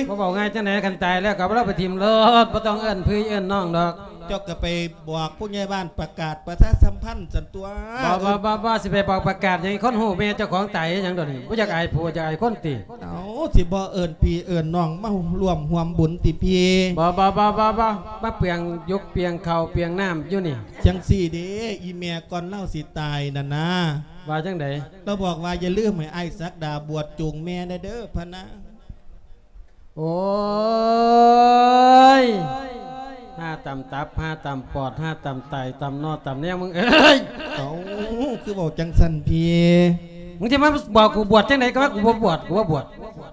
ບໍ່ເວົ້າງ່າຍຈັ່ງໃດ? ຄັນຕາຍແລ້ວກໍເອົາລາວໄປຖິ້ມໂລດ ບໍ່ຕ້ອງເອີ້ນພີ່ເອີ້ນນ້ອງດອກ. ເຈົ້າກໍໄປບອກຜູ້ໃຫຍ່ບ້ານປະກາດປະຊາສຳພັນຊັ້ນຕົວະ. ບໍ່ ບໍ່ ບໍ່ ບໍ່ ຊິໄປບອກປະກາດຫຍັງ? ຄົນຮູ້ແມ່ເຈົ້າຂອງຕາຍຫຍັງດອກນີ້? ບໍ່ຢາກອາຍຜູ້ຢາກອາຍຄົນຕິ? ເອົາ ຊິບໍ່ເອີ້ນພີ່ເອີ້ນນ້ອງມາຮ່ວມຮ່ວມບຸນຕິພີ່? ບໍ່ ບໍ່ ບໍ່ ບໍ່ ບໍ່ ມາເປືອງຢົກເປືອງເຂົ້າເປືອງນ້ຳຢູ່ນີ້. ຈັ່ງຊີ້ເດ້ ອີ່ແມ່ກ່ອນລາວຊິຕາຍນັ້ນນາ ວ່າຈັ່ງໃດ? ລາວບອກວ່າ ຢ່າລືມໃຫ້ອ້າຍສັກດາບວດຈູງແມ່ແດ່ເດີ ພະນາ. ໂອ້ຍ ຫາຕຳຕັບ ຫາຕຳປອດ ຫາຕຳໄຕ ຕຳໜໍ່ ຕຳແນວ ມຶງເອີຍ. ເອົ້າ ຄືເວົ້າຈັ່ງຊັ້ນພີ່? ມຶງຊິມາບອກກູບວດຈັ່ງໃດ? ກໍວ່າກູບໍ່ບວດ ກູບໍ່ບວດ.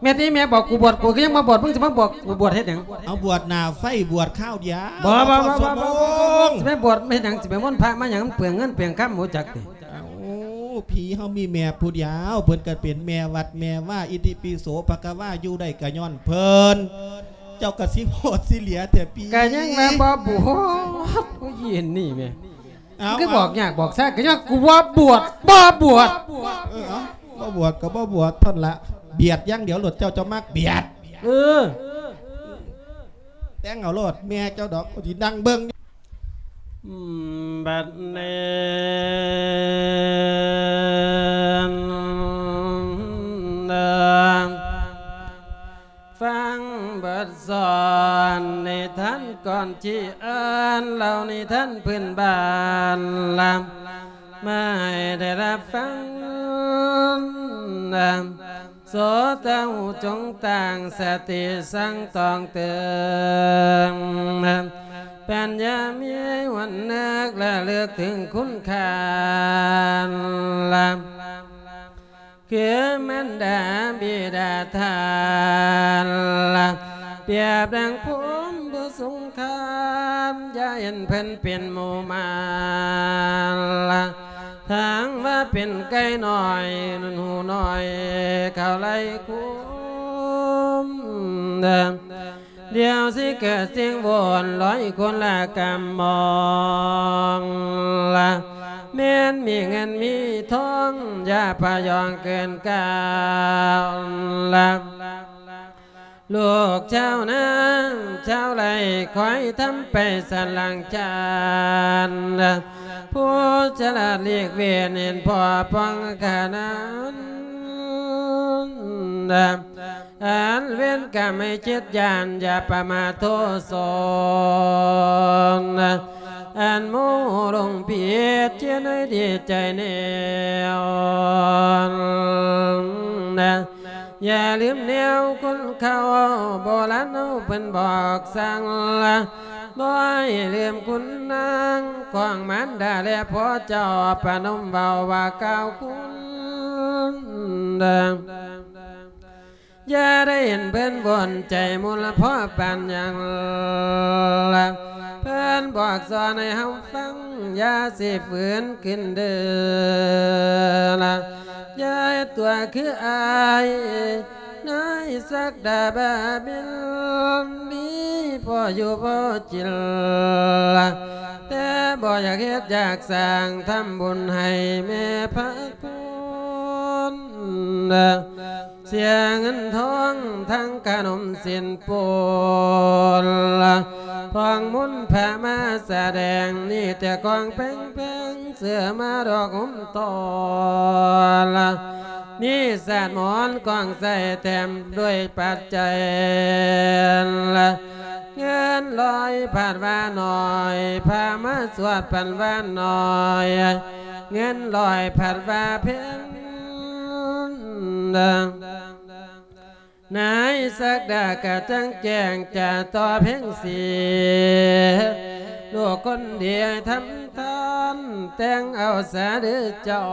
ແມ່ນຕິ ແມ່ບອກກູບວດ ກູກໍຍັງມາບວດ ມຶງຊິມາບອກກູບວດເຮັດຫຍັງ? ເອົາ ບວດໜ້າໄຟ ບວດຄາວດຽວ. ບໍ່ ບໍ່ ບໍ່ ບໍ່ ບໍ່ ບໍ່ ບໍ່ ຊິໄປບວດເຮັດຫຍັງ? ຊິໄປມົນພະມາຫຍັງ? ມັນເປືອງເງິນເປືອງຄຳ ຮູ້ຈັກຕິ? ເອົາ ພີ່ເຮົາມີແມ່ຜູ້ດຽວ ເພິ່ນກໍເປັນແມ່ວັດແມ່ວາ ອິຕິປິໂສ ພະຄະວາ ຢູ່ໄດ້ກໍຍ້ອນເພິ່ນ. ເຈົ້າກໍຊິໂພດຊິເຫຼຍແທ້ພີ່. ກໍຍັງວ່າບໍ່ບວດ ຜູ້ຍິງນີ້ແມ່. ເອົ້າ ຄືບອກຍາກບອກຊາ ກໍຍ້ອນກູບໍ່ບວດ ບໍ່ບວດ. ເອີ ເອົ້າ ບໍ່ບວດກໍບໍ່ບວດ ທ່ອນລະ ບຽດຢ່າງດຽວໂລດ ເຈົ້າ ເຈົ້າມັກບຽດ. ເອີ ແຕ່ງເອົາໂລດ ແມ່ເຈົ້າດອກ ຊິນັ່ງເບິ່ງ. ອືມ ບັດນີ້ ຟັງບົດສອນນິທານກ່ອນທີ່ອ່ານເລົ່ານິທານພື້ນບ້ານລະ ມາໃຫ້ໄດ້ຮັບຟັງ. ໂສເຈົ້າຈົ່ງຕັ້ງສະຕິສັງຕອງເຕີງ ປັນຍາມີວັນນຶກລະລຶກເຖິງຄຸນຄ່າລະ ຄືມານດາບິດາທ່ານລະ ປຽບດັ່ງພົມຜູ້ຊົງຄາມ ຢ່າເຫັນເພິ່ນເປັນໝູ່ມາລະ ທາງວ່າເປັນໄກ່ນ້ອຍ ໜູນຫູນ້ອຍ ເຂົ້າໄລ່ຄຸມ. ດຽວຊິເກີດສິ່ງວຸ່ນວາຍຄົນລະກຳມອງລະ ແມ່ນມີເງິນມີທອງ ຢ່າປະຍອງເກີນການລະ ລູກຊາວນາຊາວໄຮ່ ຄອຍທຳໄປສັນຫຼັງຈານ ຜູ້ສະຫຼາດຫຼີກເວັ້ນ ເຫັນພໍປ້ອງຂະນານ ອັນເວນກຳໃຫ້ເຈັດຢ່າງ ຢ່າປະມາດໂທສົນ ອັນໂມຫຼົງຜິດ ເຈັດໃຫ້ດີໃຈແນວ ຢ່າລືມແນວຄົນເກົ່າ ໂບລານເຮົາເພິ່ນບອກສັ່ງ ບໍ່ໃຫ້ລືມຄຸນນາງ ຂອງມານດາແລພໍ່ເຈົ້າ ປະນົມເວົ້າວ່າກ່າວຄຸນ ຢ່າໄດ້ເຫັນເພິ່ນວົນໃຈມຸນລະພໍປານຫຍັງລະ ເພິ່ນບອກສອນໃຫ້ເຮົາຟັງ ຢ່າຊິຝືນຂຶ້ນເດີລະ ຢ່າເຮັດຕົວຄືອ້າຍ ນາຍສັກດາບາບິນ ມີພໍ່ຢູ່ບໍ່ຈິນລະ ແຕ່ບໍ່ຢາກເຮັດຢາກສ້າງ ທຳບຸນໃຫ້ແມ່ພະຄຸນ ເສຍເງິນທອງທັງຂະໜົມສິນປຸນ ທອງມົນພະມາສະແດງ ມີແຕ່ຂອງແພງໆ ເສື້ອມາດອກຫຸມຕໍ່ລະ ມີສາດໝອນກອງໃສ່ແຖມດ້ວຍປັດໄຈລະ ເງິນຮ້ອຍພັດວ່າໜ້ອຍ ພາມາສວດປັນວ່າໜ້ອຍ ເງິນຮ້ອຍພັດວ່າແພງ ນາຍສັກດາກະຈັ່ງແຈ້ງຈາຕໍ່ເພັງສີ ລູກຄົນດີທຳທານ ແຕ່ງເອົາສາເດີເຈົ້າ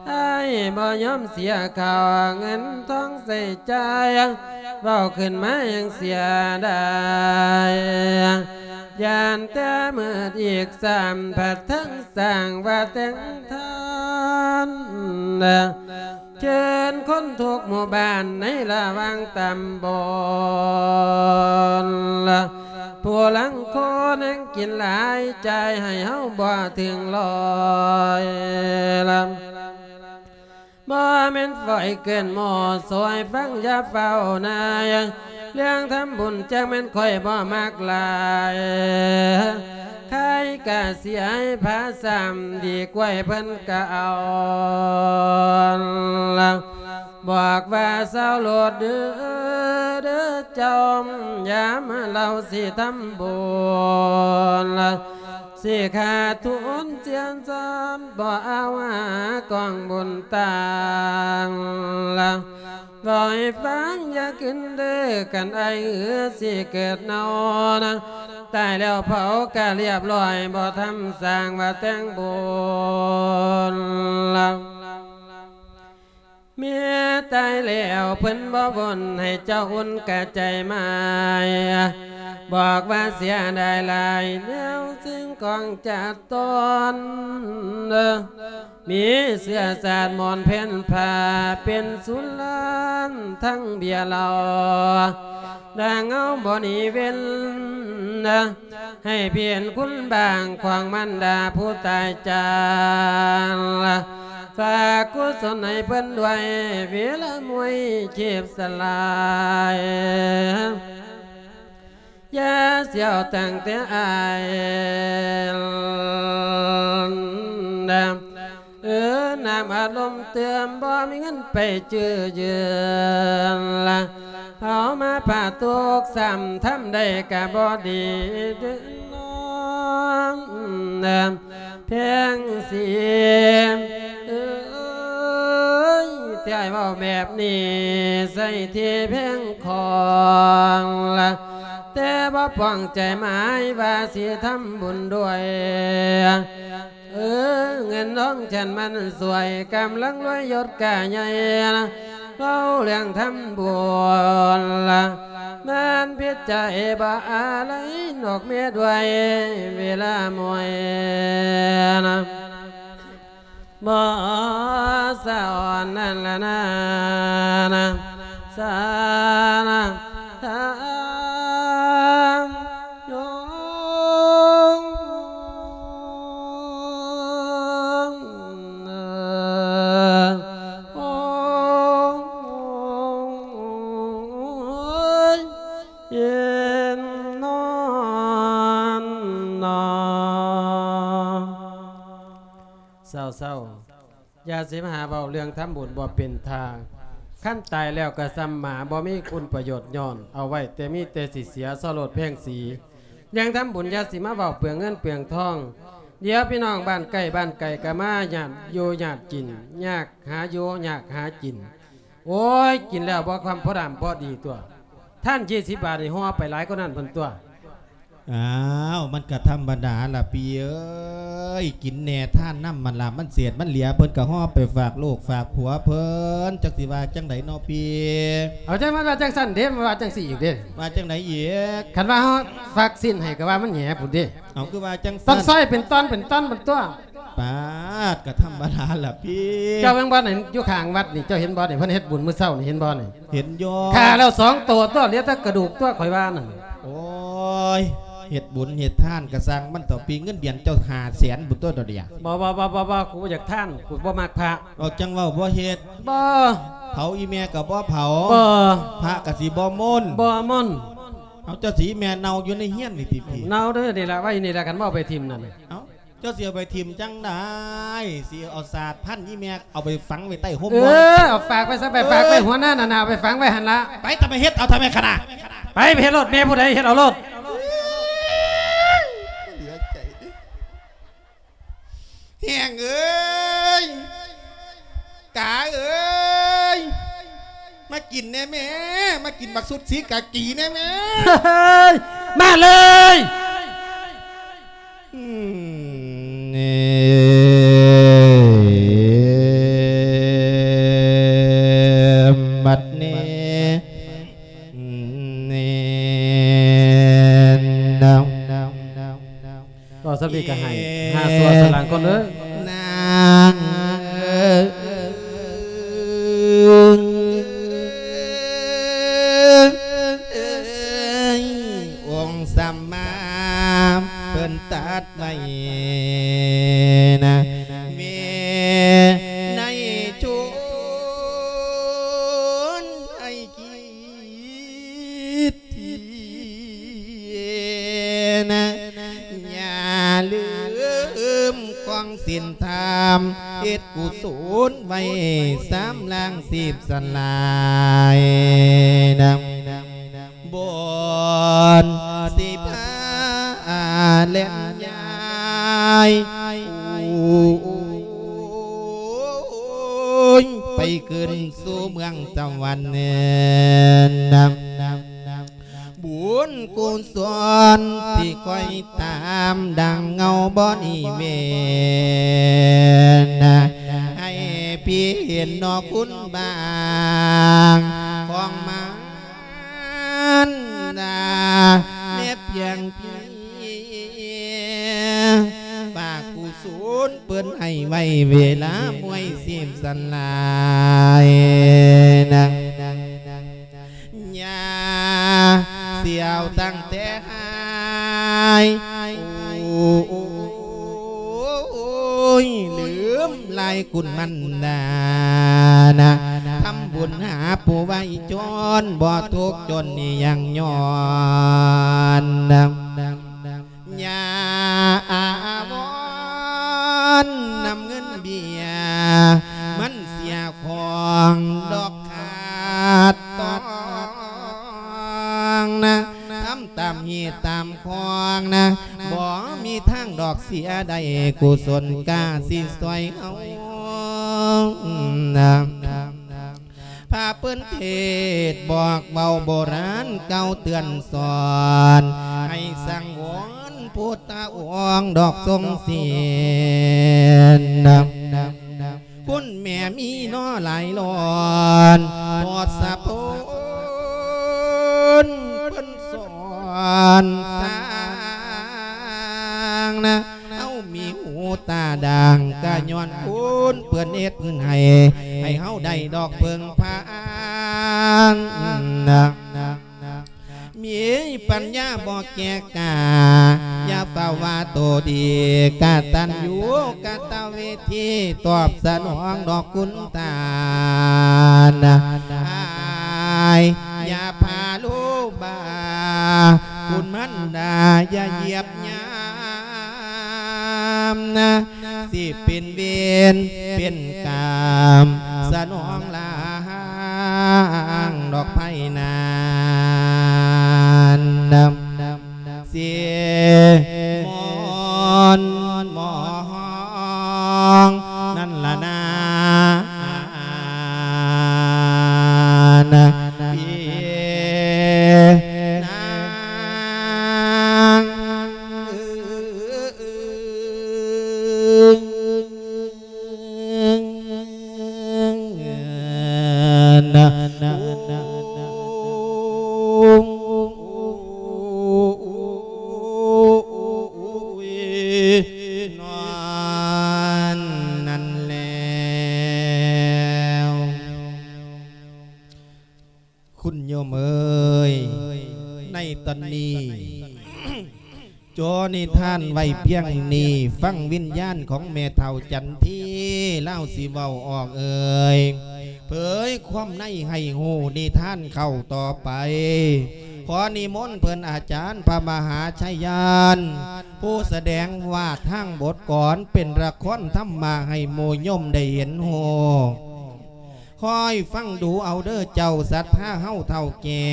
ອ້າຍບໍ່ຍອມເສຍເຂົ້າ ເງິນທອງໃຊ້ຈ່າຍ ເວົ້າຂຶ້ນມາຍັງເສຍດາຍ ຢ້ານແຕ່ມືດອີກສາມ ພັດທັງສ້າງວ່າແຕ່ງທານ ເຊີນຄົນທຸກໝູ່ບ້ານໃນລະຫວ່າງຕຳບົນ ຜູ້ລາງຄົນແຮ່ງກິນຫຼາຍ ຈ່າຍໃຫ້ເຮົາບໍ່ເຖິງຮ້ອຍລະ ບໍ່ແມ່ນຝອຍເກີນໝໍ້ ຊ່ອຍຟັງຢ່າເຝົ້ານາຍ ເລື່ອງທຳບຸນຈັກແມ່ນຂ້ອຍບໍ່ມັກຫຼາຍ ຂາຍກະເສຍໃຫ້ພະຊ້ຳ ດີກວ່າເພິ່ນກະເອົາ ບອກວ່າຊາວໂລດເດີ ເດີເຈົ້າ ຢ່າມາເລົ່າຊິທຳບຸນ ຊິຂາດທຶນເສຍທລັບ ບໍ່ເອົາຫາກອງບຸນຕ່າງລະ ເວົ້າໃຫ້ຟັງຢ່າຂຶ້ນເດີ ຄັນອ້າຍເອີຊິເກີດເນົານະ ຕາຍແລ້ວເຜົາກະລຽບຮ້ອຍ ບໍ່ທຳສ້າງວ່າແຕ່ງບຸນລະ ແມ່ຕາຍແລ້ວເພິ່ນບໍ່ວົນ ໃຫ້ເຈົ້າອຸ່ນກະໃຈໝາຍ ບອກວ່າເສຍດາຍຫຼາຍ ແນວສິ່ງຂອງຈາດຕອນ ມີເຊື້ອຊາດມອນເພັນພາ ເປັນສູນລ້ານທັງເບຍເຫຼົ້າ ດັ່ງເອົາບໍ່ໜີເວັ້ນ ໃຫ້ເພິ່ນຄຸນບາງຂອງມັນດາຜູ້ຕາຍຈາກ ຝາກກຸສົນໃຫ້ເພິ່ນດ້ວຍ ເວລາມວຍເຈັບສະຫຼາຍ ຢ່າສຽວຕັ້ງແຕ່ອ້າຍ ເອີ ນ້ຳອາລົມເຕີມ ບໍ່ມີເງິນໄປຈື່ຢືມລະ ເຮົາມາປາຕົກຊ້ຳ ທຳໄດ້ກະບໍ່ດີເດີນ້ອງ ແພງສີ ເອີຍ ທີ່ອ້າຍເວົ້າແບບນີ້ ໃສ່ທີ່ແພງຂອງລະ ແຕ່ບໍ່ປອງໃຈໝາຍວ່າຊິທຳບຸນດ້ວຍ ເອີ ເງິນທອງຊັ້ນມັນສວຍ ກຳລັງລວຍຍົດກະໃຫຍ່ ເວົ້າເລື່ອງທຳບຸນລະ ມັນຜິດໃຈບໍ່ອາໄລ ນອກເມດໄວ້ເວລາມວຍນະ ບໍ່ສະອອນນັ້ນລະນາ ນະ ສານະ ເຊົາໆ ຢ່າຊິມາຫາເວົ້າເລື່ອງທຳບຸນບໍ່ເປັນທ່າ. ຄັນຕາຍແລ້ວກໍສ່ຳໝາ ບໍ່ມີຄຸນປະໂຫຍດຍ້ອນ ເອົາໄວ້ແຕ່ມີແຕ່ຊິເສຍ ຊໍໂລດແພງສີ ເລື່ອງທຳບຸນຢ່າຊິມາເວົ້າເປືອງເງິນເປືອງທອງ. ດຽວພີ່ນ້ອງບ້ານໃກ້ບ້ານໄກກໍມາຍາດຢູ່ຍາດກິນ ຍາກຫາຢູ່ຍາກຫາກິນ. ໂອ້ຍ ກິນແລ້ວບໍ່ຄຳພໍດຳພໍດີຕົວະ ທານສີ່ສິບບາດນີ້ຫໍ່ໄປຫຼາຍກວ່ານັ້ນພຸ້ນຕົວະ. ອ້າວ ມັນກະທຳມະດາລະພີ່ເອີຍ ກິນແດ່ທານນຳ ມັນລະມັນເສດມັນເຫຼືອ ເພິ່ນກະຫໍ່ໄປຝາກລູກຝາກຜົວເພິ່ນ ຈັກຊິວ່າຈັ່ງໃດເນາະພີ່. ເອົາ ຈັ່ງມັນວ່າຈັ່ງຊັ້ນເດ້ ມັນວ່າຈັ່ງຊີ້ອີກເດ້. ວ່າຈັ່ງໃດອີກ? ຄັນວ່າເຮົາຝາກຊີ້ນໃຫ້ກະວ່າມັນແຫງພຸ້ນເດ້. ເອົາ ຄືວ່າຈັ່ງຊັ້ນ? ຕ້ອງຊອຍເປັນຕອນເປັນຕອນພຸ້ນຕົວະ. ປາດ ກະທຳມະດາລະພີ່. ເຈົ້າເບິ່ງບໍ່ນີ້ ຢູ່ຂ້າງວັດນີ້ ເຈົ້າເຫັນບໍ່ນີ້ ເພິ່ນເຮັດບຸນມື້ເຊົ້ານີ້ ເຫັນບໍ່ນີ້? ເຫັນຢູ່. ຂ້າແລ້ວສອງໂຕຕົວະ ເຫຼືອແຕ່ກະດູກຕົວະ ຂ້ອຍວ່ານັ້ນ. ໂອ້ຍ ເຮັດບຸນເຮັດທານກະຊ່າງມັນເຖາະ ປີເງິນເດືອນເຈົ້າຫ້າແສນພຸ້ນຕົວະດຽວ. ບໍ່ ບໍ່ ບໍ່ ບໍ່ ບໍ່ ກູບໍ່ຢາກທານ ກູບໍ່ມັກພະ. ເວົ້າຈັ່ງເວົ້າ ບໍ່ເຮັດ. ບໍ່. ເຜົາອີ່ແມ່ກະບໍ່ເຜົາ. ບໍ່. ພະກະຊິບໍ່ມົນ. ບໍ່ມົນ. ເອົາ ເຈົ້າຊິແມ່ເນົ່າຢູ່ໃນເຮືອນນີ້ຕິພີ່? ເນົ່າເດີ ນີ້ລະ ໄວ້ນີ້ລະ ຄັນບໍ່ເອົາໄປຖິ້ມນັ້ນ. ເອົາ ເຈົ້າຊິເອົາໄປຖິ້ມຈັ່ງໃດ? ຊິເອົາສາດພັນອີ່ແມ່ ເອົາໄປຝັງໄວ້ໃຕ້ຮົ່ມ ເອີ ບໍ່? ເອົາຝາກໄວ້ຊະ ໄປຝາກໄວ້ຫົວໜ້ານັ້ນນະ ເອົາໄປຝັງໄວ້ຫັ້ນລະ. ໄປ ຕະໄປເຮັດເອົາທຳໄມຄະນະ? ໄປ ໄປເຮັດໂລດ ແມ່ຜູ້ໃດເຮັດເອົາໂລດ. ເຫຼືອໃຈເດ້ ແຮງເອີຍ ກາເອີຍ ມາກິນແດ່ແມ່ ມາກິນບັກຊຸດສີກາກີແດ່ແມ່. ມາເລີຍ. ອືມ ບັດນີ້ ເວົ້າສ່ຳນີ້ກະໃຫ້ ຫ້າຊົ່ວສະຫຼາງກ່ອນເດີ. ນາງເອີຍ ອົງສຳມາເພິ່ນຕັດໄວ້ນະ ວິໄນຊົນໃຫ້ກິດ ນະ ຢ່າລືມຄອງສິນທຳ ເຮັດກຸສົນໄວ້ສາມລ້າງສິບສະຫຼາຍນະ ບ່ອນຊິພາແລ່ນຍ້າຍ ໂອ້ຍ ໄປຂຶ້ນສູ່ເມືອງສະຫວັນນະ. ບຸນກຸສົນທີ່ຂ້ອຍຕາມ ດັ່ງເງົາບໍ່ໜີເວນ ໃຫ້ພີ່ເຫັນນອກຄຸນບາງຂອງມານດາ ແມ່ພຽງພີ່ ຝາກກຸສົນເພິ່ນໃຫ້ໄວ້ ເວລາມວຍສິບສະຫຼາຍນະ. ຢ່າສຽວຕັ້ງແຕ່ຫາຍ ໂອ້ຍ ລືມລາຍຄຸນມັນດານະ ທຳບຸນຫາຜູ້ໄວຈອນ ບໍ່ທຸກຈົນນີ້ຍັງຍ້ອນນະ. ຢ່າອາວອນນຳເງິນເບຍ ມັນເສຍຂອງດອກຂາດຕອງນະ ທຳຕາມຮີດຕາມຄອງນະ ບໍ່ມີທາງດອກເສຍໄດ້ ກຸສົນກາຊິຊ່ວຍເຮົານະ. ພະເພິ່ນເທດບອກເວົ້າ ໂບລານກ່າວເຕືອນສອນ ໃຫ້ສັງວອນພຸດທະອົງດອກຊົງສິນນະ. ຄຸນແມ່ມີນໍຫຼາຍລ້ອນ ທດສະພົນເພິ່ນສອນສ້າງນະ. ເຮົາມີຫູຕາດາງ ກະຍ້ອນຄຸນເພິ່ນເຮັດໃຫ້ ໃຫ້ເຮົາໄດ້ດອກເພິ່ງພານະ. ມີປັນຍາບໍ່ແກ່ກ້າ ຢ່າຟ້າວວ່າໂຕດີ ກະຕັນຍູກະຕະເວທີ ຕອບສະໜອງດອກຄຸນຕານະ. ອາຍຢ່າພາໂລບາ ຄຸນມັນດາຢ່າຢຽບຍາມນະ. ຊິເປັນເວນເປັນກາມ ສະໜອງລາງດອກໄພນານ ເສຍມອນໝອງນັ້ນລະນາ ນາງ ນອນນັ້ນແລ້ວ. ຄຸນໂຍມເອີຍ ໃນຕອນນີ້ ຈໍນິທານໄວ້ພຽງນີ້ ຟັງວິນຍານຂອງແມ່ເຖົ້າຈັນທີ ລາວຊິເວົ້າອອກເອີຍ ເຜີຍຄວາມໃນໃຫ້ຮູ້ນິທານເຂົ້າຕໍ່ໄປ. ຂໍນິມົນເພິ່ນອາຈານພະມະຫາໄຊຍານ ຜູ້ສະແດງວາດທາງບົດກອນ ເປັນລະຄອນທຳມະໃຫ້ໝູ່ໂຍມໄດ້ເຫັນຮູ້. ຄອຍຟັງດູເອົາເດີເຈົ້າສັດທາເຮົາເຖົ້າແກ່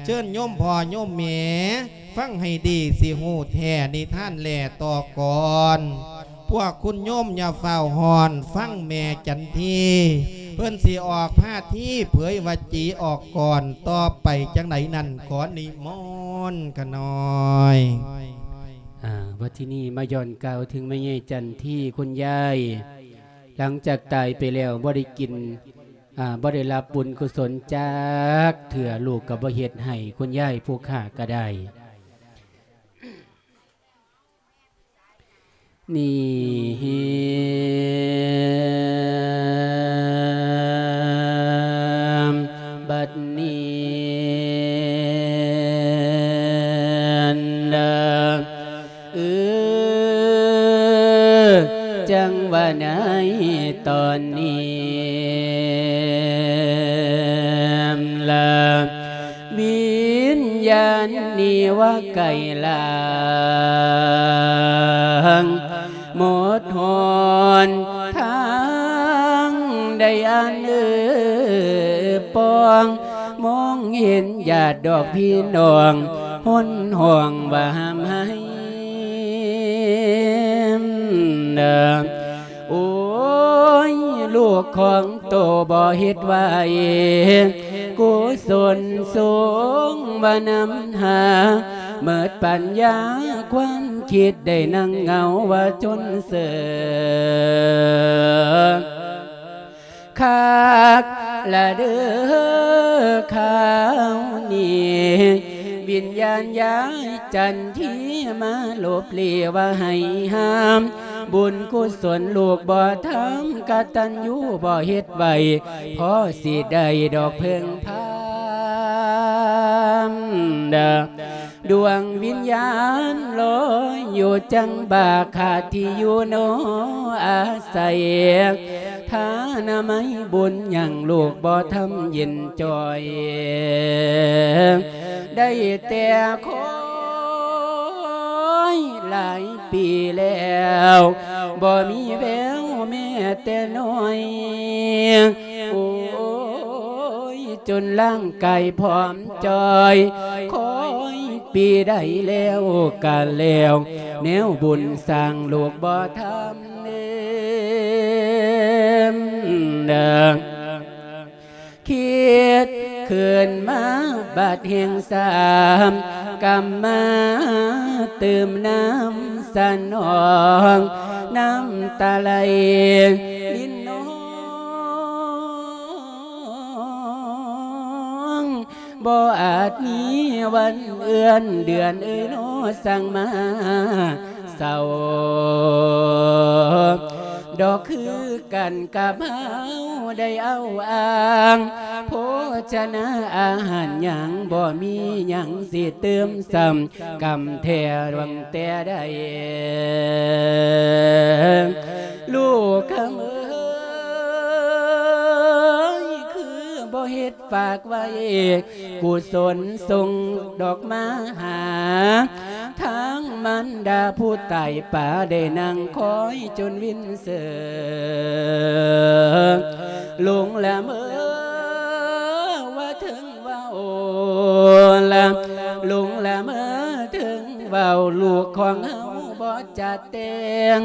ເຊີນໂຍມພໍ່ໂຍມແມ່ ຟັງໃຫ້ດີ ຊິຮູ້ແທ້ນິທານແລຕໍ່ກ່ອນ. ພວກຄຸນໂຍມຢ່າຟ້າວຮ້ອນ ຟັງແມ່ຈັນທີ ເພິ່ນຊິອອກພາທີເຜີຍວະຈີອອກກ່ອນ ຕໍ່ໄປຈັ່ງໃດນັ້ນ ຂໍນິມົນຂະນ້ອຍ. ອາ ບັດທີນີ້ມາຍ້ອນກ່າວເຖິງແມ່ໃຫຍ່ຈັນທີ ຄຸນຍາຍ ຫຼັງຈາກຕາຍໄປແລ້ວ ບໍ່ໄດ້ກິນ ອາ ບໍ່ໄດ້ຮັບບຸນກຸສົນຈັກເທື່ອ ລູກກໍບໍ່ເຮັດໃຫ້ ຄຸນຍາຍຜູ້ຂ້າກໍໄດ້ ນີ້ ບັດນີ້ ເອີ ຈັ່ງວ່າໃນຕອນນີ້ລະ ວິນຍານນີ້ວ່າໄກລາງ ໝົດຫອນທາງໃດອັນເອີປອງ ມອງເຫັນຍາດດອກພີ່ນ້ອງ ຫົນຮ້ອງວ່າຫ້າມໃຫ້ ໂອ້ຍ ລູກຂອງໂຕບໍ່ເຮັດໄວ້ ກຸສົນສົງວ່ານຳຫາ ເໝິດປັນຍາຄວາມຄິດ ໄດ້ນັ່ງເຫງົາວ່າຈົນເສີ ຄັກລະເດີຄາວນີ້ ວິນຍານຍາຍຈັນທີມາລົບເລວ່າໃຫ້ຫ້າມ ບຸນກຸສົນລູກບໍ່ທຳ ກະຕັນຍູບໍ່ເຮັດໄວ້ ພໍຊິໄດ້ດອກເພິ່ງພາ ດວງວິນຍານລອຍຢູ່ຈັງບາກ ຂາດທີ່ຢູ່ໜໍອາໄສ ທານາໄມບຸນຍັງລູກບໍ່ທຳເຢັນຈ່ອຍ ໄດ້ແຕ່ຄອຍຫຼາຍປີແລ້ວ ບໍ່ມີແວວແມ້ແຕ່ນ້ອຍ ໂອ້ຍ ຈົນຮ່າງກາຍຜອມຈ່ອຍ ຄອຍປີໃດແລ້ວກະແລ້ວ ແນວບຸນສ້າງລູກບໍ່ທຳເນີນ ຄິດຂຶ້ນມາບາດແຫ່ງສາມ ກຳມາຕື່ມນ້ຳສະໜອງ ນ້ຳຕາໄຫຼລິນນອງ ບໍ່ອາດມີວັນເອື້ອນເດືອນເອີຍ ລໍສັ່ງມາເສົ້າ ດອກຄືກັນກັບເຮົາໄດ້ເອົາອ້າງ ໂພຊະນາອາຫານຫຍັງ ບໍ່ມີຫຍັງຊິຕື່ມຊ້ຳ ກຳແທ້ຫວັງແຕ່ໃດ ລູກຄຳເອີຍ ຄືບໍ່ເຮັດຝາກໄວ້ ກຸສົນສົ່ງດອກມາຫາ ທ ທາງມານດາຜູ້ຕາຍປາ ໄດ້ນັ່ງຄອຍຈົນວິນເສີ ຫຼົງລະເມີວ່າເຖິງເວົ້າ ຫຼົງລະເມີເຖິງເວົ້າ ລູກຂອງເຮົາບໍ່ຈະແຕ່ງ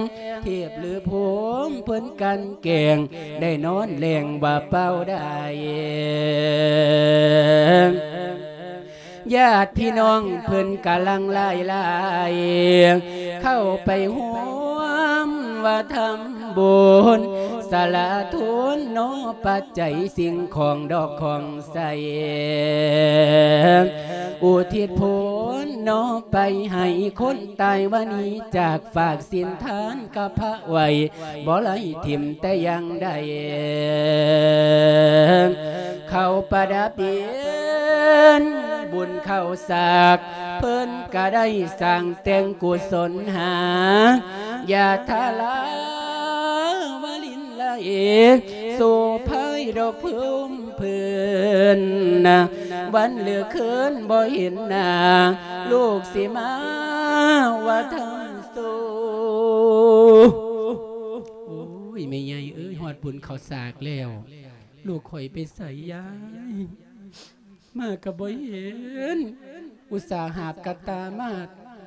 ເທບຫຼືພູມເພິ່ນກັ່ນແກງ ໄດ້ນອນແລງວ່າເປົ່າໄດ້ ຍາດພີ່ນ້ອງເພິ່ນກະຫຼັ່ງໄຫຼຫຼາຍ ເຂົ້າໄປຮ່ວມວ່າທຳບຸນ ສະຫຼະທຸນເນາະ ປັດໄຈສິ່ງຂອງດອກຂອງໃສ ອຸທິດຜົນເນາະ ໄປໃຫ້ຄົນຕາຍວ່າໜີຈາກ ຝາກສິນທານກັບພະໄວ້ ບໍ່ໄດ້ຖິ້ມແຕ່ຢ່າງໃດ ເຂົ້າປະດັບດິນ ບຸນເຂົ້າສາກ ເພິ່ນກະໄດ້ສ້າງແຕ່ງກຸສົນຫາ ຢາດທາລາວະລິນໄລ ໂສພາຍດອກເພີ່ມເພິ່ນ ວັນຫຼືຄືນບໍ່ເຫັນໜ້າ ລູກຊິມາວ່າທຳ ໂຕ ໂອ້ຍ ແມ່ໃຫຍ່ເອີຍ ຮອດບຸນເຂົ້າສາກແລ້ວ ລູກຂ້ອຍໄປໃສຍາຍ ມາກະບໍ່ເຫັນ ອຸດສ່າຫາບກະຕ່າມາ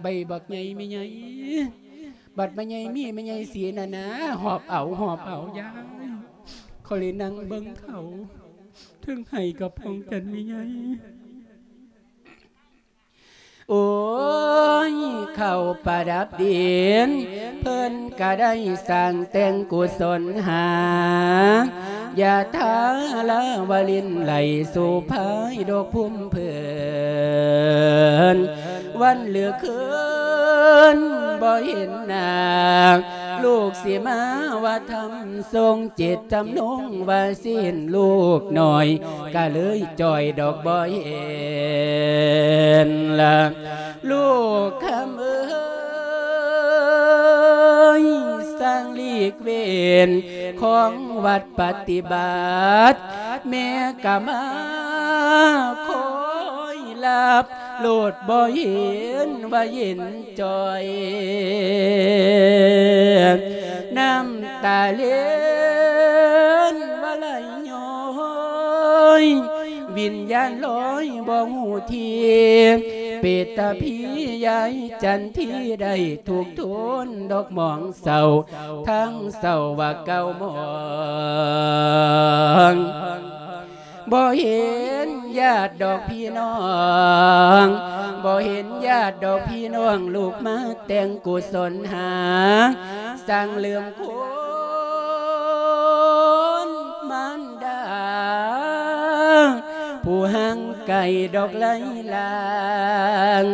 ໃບບັກໃຫຍ່ແມ່ໃຫຍ່ ບັດແມ່ໃຫຍ່ມີແມ່ໃຫຍ່ເສຍນະນາ ຫອບເອົາ ຫອບເອົາຍາຍ ຂ້ອຍເລີຍນັ່ງເບິ່ງເຂົາ ເທິງໄຫ້ກະພອງກັນແມ່ໃຫຍ່. ໂອ້ຍ ເຂົ້າປະດັບດິນ ເພິ່ນກະໄດ້ສ້າງແຕ່ງກຸສົນຫາ ຢາດທາລາວະລິນໄລ ໂສພາຍດອກພຸມເພິ່ນ ວັນຫຼືຄືນບໍ່ເຫັນໜ້າ ລູກຊິມາວ່າທຳ ຊົງເຈດຈຳນົງວ່າຊິເຫັນລູກນ້ອຍ ກະເລີຍຈ່ອຍດອກບໍ່ເຫັນລະ ລູກຄຳເອີຍ ສ້າງຫຼີກເວັ້ນຂອງວັດປະຕິບັດ ແມ່ກະມາຄອຍລັບ ໂລດບໍ່ເຫັນວ່າເຢັນຈ່ອຍ ນ້ຳຕາເຫຼັນວ່າໄຫຼຍ້ອຍ ວິນຍານລອຍບໍ່ຮູ້ທີ່ ເປດຕາຜີຍາຍຈັນທີໄດ້ທຸກທົນດອກໝອງເສົ້າ ທັງເສົ້າວ່າເກົ່າໝອງ. ບໍ່ເຫັນຍາດດອກພີ່ນ້ອງ ບໍ່ເຫັນຍາດດອກພີ່ນ້ອງ ລູກມາແຕ່ງກຸສົນຫາ ສ້າງເລື່ອງຄຸນມານດາ ຜູ້ຫ່າງໄກດອກໄຫຼລາງ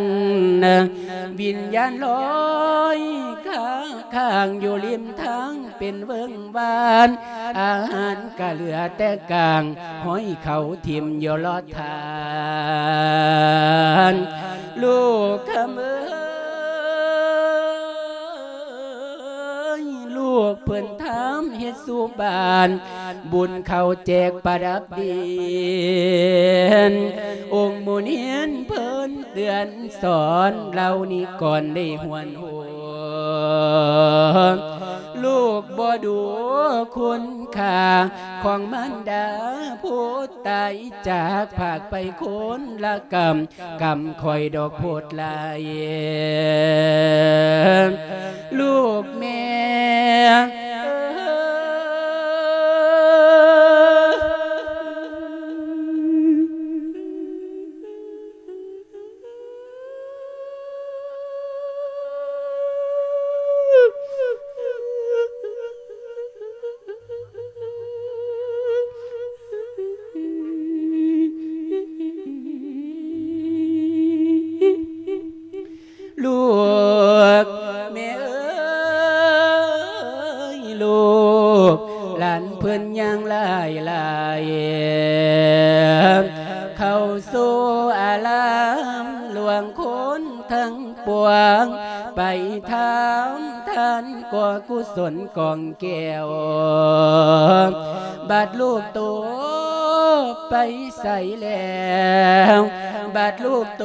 ວິນຍານລອຍຄ້າງຢູ່ລິມທາງ ເປັນເວີ້ງວານ ອາຫານກະເຫຼືອແຕ່ກາງ ຫ້ອຍເຂົາຖິ້ມຢູ່ລອດທານ ລູກຄຳເອີຍ ລູກເພິ່ນຖາມເຮັດສູ່ບ້ານ ບຸນເຂົ້າແຈກປະດັບດິນ ອົງໝູ່ເນນເພິ່ນເຕືອນສອນ ເຫຼົ່ານີ້ກ່ອນໄດ້ຫວນ ໂຫ ລູກບໍ່ດູຄຸນຄ່າຂອງມານດາ ຜູ້ຕາຍຈາກພາກໄປຄົນລະກຳ ກຳຂ້ອຍດອກໂພດຫຼາຍ ລູກແມ່ເອີຍ. ລູກແມ່ເອີຍ ລູກຫຼານເພິ່ນຍ່າງຫຼາຍໆ ເຂົ້າສູ່ອາລາມຫຼວງຄົນທັງປວງ ໄປຖາມທ່ານກໍກຸສົນກອງແກ້ວ ບາດລູກໂຕໄປໃສແລ້ວ ບາດລູກໂຕ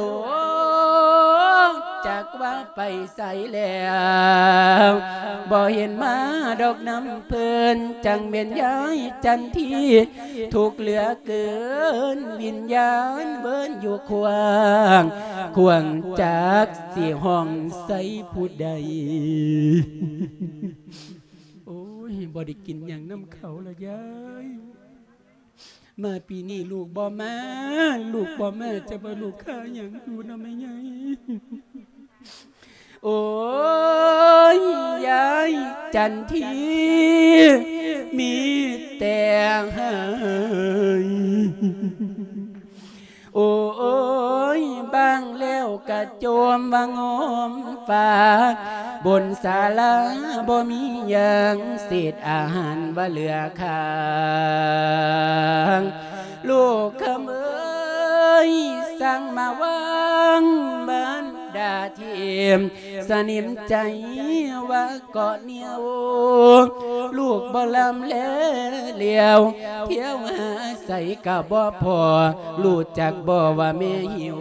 ຈັກວ່າໄປໃສແລ້ວ ບໍ່ເຫັນມາດອກນຳເພິ່ນ ຈັ່ງແມ່ນຍາຍຈັນທີ ທຸກເຫຼືອເກີນ ວິນຍານເວີນຢູ່ຂວ້າງ ຂວ້າງຈັກຊິຮ້ອງໃສ່ຜູ້ໃດ. ໂອ້ຍ ບໍ່ໄດ້ກິນຫຍັງນຳເຂົາລະຍາຍ. ມາປີນີ້ລູກບໍ່ມາ ລູກບໍ່ມາ ຈະວ່າລູກຄາຫຍັງຢູ່ນຳແມ່ໃຫຍ່. ໂອ້ຍ ຍາຍຈັນທີ ມີແຕ່ໄຫ້. ໂອ້ຍ ບາງແລ້ວກະໂຈມວ່າງອມຟ້າ ບົນສາລາບໍ່ມີຫຍັງ ເສດອາຫານວ່າເຫຼືອຄ້າງ. ລູກຄຳເອີຍ ສັ່ງມາວາງບັນດາທີມ ສະໜິມໃຈວ່າເກາະໜຽວ ລູກບໍ່ລຳແລຫຼຽວ ທ່ຽວຫາໃສກະບໍ່ພໍ ຮູ້ຈັກບໍ່ວ່າແມ່ຫິວ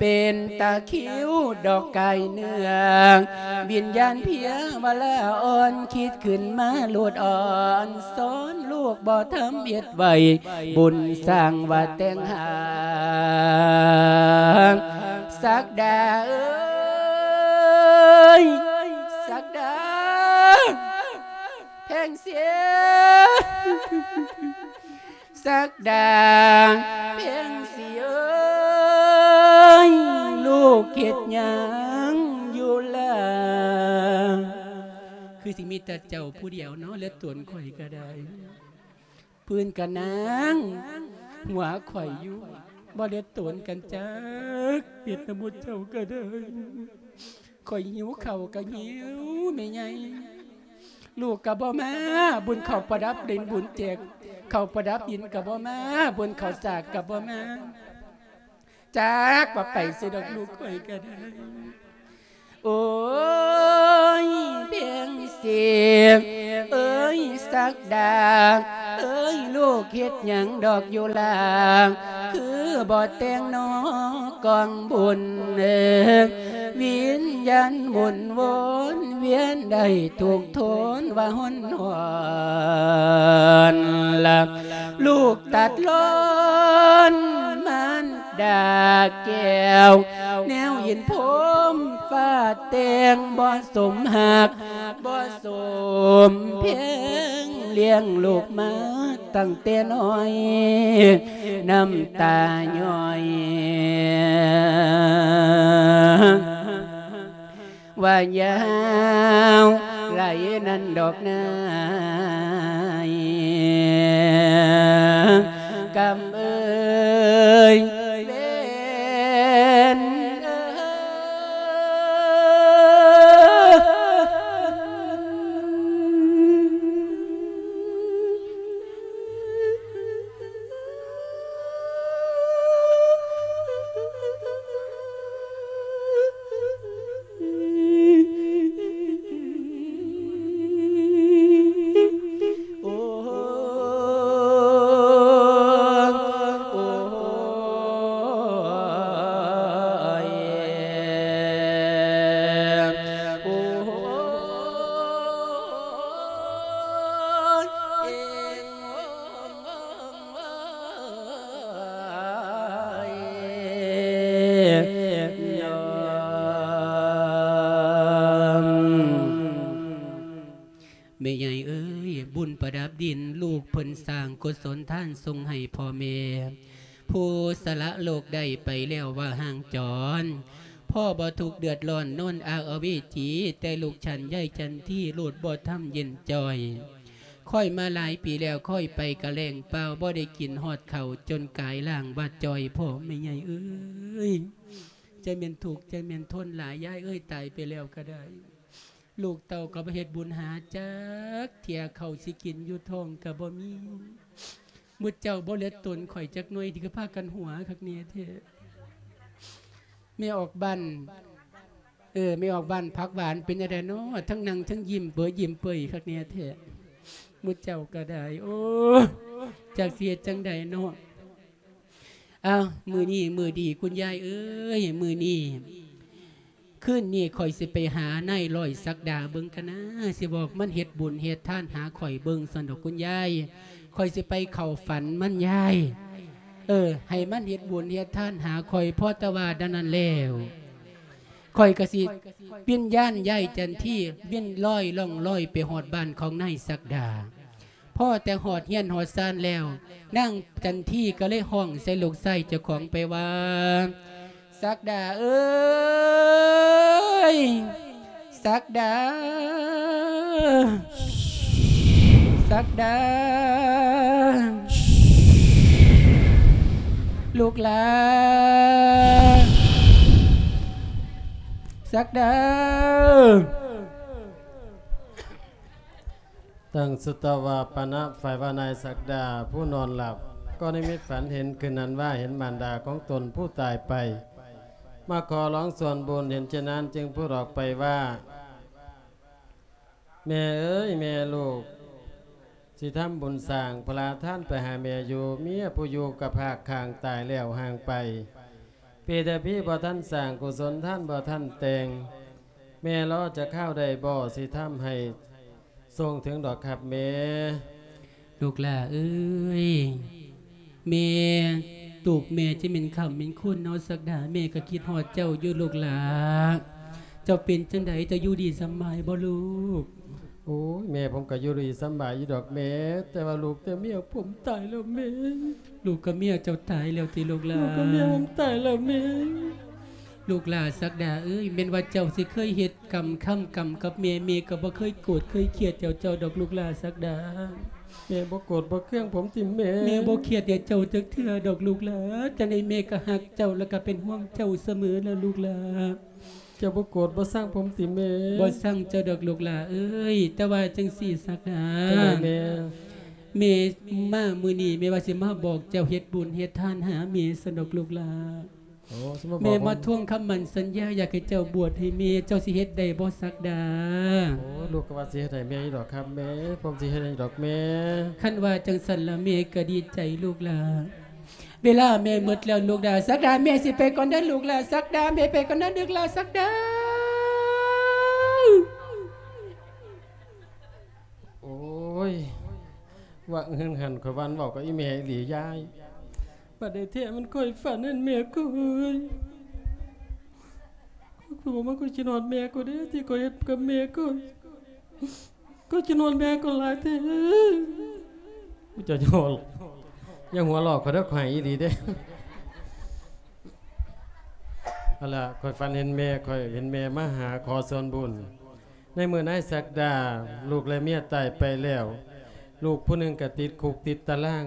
ເປັນຕາຄິວດອກກາຍເນື້ອ ວິນຍານເພຍວະລາອ່ອນ ຄິດຂຶ້ນມາໂລດອ່ອນ ສອນລູກບໍ່ທຳເຮັດໄວ້ ບຸນສ້າງວ່າແຕ່ງຫາງ ສັກດາເອີຍ ສັກດາ ແພງສີ ສັກດາ ແພງສີເອີຍ ລູກເຮັດຫຍັງຢູ່ລະ? ຄືຊິມີແຕ່ເຈົ້າຜູ້ດຽວເນາະ ເຫຼືອຕົນຂ້ອຍກະໄດ້. ເພິ່ນກະນັ່ງຫົວຂ້ອຍຢູ່ ບໍ່ໄດ້ຕົນກັນຈັກເປັດນຳໝູ່ເຈົ້າກະໄດ້. ຂ້ອຍຫິວເຂົ້າກະຫິວແມ່ໃຫຍ່ ລູກກະບໍ່ມາ ບຸນເຂົ້າປະດັບດິນ ບຸນແຈກເຂົ້າປະດັບດິນກະບໍ່ມາ ບຸນເຂົ້າສາກກະບໍ່ມາ. ຈັກວ່າໄປໃສດອກ ລູກຂ້ອຍກະໄດ້. ໂອ້ຍ ເພັງສີເອີຍ ສັກດາເອີຍ ລູກເຮັດຫຍັງດອກຢູ່ລາ ຄືບໍ່ແຕ່ງໜໍກອງບຸນ ວິນຍານໝູນວົນວຽນໄດ້ທຸກທົນວ່າຫົນຫອນລະ ລູກຕັດລ້ອນມານດາແກ້ວ ແນວເຫັນພົມຟ້າແຕ່ງ ບໍ່ສົມຮັກບໍ່ສົມແພງ ລ້ຽງລູກມາຕັ້ງແຕ່ນ້ອຍ ນ້ຳຕາຍ້ອຍ ວ່າຍາວໄຫຼນັ້ນດອກນາຍ ກຳເອີຍ ເວນເອີຍ. ແມ່ໃຫຍ່ເອີຍ ບຸນປະດັບດິນ ລູກເພິ່ນສ້າງກຸສົນທານສົ່ງໃຫ້ພໍ່ແມ່ ຜູ້ສະຫຼະໂລກໄດ້ໄປແລ້ວວ່າຮ່າງຈອນ ພໍ່ບໍ່ທຸກເດືອດຮ້ອນນອນອາກອະເວຈີ ແຕ່ລູກຊັ້ນຍາຍຈັນທີໂລດບໍ່ທຳເຢັນຈ່ອຍ ຂ້ອຍມາຫຼາຍປີແລ້ວ ຂ້ອຍໄປກະແລ້ງເປົ່າ ບໍ່ໄດ້ກິນຮອດເຂົ້າ ຈົນກາຍລ່າງວ່າຈ່ອຍ ພໍ່ແມ່ໃຫຍ່ເອີຍ ໃຈແມ່ນທຸກ ໃຈແມ່ນທົນຫຼາຍ ຍາຍເອີຍ ຕາຍໄປແລ້ວກະໄດ້ ລູກເຕົ້າກະບໍ່ເຮັດບຸນຫາຈັກເທື່ອ ເຂົ້າຊິກິນຢູ່ທ້ອງກະບໍ່ມີ ໝູ່ເຈົ້າບໍ່ເຫຼືອຕົນຂ້ອຍຈັກໜ່ວຍ ທີ່ຄືພາກັນຫົວຄັກແນ່ແທ້ ແມ່ອອກບ້ານ ເອີ ແມ່ອອກບ້ານຜັກຫວານເປັນຈັ່ງໃດເນາະ ທັງນັ່ງທັງຍິ້ມເປີຍຍິ້ມເປີຍຄັກແນ່ແທ້ ໝູ່ເຈົ້າກະໄດ້ ໂອ້ ຈັກຊິເຮັດຈັ່ງໃດເນາະ. ອ້າວ ມື້ນີ້ມື້ດີຄຸນຍາຍເອີຍ ມື້ນີ້ ຄືນນີ້ຂ້ອຍຊິໄປຫານາຍຮ້ອຍສັກດາເບິ່ງກັນນາ ຊິບອກມັນເຮັດບຸນເຮັດທານຫາຂ້ອຍເບິ່ງຊັ້ນດອກຄຸນຍາຍ ຂ້ອຍຊິໄປເຂົ້າຝັນມັນຍາຍ ເອີ ໃຫ້ມັນເຮັດບຸນເຮັດທານຫາຂ້ອຍ ພໍແຕ່ວ່າດານນັ້ນແລ້ວ ຂ້ອຍກໍຊິວິນຍານຍາຍຈັນທີວິນລອຍລ່ອງລອຍໄປຮອດບ້ານຂອງນາຍສັກດາ. ພໍແຕ່ຮອດເຮືອນຮອດຊານແລ້ວ ນາງຈັນທີກໍເລີຍຮ້ອງໃສ່ລູກຊາຍເຈົ້າຂອງໄປວ່າ ສັກດາເອີຍ ສັກດາ ສັກດາ ລູກຫຼານ ສັກດາ. ຕັ້ງສຸຕະວາປະນະ ຝ່າຍວ່ານາຍສັກດາ ຜູ້ນອນຫຼັບ ກໍນິມິດຝັນເຫັນຄືນນັ້ນວ່າເຫັນມານດາຂອງຕົນຜູ້ຕາຍໄປ ມາຂໍລອງສ່ວນບຸນ ເຫັນເຊັ່ນນັ້ນຈຶ່ງພູດອອກໄປວ່າ ແມ່ເອີຍ ແມ່ລູກ ຊິທຳບຸນສ້າງພະລາທານໄປຫາແມ່ຢູ່ ເມຍຜູ້ຢູ່ກັບຮາກຂ້າງຕາຍແລ້ວຫ່າງໄປ ເປຕະພີບໍ່ທັນສ້າງກຸສົນ ທານບໍ່ທັນແຕ່ງ ແມ່ລໍຈັກຄາວໄດ້ບໍ່ ຊິທຳໃຫ້ສົ່ງເຖິງດອກຄັບແມ່. ລູກຫຼ້າເອີຍ ແມ່ ຕູບແມ່ຈະແມ່ນຄ່ຳແມ່ນຄູນເນາະສັກດາ ແມ່ກໍຄິດຮອດເຈົ້າຢູ່ລູກຫຼ້າ ເຈົ້າເປັນຈັ່ງໃດ ເຈົ້າຢູ່ດີສຳບາຍບໍ່ລູກ? ໂອ້ຍ ແມ່ ຜົມກໍຢູ່ດີສຳບາຍຢູ່ດອກແມ່ ແຕ່ວ່າລູກແຕ່ເມຍຜົມຕາຍແລ້ວແມ່. ລູກກັບເມຍເຈົ້າຕາຍແລ້ວຕິລູກຫຼ້າ? ລູກກັບເມຍຜົມຕາຍແລ້ວແມ່. ລູກຫຼ້າສັກດາເອີຍ ແມ່ນວ່າເຈົ້າຊິເຄີຍເຮັດກຳຄ້ຳກຳກັບແມ່ ແມ່ກໍບໍ່ເຄີຍໂກດເຄີຍຄຽດເຈົ້າ ເຈົ້າດອກລູກຫຼ້າສັກດາ. ແມ່ບໍ່ໂກດບໍ່ເຄືອງຜົມຕິແມ່? ແມ່ບໍ່ຄຽດໃຫ້ເຈົ້າຈັກເທື່ອດອກລູກຫຼ້າ ຈັ່ງໃດແມ່ກໍຮັກເຈົ້າ ແລະກໍເປັນຫ່ວງເຈົ້າສະເໝີແຫຼະລູກຫຼ້າ. ເຈົ້າບໍ່ໂກດບໍ່ຊັງຜົມຕິແມ່? ບໍ່ຊັງເຈົ້າດອກລູກຫຼ້າເອີຍ ແຕ່ວ່າຈັ່ງຊີ້ສັກດາ ຈັ່ງໃດແມ່? ແມ່ມາມື້ນີ້ ແມ່ວ່າຊິມາບອກເຈົ້າເຮັດບຸນເຮັດທານຫາແມ່ຊັ້ນດອກລູກຫຼ້າ. ໂອ້ ຊິມາບອກ ແມ່ມາທວງຄຳໝັ້ນສັນຍາ ຢາກໃຫ້ເຈົ້າບວດໃຫ້ແມ່ ເຈົ້າຊິເຮັດໄດ້ບໍ່ສັກດາ? ໂອ້ ລູກກໍວ່າຊິເຮັດໃຫ້ແມ່ຢູ່ດອກຄັບແມ່ ຜົມຊິເຮັດໃຫ້ດອກແມ່. ຄັນວ່າຈັ່ງຊັ້ນລະແມ່ກໍດີໃຈລູກຫຼ້າ. ເວລາແມ່ໝົດແລ້ວລູກຫຼ້າສັກດາ ແມ່ຊິໄປກ່ອນເດີລູກຫຼ້າສັກດາ ແມ່ໄປກ່ອນເດີລູກຫຼ້າສັກດາ. ໂອ້ຍ ວ່າເຮືອນຫັ້ນ ຂ້ອຍວ່າເວົ້າກັບອີ່ແມ່ອີ່ຫຼີຍາຍ. ບັດໃດແທ້ມັນຂ້ອຍຝັນເຫັນແມ່ຂ້ອຍ. ຂ້ອຍບອກມາ ຂ້ອຍຄິດຮອດແມ່ຂ້ອຍເດ້ ທີ່ຂ້ອຍເຮັດກັບແມ່ຂ້ອຍ. ຂ້ອຍຄິດຮອດແມ່ຂ້ອຍຫຼາຍແທ້. ເຈົ້າຢ່າຫົວ ຢ່າຫົວຫຼອກຂ້ອຍເດີ ຂ້ອຍໃຫ້ອີ່ຫຼີເດ້. ຫັ້ນລະ ຂ້ອຍຝັນເຫັນແມ່ ຂ້ອຍເຫັນແມ່ມາຫາຂໍສ່ວນບຸນ. ໃນເມື່ອນາຍສັກດາ ລູກແລະເມຍຕາຍໄປແລ້ວ ລູກຜູ້ໜຶ່ງກໍຕິດຄຸກຕິດຕາລາງ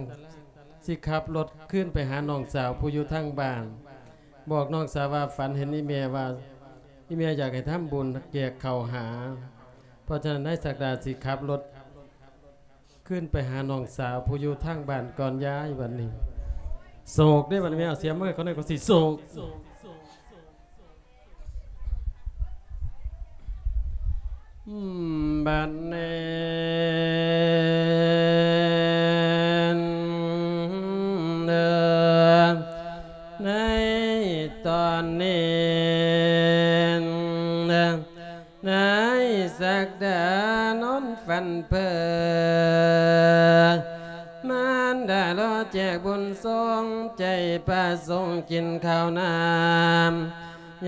ຊິຂັບລົດຄືນໄປຫານ້ອງສາວຜູ້ຢູ່ທາງບ້ານ ບອກນ້ອງສາວວ່າຝັນເຫັນອີ່ແມ່ວ່າ ອີ່ແມ່ຢາກໃຫ້ທຳບຸນແຈກເຂົ້າຫາ. ເພາະສະນັ້ນນາຍສັກດາຊິຂັບລົດ ຂຶ້ນໄປຫານ້ອງສາວຜູ້ຢູ່ທາງບ້ານກ່ອນຍາຍບັດນີ້. ໂສກເດ້ບັດນີ້ ແມ່ເອົາສຽມມາໃຫ້ເຂົາແດ່ ເຂົາຊິໂສກ. ອືມ ບັດນີ້ເດີ ໃນຕອນນີ້ເດີ ນາຍສັກດານອນຝັນເພີ ມານດາລໍແຈກບຸນຊົງໃຈ ປະສົງກິນເຂົ້ານ້ຳ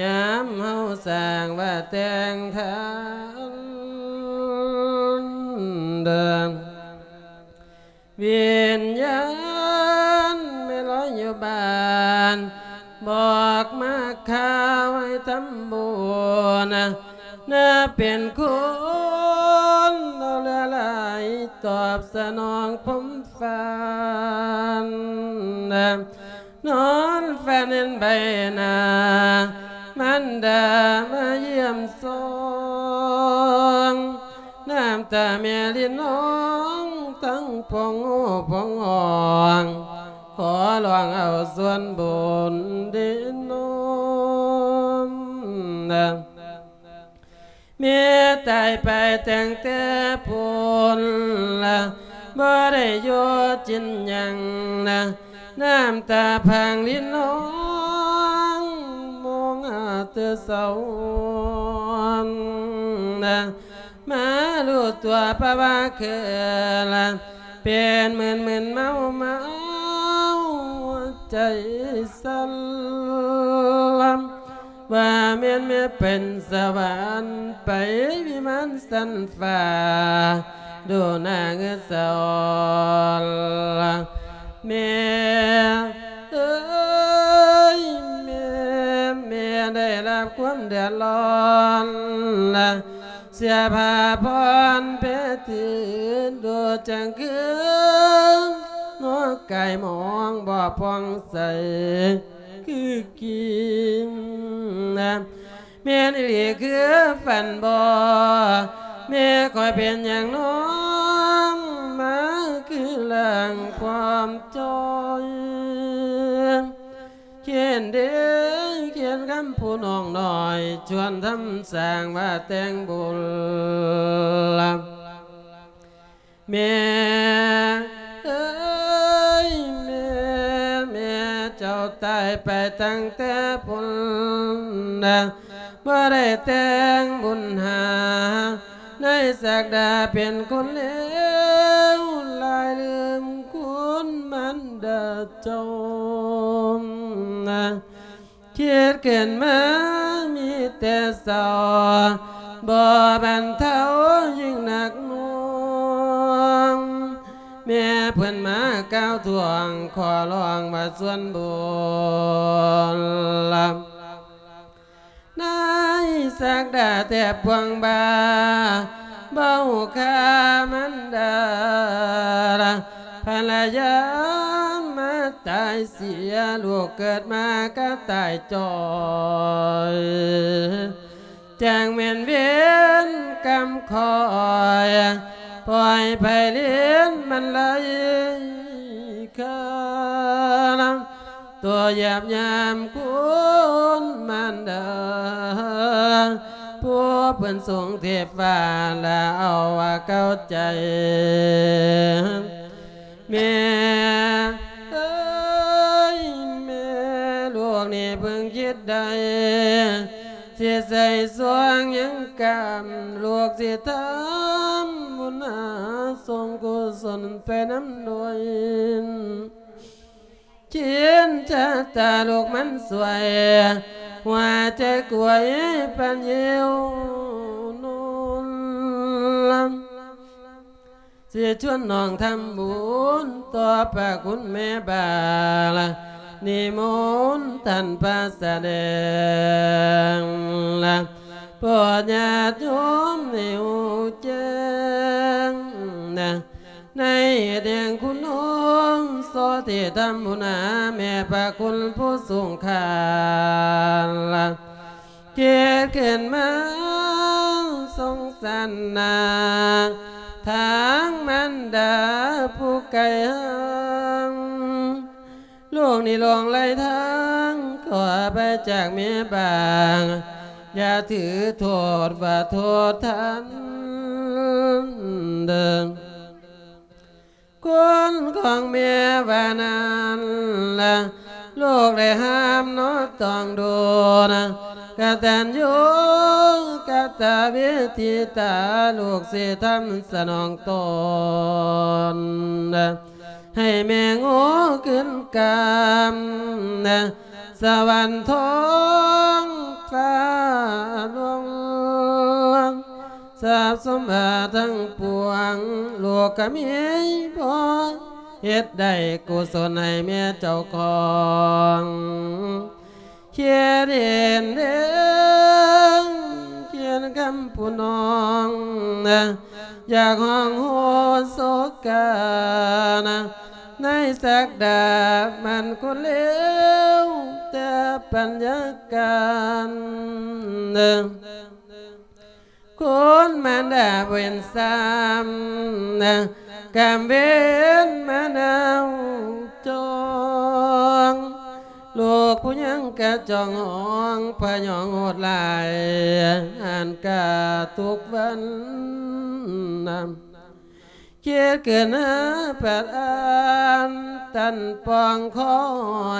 ຍາມເຮົາສ້າງວ່າແຕ່ງທານເດີ. ວິນຍານແມ່ລອຍຢູ່ບ້ານ ບອກມາຂ່າວໃຫ້ທຳບຸນ ນາເປັນຄຸນເອົາເຫຼືອຫຼາຍ ຕອບສະໜອງຜົມຝັນ. ນອນຝັນເຫັນໃບໜ້າ ມານດາມາຢ້ຽມຊົມ ນ້ຳຕາແມ່ລິນນອງ ທັງພອງໂຫພອງຮ້ອງ ຂໍລອງເອົາສ່ວນບຸນເດນອມ. ແມ່ຕາຍໄປຕັ້ງແຕ່ພຸ້ນລະ ບໍ່ໄດ້ຢູ່ຈິນຫຍັງນະ ນ້ຳຕາພັງລິນຮ້ອງ ມອງຫາແຕ່ສາວ ມາຮູ້ຕົວປະວ່າຄືລະ ເປັນມຶນໆເມົາໆ ໃຈສັ່ນລຳ ວ່າແມ່ນແມ່ເປັນສະຫວັນ ໄປວິມານຊັ້ນຟ້າ ດູໜ້າເງືອສອນລະ ແມ່ເອີຍ ແມ່ ແມ່ໄດ້ຮັບຄວາມເດືອດຮ້ອນລະ ເສຍຜ້າຜ່ອນແພຕື່ນ ດູຈັ່ງຄື ຫົວກາຍມອງບໍ່ຜ່ອງໃສຄືກີນ ແມ່ນອີ່ຫຼີຄືຝັນບໍ? ແມ່ຂ້ອຍເປັນຫຍັງນ້ອງ ມາຄືລ່າງຄວາມຈ່ອຍ? ຂຽນເດ ຂຽນຄຳຜູ້ນ້ອງນ້ອຍ ຊວນທຳສ້າງວ່າແຕ່ງບຸນລະ ແມ່ເອີຍ ແມ່ ແມ່ເຈົ້າຕາຍໄປຕັ້ງແຕ່ພຸ້ນນະ ບໍ່ໄດ້ແຕ່ງບຸນຫາ ໃນສັກດາເປັນຄົນເລວ ຫຼາຍລືມຄຸນມານດາເຈົ້ານະ ຄິດຂຶ້ນມາມີແຕ່ເສົ້າ ບໍ່ບັນເທົາຍິ່ງໜັກໜ່ວງ ແມ່ເພິ່ນມາກ່າວທວງ ຂໍຮ້ອງວ່າສ່ວນບຸນລະ ນາຍສັກດາແທບພວງບ່າ ເບົາຂ້າມັນດາ ພັນລະຍາມາຕາຍເສຍ ລູກເກີດມາກະຕາຍຈ່ອຍ ຈັ່ງແມ່ນເວນກຳຂ້ອຍ ປ່ອຍໃຜເລນມັນໄຫຼຄາ ຕົວຢາບຍາມຄຸນມານດາ ຜູ້ເພິ່ນຊົງເທບຟ້າ ລະເອົາວ່າເຂົ້າໃຈ ແມ່ເອີຍ ແມ່ ລູກນີ້ເພິ່ງຄິດໄດ້ ຊິໃສ່ຊ່ວງຫຍັງກຳ ລູກຊິທຳບຸນຫາ ສົ່ງກຸສົນໄປນຳດ້ວຍ ເຄນຊະຕາລູກມັນສວຍ ຫົວໃຈກວຍປັນເຫວໂນນ ຊິຊວນນ້ອງທຳບຸນຕໍ່ພະຄຸນແມ່ບາງ ນິມົນທ່ານພະສະແດງ ໂປດຍາດໂຍມໃຫ້ຮູ້ແຈ້ງ ໃນເຫດແຫ່ງຄຸນໂອງ ໂສທີ່ທຳບຸນຫາແມ່ພະຄຸນຜູ້ສູງຄ່າ ຄິດຂຶ້ນມາສົງສານນາ ທາງມານດາຜູ້ໄກຫ່າງ ລູກນີ້ຫຼວງໄຫຼທາງ ຂໍອະໄພຈາກແມ່ບາງ ຢ່າຖືໂທດວ່າໂທດທ່ານເດີ ຄຸນຂອງແມ່ວ່ານັ້ນລະ ລູກໄດ້ຫ້າມເນາະຕ້ອງໂດນ ກະຕັນຍູກະຕະເວທິຕາ ລູກຊິທຳສະໜອງຕົນ ໃຫ້ແມ່ໂງ່ຂຶ້ນກຳ ສະຫວັນທອງຟ້າຫຼວງ ຊັບສົມບັດທັງປວງ ລູກກະມີພໍເຮັດໄດ້ ກຸສົນໃຫ້ແມ່ເຈົ້າຂອງ ຂຽນເຫັນເດ້ ຂຽນຄຳຜູ້ນ້ອງ ຢາກຮ້ອງໂຮໂສກາ ໃນສັກດາມັນຄົນເລວ ແຕ່ປັນຍາການ ຄົນມານດາເວນຊ້ຳ ກຳເວນມານາວຈອງ ລູກຜູ້ຍັງກະຈອງຫ້ອງ ພະຍອງໂຫດຫຼາຍ ອ່ານກະທຸກວັນນຳ ເກີດຂຶ້ນຫາປາດອ່ານ ຕັນປ່ອງຄອ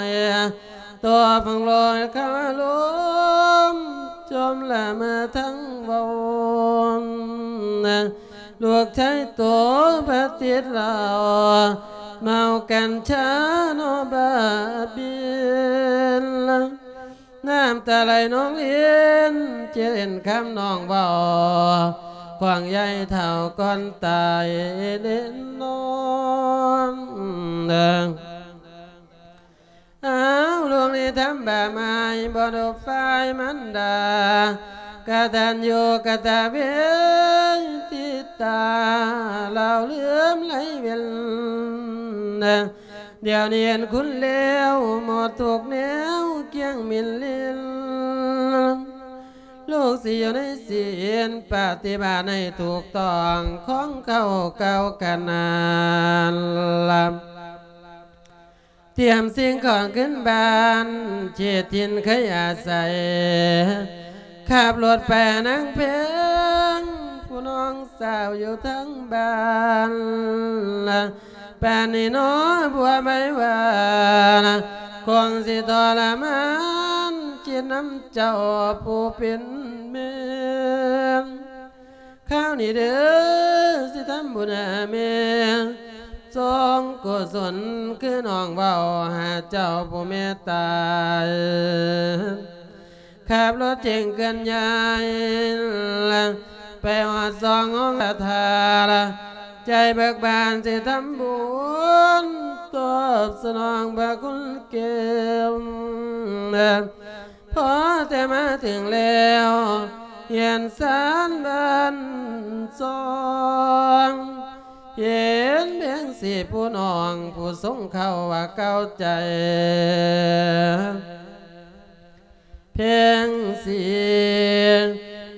ຍ ຕໍ່ຝັ່ງລອຍຄາລົມ ຈົມລະເມີທັງວອນ ລູກຊາຍໂຕປະຕິດເຫຼົ້າ ເມົາກັນຊານໍບາບິນ ນ້ຳຕາໄຫຼນອງລິນ ເຈັດເຫັນຄຳນ້ອງເວົ້າ ຂວາງໃຫຍ່ເຖົ້າກ່ອນຕາຍແນ່ນອນ. ອ້າວ ລູກນີ້ທຳບາບໝາຍ ບໍ່ດຸບຝ່າຍມັນດາ ກະຕັນຍູກະຕະເວທິຕາ ລາວເຫຼືອມໄຫຼເວັນ ດຽວນີ້ເຫັນຄຸນແລ້ວ ໝົດທຸກແນວກຽງມິນລິນ ລູກຊິຢູ່ໃນສິນ ປະຕິບັດໃຫ້ຖືກຕ້ອງ ຂອງເກົ່າເກົ່າກະນານລະ ຕຽມສິ່ງຂອງຂຶ້ນບ້ານ ເຂດຖິ່ນເຄີຍອາໄສ ຂັບລົດໄປນາງແພງ ຜູ້ນ້ອງສາວຢູ່ທາງບ້ານ ປານນີ້ໜໍ ບົວໃບຫວານ ຄົງຊິທໍລະມານ ຄິດນຳເຈົ້າຜູ້ເປັນແມ່ ຄາວນີ້ເດີ ຊິທຳບຸນຫາແມ່ ສົ່ງກຸສົນຄືນ້ອງເວົ້າ ຫາເຈົ້າຜູ້ເມດຕາ ຂັບລົດເຈັງເຄື່ອນຍ້າຍ ໄປຮອດສອງອົງສະຖານ ໃຈເບີກບານຊິທຳບຸນ ຕອບສະໜອງພະຄຸນແກ້ວ ພໍແຕ່ມາເຖິງແລ້ວ ເຮືອນຊານບ້ານຊ່ອງ ເຫັນແພງສີຜູ້ນ້ອງ ຜູ້ຊົງເຂົ້າວ່າເກົ່າໃຈ ແພງສີ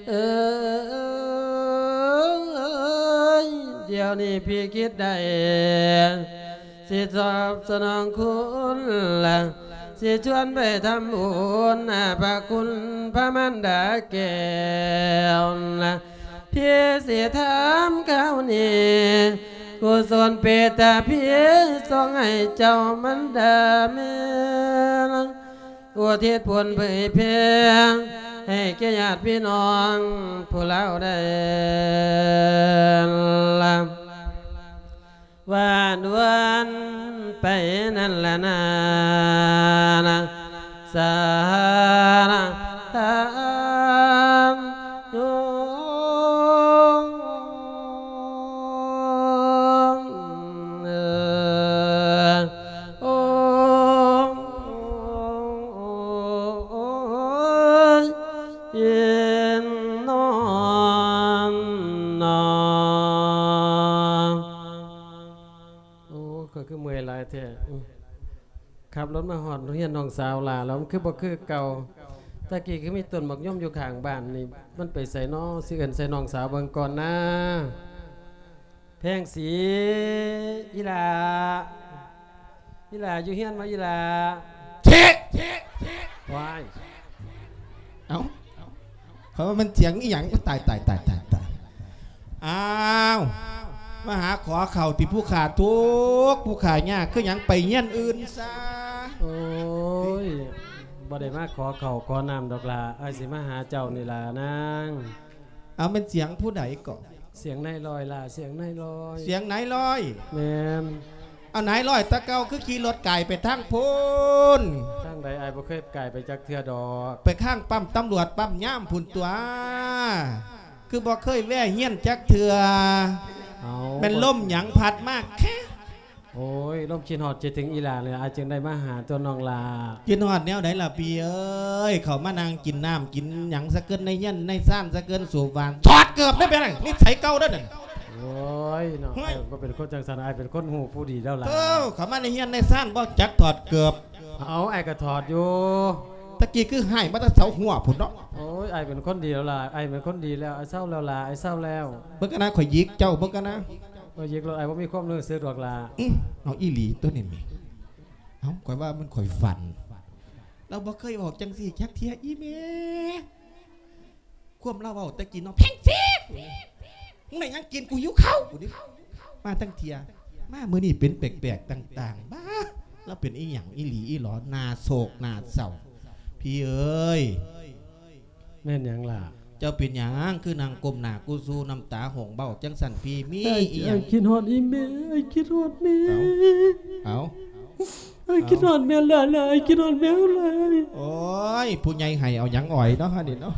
ເອີຍ ດຽວນີ້ພີ່ຄິດໄດ້ ຊິຕອບສະໜອງຄຸນ ຊິຊວນໄປທຳບຸນ ພະຄຸນພະມານດາແກ້ວ ພີ່ຊິຖາມຄາວນີ້ ກຸສົນເມດຕາພີ່ ສົ່ງໃຫ້ເຈົ້າມານດາແມ່ ອຸທິດຜົນເຜີຍແຜ່ ໃຫ້ແກ່ຍາດພີ່ນ້ອງຜູ້ລາວໄດ້ລະ ຫວານວອນໄປນັ້ນລະນາ ສາທານໂຍ ໂອ້ ໂອ້ ໂອ້ ໂອ້ ເຢັນນອນນອ ໂອ້ ຂ້ອຍຄືເມື່ອຍຫຼາຍແທ້ ອື ຂັບລົດມາຮອດເຮືອນນ້ອງສາວຫຼ້າແລ້ວ ມັນຄືບໍ່ຄືເກົ່າ ຕະກີ້ຄືມີຕົ້ນໝາກຍົມຢູ່ຂ້າງບ້ານນີ້ ມັນໄປໃສນໍ ຊິເອີ້ນໃສ່ນ້ອງສາວເບິ່ງກ່ອນນາ. ແພງສີ ອີ່ຫຼ້າ ອີ່ຫຼ້າຢູ່ເຮືອນບໍ່ ອີ່ຫຼ້າ? ເຊະ! ວ້າຍ ເອົ້າ ເຂົາວ່າມັນສຽງອີ່ຫຍັງ? ໂອ້ ຕາຍ ຕາຍ ຕາຍ ຕາຍ ຕາຍ ອ້າວ ມາຫາຂໍເຂົ້າຕິ ຜູ້ຂ້າທຸກ ຜູ້ຂ້າຍາກ ຄືຫຍັງໄປເຮືອນອື່ນຊະ? ໂອ້ຍ ບໍ່ໄດ້ມາຂໍເຂົ້າຂໍນ້ຳດອກຫຼ້າ ອ້າຍຊິມາຫາເຈົ້ານີ້ລະນາງ. ເອົາ ແມ່ນສຽງຜູ້ໃດເກາະ? ສຽງນາຍລອຍລະ ສຽງນາຍລອຍ. ສຽງນາຍລອຍ? ແມ່ນ. ເອົາ ນາຍລອຍແຕ່ເກົ່າຄືຂີ່ລົດກາຍໄປທາງພຸ້ນ? ທາງໃດ? ອ້າຍບໍ່ເຄີຍກາຍໄປຈັກເທື່ອດອກ. ໄປຂ້າງປ້ຳຕຳຫຼວດປ້ຳຍາມພຸ້ນຕົວະ ຄືບໍ່ເຄີຍແວ່ເຮືອນຈັກເທື່ອ? ເອົາ ແມ່ນລົມຫຍັງພັດມາແຄະ? ໂອ້ຍ ລົມຄິດຮອດຄິດເຖິງອີ່ຫຼ້າເລີຍ ອ້າຍຈຶ່ງໄດ້ມາຫາຕົວະນ້ອງຫຼ້າ. ຄິດຮອດແນວໃດລະພີ່ເອີຍ? ເຂົ້າມານັ່ງກິນນ້ຳກິນຫຍັງຊະເກີນ ໃນເຮືອນໃນຊານຊະເກີນ ສູບຫວານ ຖອດເກີບໄດ້ເປັນຫຍັງ? ນິໄສເກົ່າເດີນັ້ນ. ໂອ້ຍເນາະ ເຮີ້ຍ ອ້າຍບໍ່ເປັນຄົນຈັ່ງຊັ້ນ ອ້າຍເປັນຄົນຮູ້ຜູ້ດີແລ້ວຫຼ້າ. ເອີ ເຂົ້າມາໃນເຮືອນໃນຊານບໍ່ຈັກຖອດເກີບ. ເອົາ ອ້າຍກໍຖອດຢູ່. ຕະກີ້ຄືຮ້າຍມາແຕ່ເສົາຫົວພຸ້ນເນາະ. ໂອ້ຍ ອ້າຍເປັນຄົນດີແລ້ວຫຼ້າ ອ້າຍເປັນຄົນດີແລ້ວ ອ້າຍເຊົາແລ້ວຫຼ້າ ອ້າຍເຊົາແລ້ວ. ເບິ່ງກັນນະ ຂ້ອຍຫຍິກເຈົ້າ ເບິ່ງກັນນະ. ຂ້ອຍຫຍິກໂລດ ອ້າຍບໍ່ມີຄວາມຮູ້ສຶກດອກຫຼ້າ. ອື ເອົາອີ່ຫຼີຕົວນີ້ແມ່. ເອົ້າ ຂ້ອຍວ່າມັນຂ້ອຍຝັນ ລາວບໍ່ເຄີຍເວົ້າຈັ່ງຊີ້ຈັກເທື່ອ ອີ່ແມ່. ຄວາມລາວເວົ້າແຕ່ກີ້ເນາະ ແພງສີ ມຶງໄດ້ຫຍັງກິນ ກູຫິວເຂົ້າ. ມາຕັ້ງເທື່ອ ມາມື້ນີ້ເປັນແປກໆຕ່າງໆ ບ້າ ລາວເປັນອີ່ຫຍັງອີ່ຫຼີອີ່ຫຼໍ ໜ້າໂສກໜ້າເສົ້າ ພີ່ເອີຍ. ແມ່ນຫຍັງລະ? ເຈົ້າເປັນຫຍັງຄືນັ່ງກົ້ມໜ້າກູຊູ ນ້ຳຕາຫົ່ງເບົ້າຈັ່ງຊັ້ນພີ່? ມີອີ່ຫຍັງ? ອ້າຍຄິດຮອດອີ່ແມ່ ອ້າຍຄິດຮອດແມ່. ເອົາ ເອົາ ອ້າຍຄິດຮອດແມ່ຫຼາຍໆ ອ້າຍຄິດຮອດແມ່ຫຼາຍ. ໂອ້ຍ ຜູ້ໃຫຍ່ໄຫ້ເອົາຫຍັງອອຍເນາະ ອັນນີ້ເນາະ.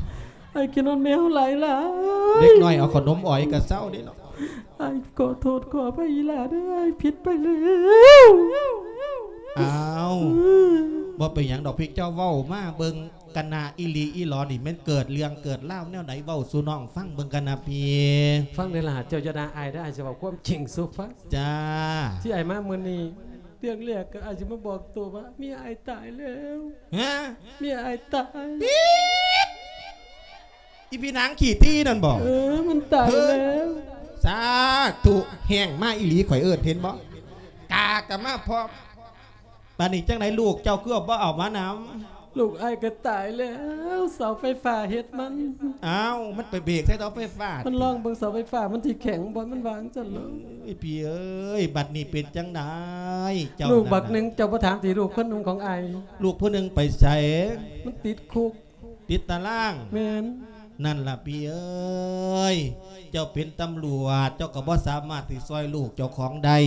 ອ້າຍຄິດຮອດແມ່ຫຼາຍໆ. ເດັກນ້ອຍເອົາຂະໜົມອອຍກະເຊົາເດ້ເນາະ. ອ້າຍຂໍໂທດຂໍອະໄພອີ່ຫຼ້າເດີ ອ້າຍຜິດໄປແລ້ວ. ອ້າວ ບໍ່ເປັນຫຍັງດອກ ພີ່ ເຈົ້າເວົ້າມາເບິ່ງກັນນະ ອີ່ຫຼີອີ່ຫຼໍນີ້ແມ່ນເກີດເລື່ອງເກີດລາວແນວໃດ ເວົ້າສູ່ນ້ອງຟັງເບິ່ງກັນນະພີ່. ຟັງເດີຫຼ້າ ເຈົ້າຢ່າດ່າອ້າຍເດີ ອ້າຍຊິເວົ້າຄວາມຈິງສູ່ຟັງ. ຈ້າ. ທີ່ອ້າຍມາມື້ນີ້ ເລື່ອງແລກກໍອາດຊິມາບອກໂຕວ່າເມຍອ້າຍຕາຍແລ້ວ. ຮະ? ເມຍອ້າຍຕາຍ. ອີ່ພີ່ນາງຂີ້ຕີ້ນັ້ນບໍ? ເອີ ມັນຕາຍແລ້ວ. ສາທຸ ແຮງມາອີ່ຫຼີ ຂ້ອຍເອີ້ນເຫັນບໍ່? ກາກະມາພ້ອມ. ບາດນີ້ຈັ່ງໃດ ລູກເຈົ້າຄືບໍ່ເອົາມານຳ? ລູກອ້າຍກໍຕາຍແລ້ວ ເສົາໄຟຟ້າເຮັດມັນ. ອ້າວ ມັນໄປເບກໃສ່ເສົາໄຟຟ້າ. ມັນລອງເບິ່ງເສົາໄຟຟ້າມັນຊິແຂງບໍ່ ມັນວ່າຈັ່ງຊັ້ນເນາະ. ເອີຍ ພີ່ເອີຍ ບັດນີ້ເປັນຈັ່ງໃດເຈົ້າ? ລູກບັກໜຶ່ງ ເຈົ້າບໍ່ຖາມຕິ ລູກຄົນໜຶ່ງຂອງອ້າຍ? ລູກຜູ້ໜຶ່ງໄປໃສ? ມັນຕິດຄຸກ. ຕິດຕາລາງ. ແມ່ນ. ນັ້ນລະພີ່ເອີຍ ເຈົ້າເປັນຕຳຫຼວດ ເຈົ້າກໍບໍ່ສາມາດຊິຊ່ອຍລູກເຈົ້າຂອງໄດ້.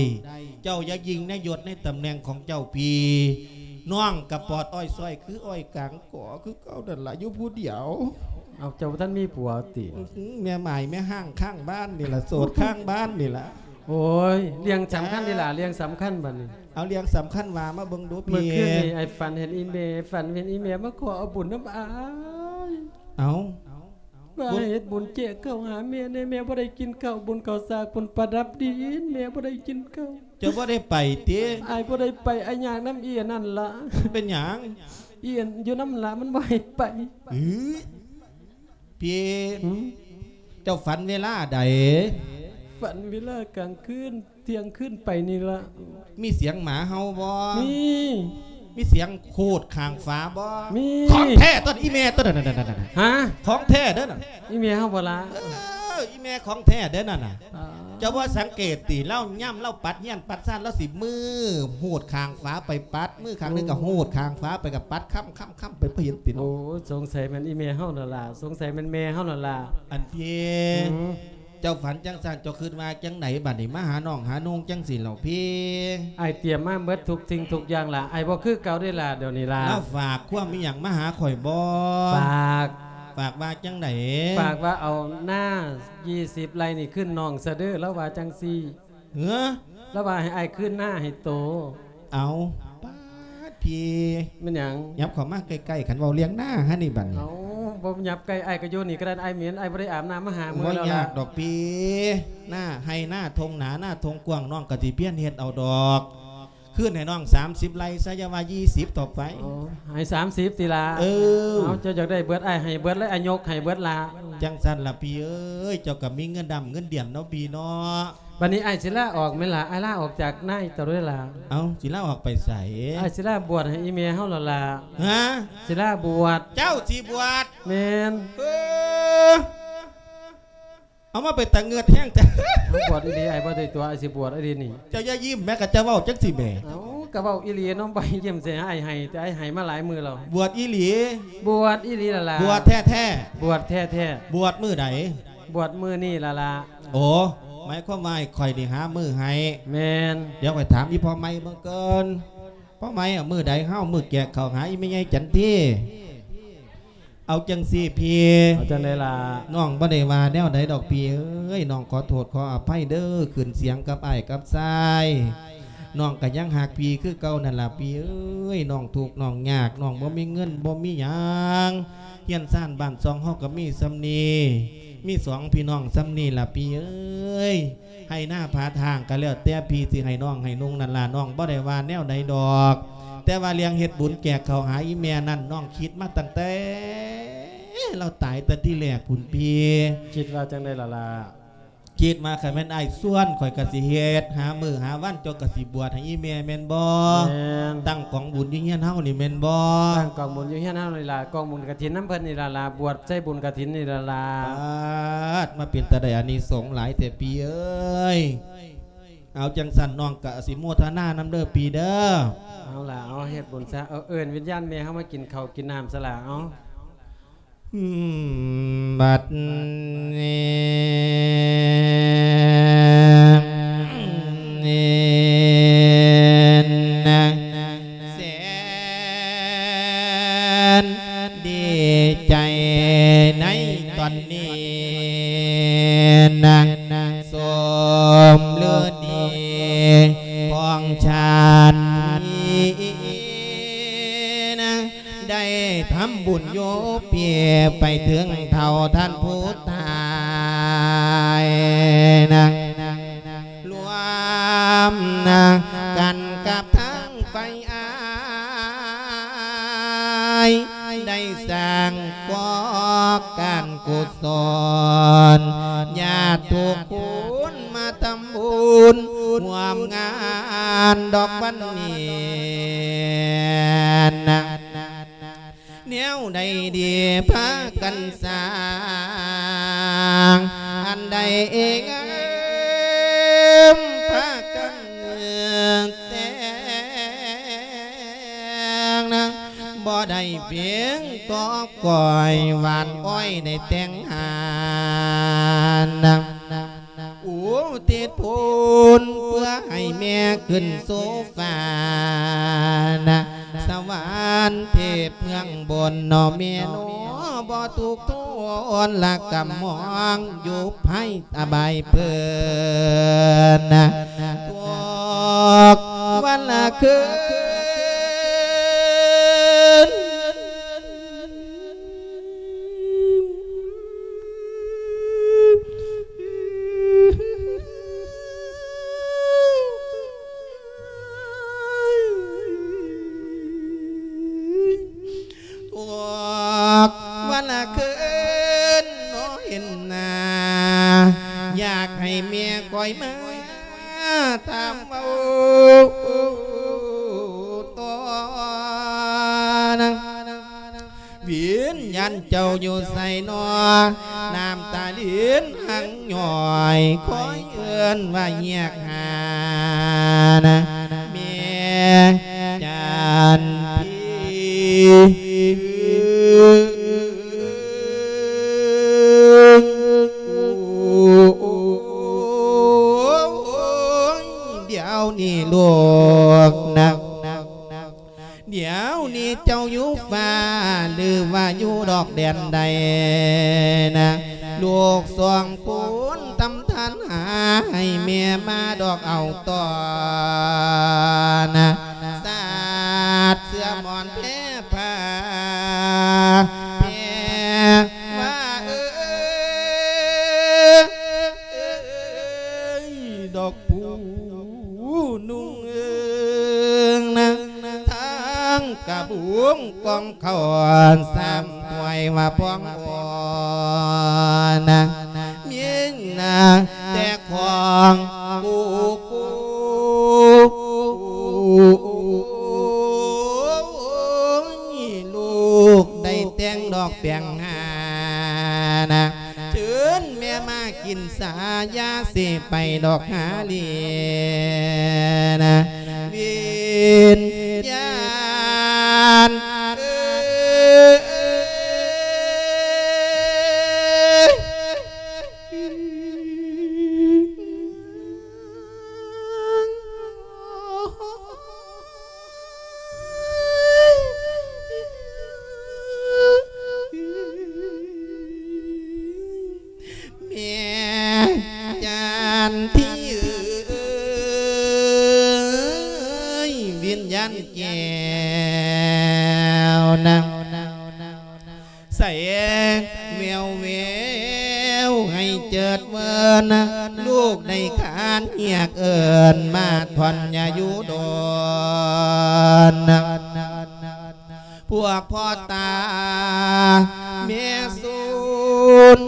ເຈົ້າຢ່າຍິ່ງໃນຍົດໃນຕຳແໜ່ງຂອງເຈົ້າພີ່. ນ້ອງກໍປອດອ້ອຍຊ້ອຍຄືອ້ອຍກາງ ກໍຄືເກົ່ານັ້ນລະ ຢູ່ຜູ້ດຽວ. ເອົາ ເຈົ້າບໍ່ທັນມີຜົວຕິ? ອື ແມ່ໝ້າຍແມ່ຮ້າງຄ້າງບ້ານນີ້ລະ ໂສດຄ້າງບ້ານນີ້ລະ. ໂອ້ຍ ເລື່ອງສຳຄັນເດລະ ເລື່ອງສຳຄັນບັດນີ້. ເອົາ ເລື່ອງສຳຄັນວ່າມາເບິ່ງດູພີ່. ມື້ຄືນນີ້ອ້າຍຝັນເຫັນອີ່ແມ່ ຝັນເຫັນອີ່ແມ່ມາຂໍເອົາບຸນນຳອ້າຍ. ເອົາ ວ່າໃຫ້ເຮັດບຸນແຈກເຂົ້າຫາແມ່ແດ່ ແມ່ບໍ່ໄດ້ກິນເຂົ້າ ບຸນເຂົ້າສາກ ບຸນປະດັບດິນ ແມ່ບໍ່ໄດ້ກິນເຂົ້າ. ເຈົ້າບໍ່ໄດ້ໄປຕິ? ອ້າຍບໍ່ໄດ້ໄປ ອ້າຍຍາກນຳອີ່ອັນນັ້ນລະ. ເປັນຫຍັງ? ອີ່ອັນຢູ່ນຳລະ ມັນບໍ່ໃຫ້ໄປ. ອື ພີ່. ຫື? ເຈົ້າຝັນເວລາໃດ? ຝັນເວລາກາງຄືນ ທ່ຽງຄືນໄປນີ້ລະ. ມີສຽງໝາເຫົ່າບໍ່? ມີ. ມີສຽງຂູດຂ້າງຝາບໍ່? ມີ. ຂອງແທ້ຕົວນີ້ ອີ່ແມ່ຕົວນັ້ນ. ຮະ? ຂອງແທ້ເດີນັ້ນ. ອີ່ແມ່ເຮົາບໍ່ລະ? ເອີ ອີ່ແມ່ຂອງແທ້ເດີນັ້ນນະ. ເຈົ້າບໍ່ສັງເກດຕິ ລາວຍາມລາວປັດເຮືອນປັດຊານ ລາວຊິມືຫູດຂ້າງຝາໄປປັດ ມືຂ້າງໜຶ່ງກໍຫູດຂ້າງຝາໄປກໍປັດ ຄ້ຳໆໆໄປ ບໍ່ເຫັນຕິເນາະ? ໂອ້ ສົງໄສແມ່ນອີ່ແມ່ເຮົານັ້ນລະ ສົງໄສແມ່ນແມ່ເຮົານັ້ນລະ. ອັນພີ່ ເຈົ້າຝັນຈັ່ງຊັ້ນ ເຈົ້າຄິດວ່າຈັ່ງໃດບັດນີ້ ມາຫານ້ອງຫານຸ່ງຈັ່ງຊີ້ເຫຼົ່າພີ່? ອ້າຍຕຽມມາເບິດທຸກສິ່ງທຸກຢ່າງລະ ອ້າຍບໍ່ຄືເກົ່າເດ້ລະ ດຽວນີ້ລະ. ລາວຝາກຄວາມອີ່ຫຍັງມາຫາຂ້ອຍບໍ່? ຝາກ. ຝາກວ່າຈັ່ງໃດ? ຝາກວ່າເອົານາ ຊາວໄຮ່ນີ້ຄືນນ້ອງຊະເດີ ລາວວ່າຈັ່ງຊີ້. ເອີ ລາວວ່າໃຫ້ອ້າຍຄືນນາໃຫ້ໂຕ. ເອົາ ປາດ ພີ່ ແມ່ນຫຍັງ? ຫຍັບເຂົ້າມາໃກ້ໆ ຄັນເວົ້າເລື່ອງນາຫັ້ນນີ້ບັດນີ້. ເອົາ ບໍ່ຫຍັບໃກ້ ອ້າຍກໍຢູ່ນີ້ກໍໄດ້ ອ້າຍເໝັນ ອ້າຍບໍ່ໄດ້ອາບນ້ຳມາຫ້າມື້ແລ້ວລະ. ບໍ່ຍາກດອກພີ່ ນາໄຮ່ນາທົ່ງນາ ນາທົ່ງກວ້າງ ນ້ອງກໍຊິພຽນເຮັດເອົາດອກ. ຄືນໃຫ້ນ້ອງສາມສິບໄຮ່ຊະ ຢ່າວ່າຊາວເທົ່າໄປ. ໂອ້ ໃຫ້ສາມສິບຕິລະ? ເອີ ເອົາ ເຈົ້າຢາກໄດ້ເບິດ ອ້າຍໃຫ້ເບິດເລີຍ ອ້າຍຍົກໃຫ້ເບິດລະ. ຈັ່ງຊັ້ນລະພີ່ເອີຍ ເຈົ້າກໍມີເງິນດຳເງິນດຽນເນາະພີ່ເນາະ. ບັດນີ້ອ້າຍຊິລາອອກແມ່ນລະ ອ້າຍລາອອກຈາກນາຍເຈົ້າເດີລະ. ເອົ້າ ຊິລາອອກໄປໃສ? ອ້າຍຊິລາບວດໃຫ້ອີ່ແມ່ເຮົາລະລະ. ຮະ? ຊິລາບວດ. ເຈົ້າຊິບວດ? ແມ່ນ. ເອີ ເອົາມາເປັນຕາເງືອດແຮງແທ້. ເອົາ ບວດອີ່ຫຼີ ອ້າຍບໍ່ໄດ້ຕົວະ ອ້າຍຊິບວດອີ່ຫຼີນີ້. ເຈົ້າຢ່າຍິ້ມແມ້ ກະເຈົ້າເວົ້າຈັ່ງຊີ້ແໝ່. ເອົ້າ ກະເວົ້າອີ່ຫຼີເນາະ ບໍ່ໃຫ້ຍິ້ມໃສ່ ອ້າຍໃຫ້ ແຕ່ອ້າຍໃຫ້ມາຫຼາຍມື້ແລ້ວ. ບວດອີ່ຫຼີ? ບວດອີ່ຫຼີລະລະ. ບວດແທ້ໆ? ບວດແທ້ໆ. ບວດມື້ໃດ? ບວດມື້ນີ້ລະລະ. ໂອ້ ໝາຍຄວາມວ່າໃຫ້ຂ້ອຍນີ້ຫາມື້ໃຫ້. ແມ່ນ. ດຽວຂ້ອຍຖາມອີ່ພໍ່ໃໝ່ເບິ່ງກ່ອນ. ພໍ່ໃໝ່ ເອົາມື້ໃດເຮົາ ມື້ແຈກເຂົ້າຫາອີ່ແມ່ໃຫຍ່ຈັນທີ? ເອົາຈັ່ງຊີ້ພີ່. ເອົາຈັ່ງໃດລະ? ນ້ອງບໍ່ໄດ້ວ່າແນວໃດດອກພີ່ເອີຍ ນ້ອງຂໍໂທດຂໍອະໄພເດີ ຂຶ້ນສຽງກັບອ້າຍກັບຊາຍ. ນ້ອງກະຍັງຮັກພີ່ຄືເກົ່ານັ້ນລະພີ່ເອີຍ ນ້ອງທຸກນ້ອງຍາກ ນ້ອງບໍ່ມີເງິນບໍ່ມີຫຍັງ ເຮືອນຊານບ້ານຊ່ອງເຮົາກະມີສ່ຳນີ້ ມີສອງພີ່ນ້ອງສ່ຳນີ້ລະພີ່ເອີຍ. ໄຮ່ນາຜາທາງກະແລ້ວແຕ່ພີ່ຊິໃຫ້ນ້ອງໃຫ້ນຸ່ງນັ້ນລະ ນ້ອງບໍ່ໄດ້ວ່າແນວໃດດອກ. ແຕ່ວ່າເລື່ອງເຮັດບຸນແຈກເຂົ້າຫາອີ່ແມ່ນັ້ນ ນ້ອງຄິດມາຕັ້ງແຕ່ລາວຕາຍແຕ່ທີແລກພຸ້ນພີ່. ຄິດວ່າຈັ່ງໃດລະລະ? ຄິດວ່າຄັນແມ່ນອ້າຍຊວນ ຂ້ອຍກະຊິເຮັດ ຫາມື້ຫາວັນ ເຈົ້າກະຊິບວດໃຫ້ອີ່ແມ່ແມ່ນບໍ່? ແມ່ນ. ຕັ້ງກອງບຸນຢູ່ເຮືອນເຮົານີ້ແມ່ນບໍ່? ຕັ້ງກອງບຸນຢູ່ເຮືອນເຮົານີ້ລະ ກອງບຸນກະຖິນນຳເພິ່ນນີ້ລະລະ ບວດໃສ່ບຸນກະຖິນນີ້ລະລະ. ປາດ ມາເປັນຕາໄດ້ອານິສົງຫຼາຍແທ້ພີ່ເອີຍ. ເອົາ ຈັ່ງຊັ້ນນ້ອງກະອະນຸໂມທະນານຳເດີພີ່ເດີ. ເອົາລະ ເອົາເຮັດບຸນຊະ ເອົາ ເອີ້ນວິນຍານແມ່ເຮົາມາກິນເຂົ້າກິນນ້ຳຊະລະ ເອົາ. ອືມ ບັດນີ້ ແສນດີໃຈໃນຕອນນີ້ນະ ສົມລືດີຂອງຊາດນີ້ນະ ໄດ້ທຳບຸນຢູ່ເປັນໄປເຖິງເທົ່າທ່ານຜູ້ຕາຍນະ ລວມນະກັນກັບທັງຝ່າຍອ້າຍ ໄດ້ສ້າງກໍ່ການ ກຸສົນ ຍາດທຸກຄົນມາທຳບຸນຮ່ວມງານດອກວັນນີ້ນະ ແນວໃດດີພາກັນສ້າງ ອັນໃດເອງເອີມພາກັນແຕ່ງນະ ບໍ່ໄດ້ພຽງຕໍ່ກ້ອຍຫວານອ້ອຍໄດ້ແຕ່ງຫານນະ ອຸທິດຜົນເພື່ອໃຫ້ແມ່ຂຶ້ນສູ່ຟ້ານະ ສະຫວັນເທບເມືອງບົນເນາະແມ່ເນາະ ບໍ່ທຸກທົນລະກຳມອງຢູ່ພາຍ ອະບາຍເພິ່ນນະ ທຸກວັນລະຄືນ ທຸກວັນລະຄືນເນາະເຫັນໜ້າ ຢາກໃຫ້ແມ່ຂ້ອຍມາຖາມເວົ້າຕໍ່ນະ ວິນຍານເຈົ້າຢູ່ໃສນໍ ນ້ຳຕາລິນຮັ່ງຍ້ອຍ ຄອຍເອີ້ນວ່າຮຽກຫານະ ແມ່ຈັນພີ. ດຽວນີ້ລູກນະ ດຽວນີ້ເຈົ້າຢູ່ຟ້າ ຫຼືວ່າຢູ່ດອກແດນໃດນະ ລູກສອງຄົນທຳທ່ານຫາໃຫ້ແມ່ມາດອກເອົາຕໍ່ນະ ສາດເສື້ອໝອນແພຜ້າ ແພຜ້າເອີຍ ດອກ ຜູ້ນຸ່ງເອີງນະ ທາງກະບຸງກອງເຂົ້າສາມຖ້ວຍວ່າພອງອ່ອນນະ ມີນະແຕ່ຂອງກູກູ ລູກໄດ້ແຕ່ງດອກແປງຫານະ ເຊີນແມ່ມາກິນຊາ ຢ່າຊິໄປດອກຫາລີນະ ວິນຍານເອີຍ. ແມ່ຈັນທີເອີຍ ວິນຍານແກ້ວນະ ໃສແວວແວວໃຫ້ເຈີດເມີນ ລູກໄດ້ຂານຮຽກເອີ້ນມາທ່ອນຍາຢູ່ດົນ ພວກພໍ່ຕາແມ່ສູນ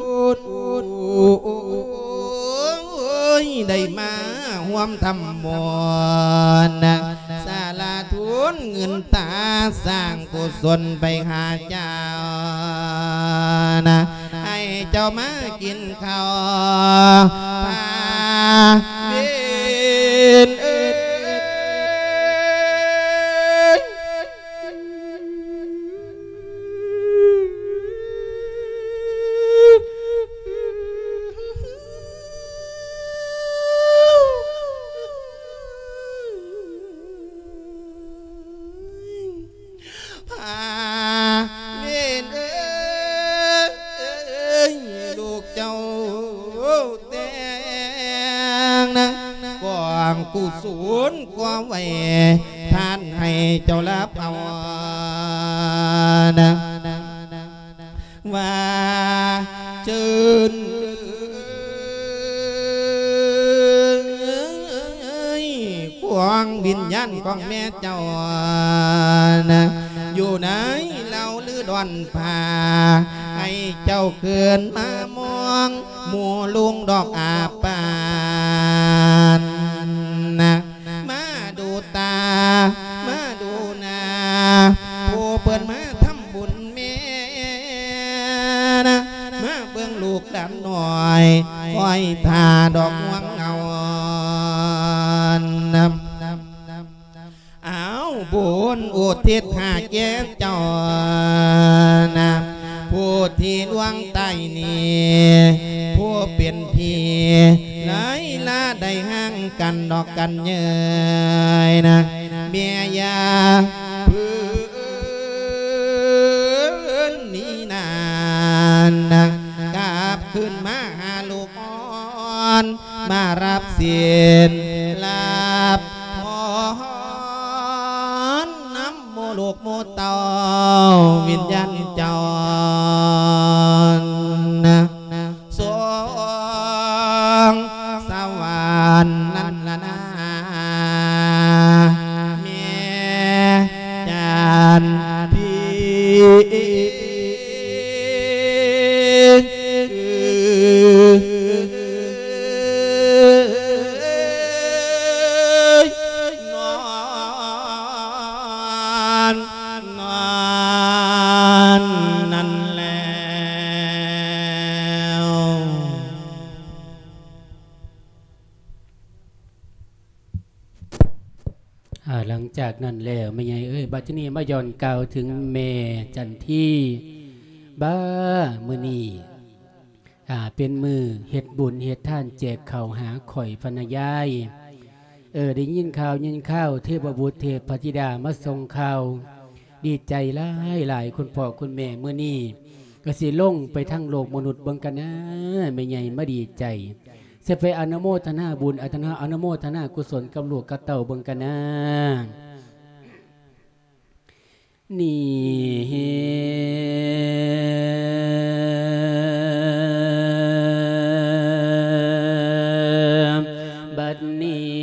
ໄດ້ມາຮ່ວມທຳບຸນ ສາລະທຸນເງິນຕາສ້າງ ກຸສົນໄປຫາເຈົ້ານະ ໃຫ້ເຈົ້າມາກິນເຂົ້າພາເວ ກຸສົນກໍໄວ້ທານໃຫ້ເຈົ້າລະເອົານະ ວ່າເຊີນ ຂອງວິນຍານຂອງແມ່ເຈົ້ານະ ຢູ່ໃນເຫຼົ່າລືດອນຜາ ໃຫ້ເຈົ້າເກີນມາມອງ ໝູ່ລຸງດອກອາປານນະ ມາດູຕາ ມາດູໜ້າ ຜູ້ເພິ່ນມາທຳບຸນແມ່ນະ ມາເບິ່ງລູກຫຼານນ້ອຍ ຄອຍຖ້າດອກງວງເຫງົານະ. ເອົາບຸນອຸທິດຫາແກ່ເຈົ້ານະ ຜູ້ທີ່ລ່ວງຕາຍນີ້ ຜູ້ເປັນພີ່ ຫຼາຍລາໄດ້ຫ່າງກັນດອກກັນເຍີ້ຍນະ ແມ່ຢ່າເພິ່ນນີ້ນານະ ກັບຄືນມາຫາລູກອ່ອນ ມາຮັບສິນຮັບພອນນຳໝູ່ລູກໝູ່ເຕົ້າ ວິນຍານເຈົ້ານະ ສວງສະຫວັນນັ້ນລະນາ ແມ່ຈັນທີ. ນອນ ນອນນັ້ນແລ້ວ. ອ່າ ຫຼັງຈາກນັ້ນແລ້ວ ແມ່ໃຫຍ່ເອີຍ ບັດທີນີ້ມາຍ້ອນກ່າວເຖິງແມ່ຈັນທີ ບາ ມື້ນີ້ ອ່າ ເປັນມື້ເຮັດບຸນເຮັດທານແຈກເຂົ້າຫາຂ້ອຍພັນນະຍາຍ ເອີ ໄດ້ຍິນຂ່າວຍິນຄາວ ເທບະບຸດເທບພະທິດາມາສົ່ງຂ່າວ ດີໃຈຫຼາຍໆ ຄຸນພໍ່ຄຸນແມ່ ມື້ນີ້ກໍຊິລົງໄປທາງໂລກມະນຸດເບິ່ງກັນນາ ແມ່ໃຫຍ່ມາດີໃຈ ຊິໄປອະນຸໂມທະນາບຸນ ອະທະນາ ອະນຸໂມທະນາກຸສົນກັບລູກກັບເຕົ້າເບິ່ງກັນນາ. ນີ້ ບັດນີ້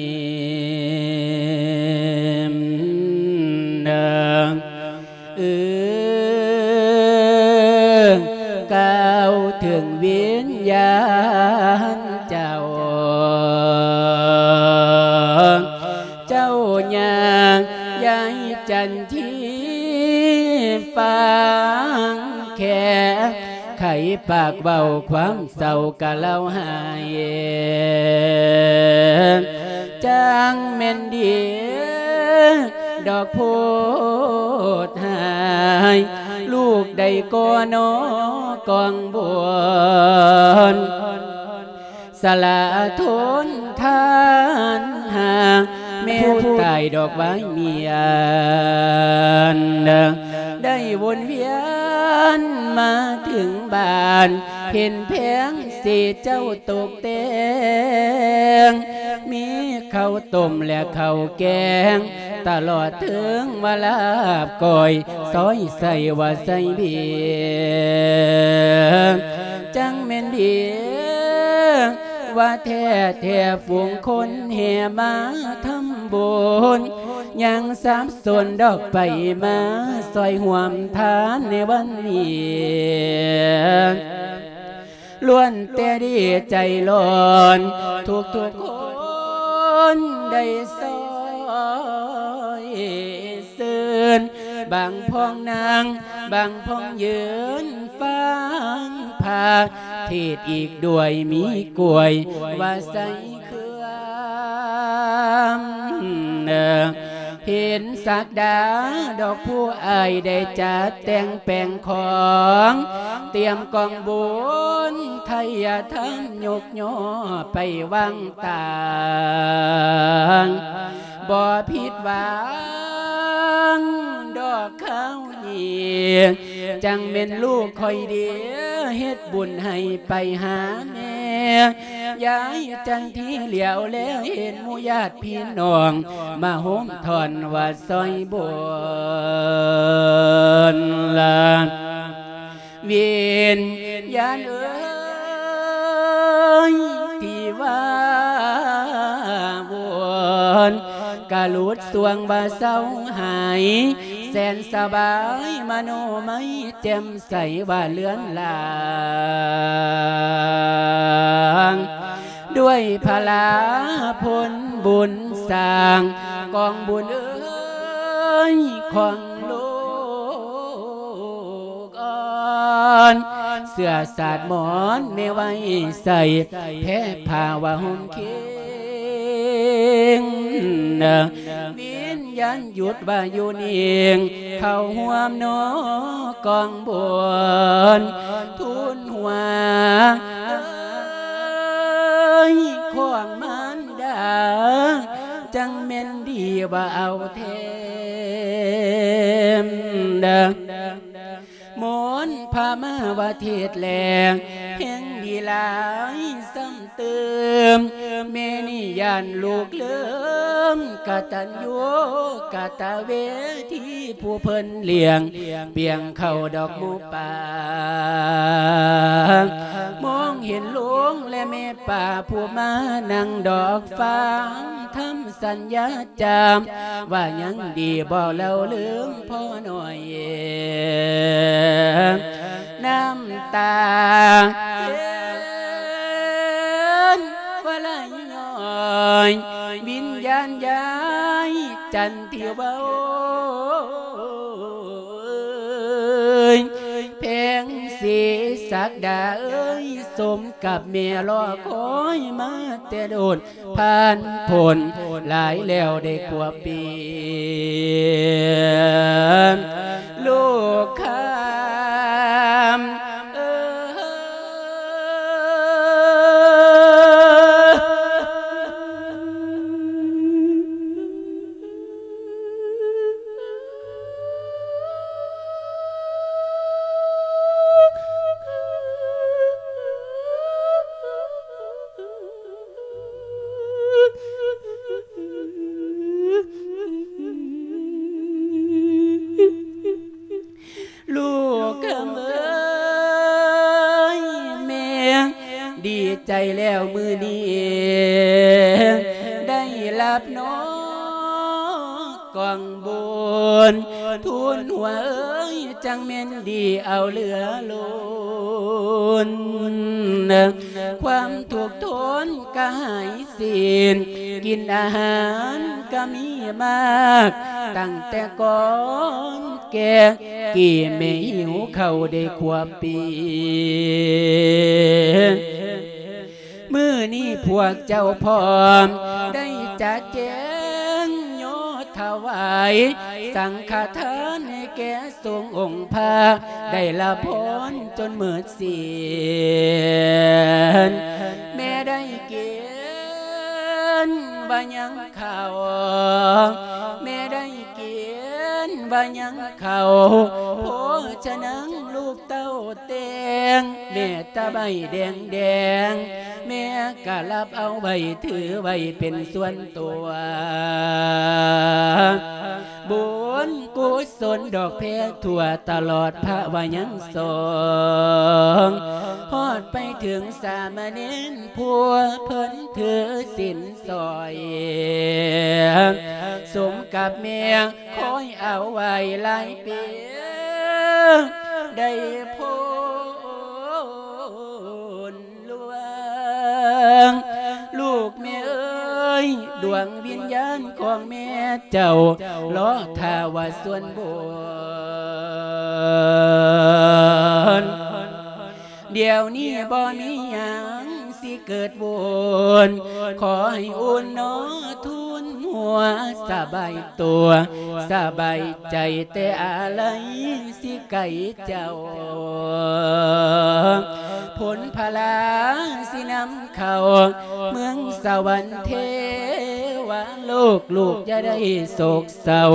ເອີ ກ່າວເຖິງວິນຍານເຈົ້າ ເຈົ້າຍ່າງ ຍາຍຈັນທີ ຟັງແຄ່ ໄຂປາກເວົ້າຄວາມເສົ້າກະເລົ່າໄຫ້ ຈັ່ງແມ່ນດີດອກໂພດຫາຍ ລູກໃດກໍໜໍກອງບຸນ ສະຫຼະທົນທານຫາ ແມ່ຜູ້ຕາຍດອກໄວມຽນ ໄດ້ວົນວຽນມາເຖິງບ້ານ ເຫັນແຜງເສເຈົ້າຕົກແຕ່ງ ມີເຂົ້າຕົ້ມແລະເຂົ້າແກງ ຕະຫຼອດເຖິງວ່າລາບກ້ອຍ ຊອຍໃສ່ວ່າໃສ່ເບຍ ຈັ່ງແມ່ນດີ ວ່າແທ້ແທ້ຝູງຄົນແຫ່ມາທຳບຸນ ຍັງສັບສົນດອກໄປມາຊ່ອຍຮ່ວມທານໃນວັນນີ້ ລ້ວນແຕ່ດີໃຈຮ້ອນ ທຸກໆຄົນໄດ້ຊ່ອຍ ຊື່ນ ບາງພ້ອງນັ່ງ ບາງພ້ອງຢືນຟັງພາເທດອີກດ້ວຍ ມີກ້ວຍວ່າໃສ່ເຄື່ອງ ເຫັນສັກດາດອກຜູ້ອ້າຍ ໄດ້ຈັດແຕ່ງແປງຂອງ ຕຽມກອງບຸນໄທຍະທຳ ຍົກ ຍໍໄປວາງຕາງ ບໍ່ຜິດຫວັງດອກຄາວນີ້ ຈັ່ງແມ່ນລູກຂ້ອຍເດ ເຮັດບຸນໃຫ້ໄປຫາແມ່ ຍາຍຈັນທີຫຼຽວແລເຫັນໝູ່ຍາດພີ່ນ້ອງ ມາໂຮມທ້ອນວ່າຊ່ອຍບຸນລະ ວິນຍານເອີຍ ທີ່ວ່າວົນ ກະຫຼຸດຊ່ວງວ່າເຊົາຫາຍ ແສນສະບາຍ ມະໂນໄມແຈ່ມໃສວ່າເລື່ອນລາງ ດ້ວຍພະລາຜົນບຸນສ້າງ ກອງບຸນເອີຍ ຂອງໂລກອ່ອນ ເສື້ອສາດໝອນແມ່ໄວ້ໃສ່ ແພຜ້າວ່າຫົ່ມເຄງ ວິນຍານຢຸດວ່າຢູ່ນິ່ງ ເຂົ້າຮ່ວມນອກອງບຸນ ທູນຫົວເອີຍ ຂອງມານດາ ຈັ່ງແມ່ນດີວ່າເອົາແທ້ ມົນພາມາວ່າເທດແລ ແຮງດີຫຼາຍຊ້ຳຕື່ມ ແມ່ນີ້ຢ້ານລູກລືມ ກະຕັນຍູກະຕະເວທີ ຜູ້ເພິ່ນລ້ຽງ ປຽງເຂົ້າດອກໝູປ່າ ມອງເຫັນລຸງ ແລະແມ່ປ້າ ຜູ້ມານັ່ງດອກຟັງທຳ ສັນຍາຈາມ ວ່າຍັງດີບໍ່ເລົ່າລືມພໍ່ນ້ອຍ ນ້ຳຕາເຫັນວ່າໄຫຼຍ້ອຍ ວິນຍານຍາຍຈັນທີ່ເວົ້າ ເອີຍ ແພງສີສັກດາເອີຍ ສົມກັບແມ່ລໍຄອຍມາແຕ່ດົນ ຜ່ານພົ້ນຫຼາຍແລ້ວໄດ້ກວ່າປີ ລູກຄຳເອີຍ ລູກຄຳເອີຍ ແມ່ດີໃຈແລ້ວມື້ນີ້ ໄດ້ຮັບນອກກອງບຸນ ທູນຫົວເອີຍ ຈັ່ງແມ່ນດີເອົາເຫຼືອລົ້ນ ຄວາມທຸກທົນກະຫາຍສິ້ນ ກິນອາຫານກະມີມາກ ຕັ້ງແຕ່ກ່ອນແກ່ ກີ້ແມ່ຫິວເຂົ້າໄດ້ຂວບປີ ມື້ນີ້ພວກເຈົ້າພ້ອມ ໄດ້ຈັດແຈງຍໍຖວາຍ ສັງຄະທານໃຫ້ແກ່ສົງອົງພະ ໄດ້ລະພອນຈົນໝົດສິ້ນ ແມ່ໄດ້ກິນວ່າຍັງເຂົ້າ ແມ່ໄດ້ກິນວ່າຍັງເຂົ້າ ໂພຊະນັງລູກເຕົ້າແຕ່ງ ແມ່ຕາໃບແດງໆ ແມ່ກະຮັບເອົາໄວ້ ຖືໄວ້ເປັນສ່ວນຕົວ ບຸນກຸສົນດອກແພທົ່ວຕະຫຼອດພະວ່າຍັງສອງ ຮອດໄປເຖິງສາມະເນນຜູ້ເພິ່ນຖືສິນສອຍ ສົມກັບແມ່ຄອຍເອົາໄວ້ຫຼາຍປີ ໄດ້ພົ້ນ ຫຼວງ ລູກແມ່ເອີຍ ດວງວິນຍານຂອງແມ່ເຈົ້າ ລໍຖ້າວ່າສ່ວນບຸນ ດຽວນີ້ບໍ່ມີຫຍັງຊິເກີດວຸ່ນ ຂໍໃຫ້ອຸ່ນໜໍທູນຫົວ ສະບາຍຕົວ ສະບາຍໃຈ ແຕ່ອາໄລຊິໄກເຈົ້າ ຜົນພະລາຊິນຳເຂົ້າ ເມືອງສະຫວັນເທວະໂລກ ລູກຢ່າໄດ້ໂສກເສົ້າ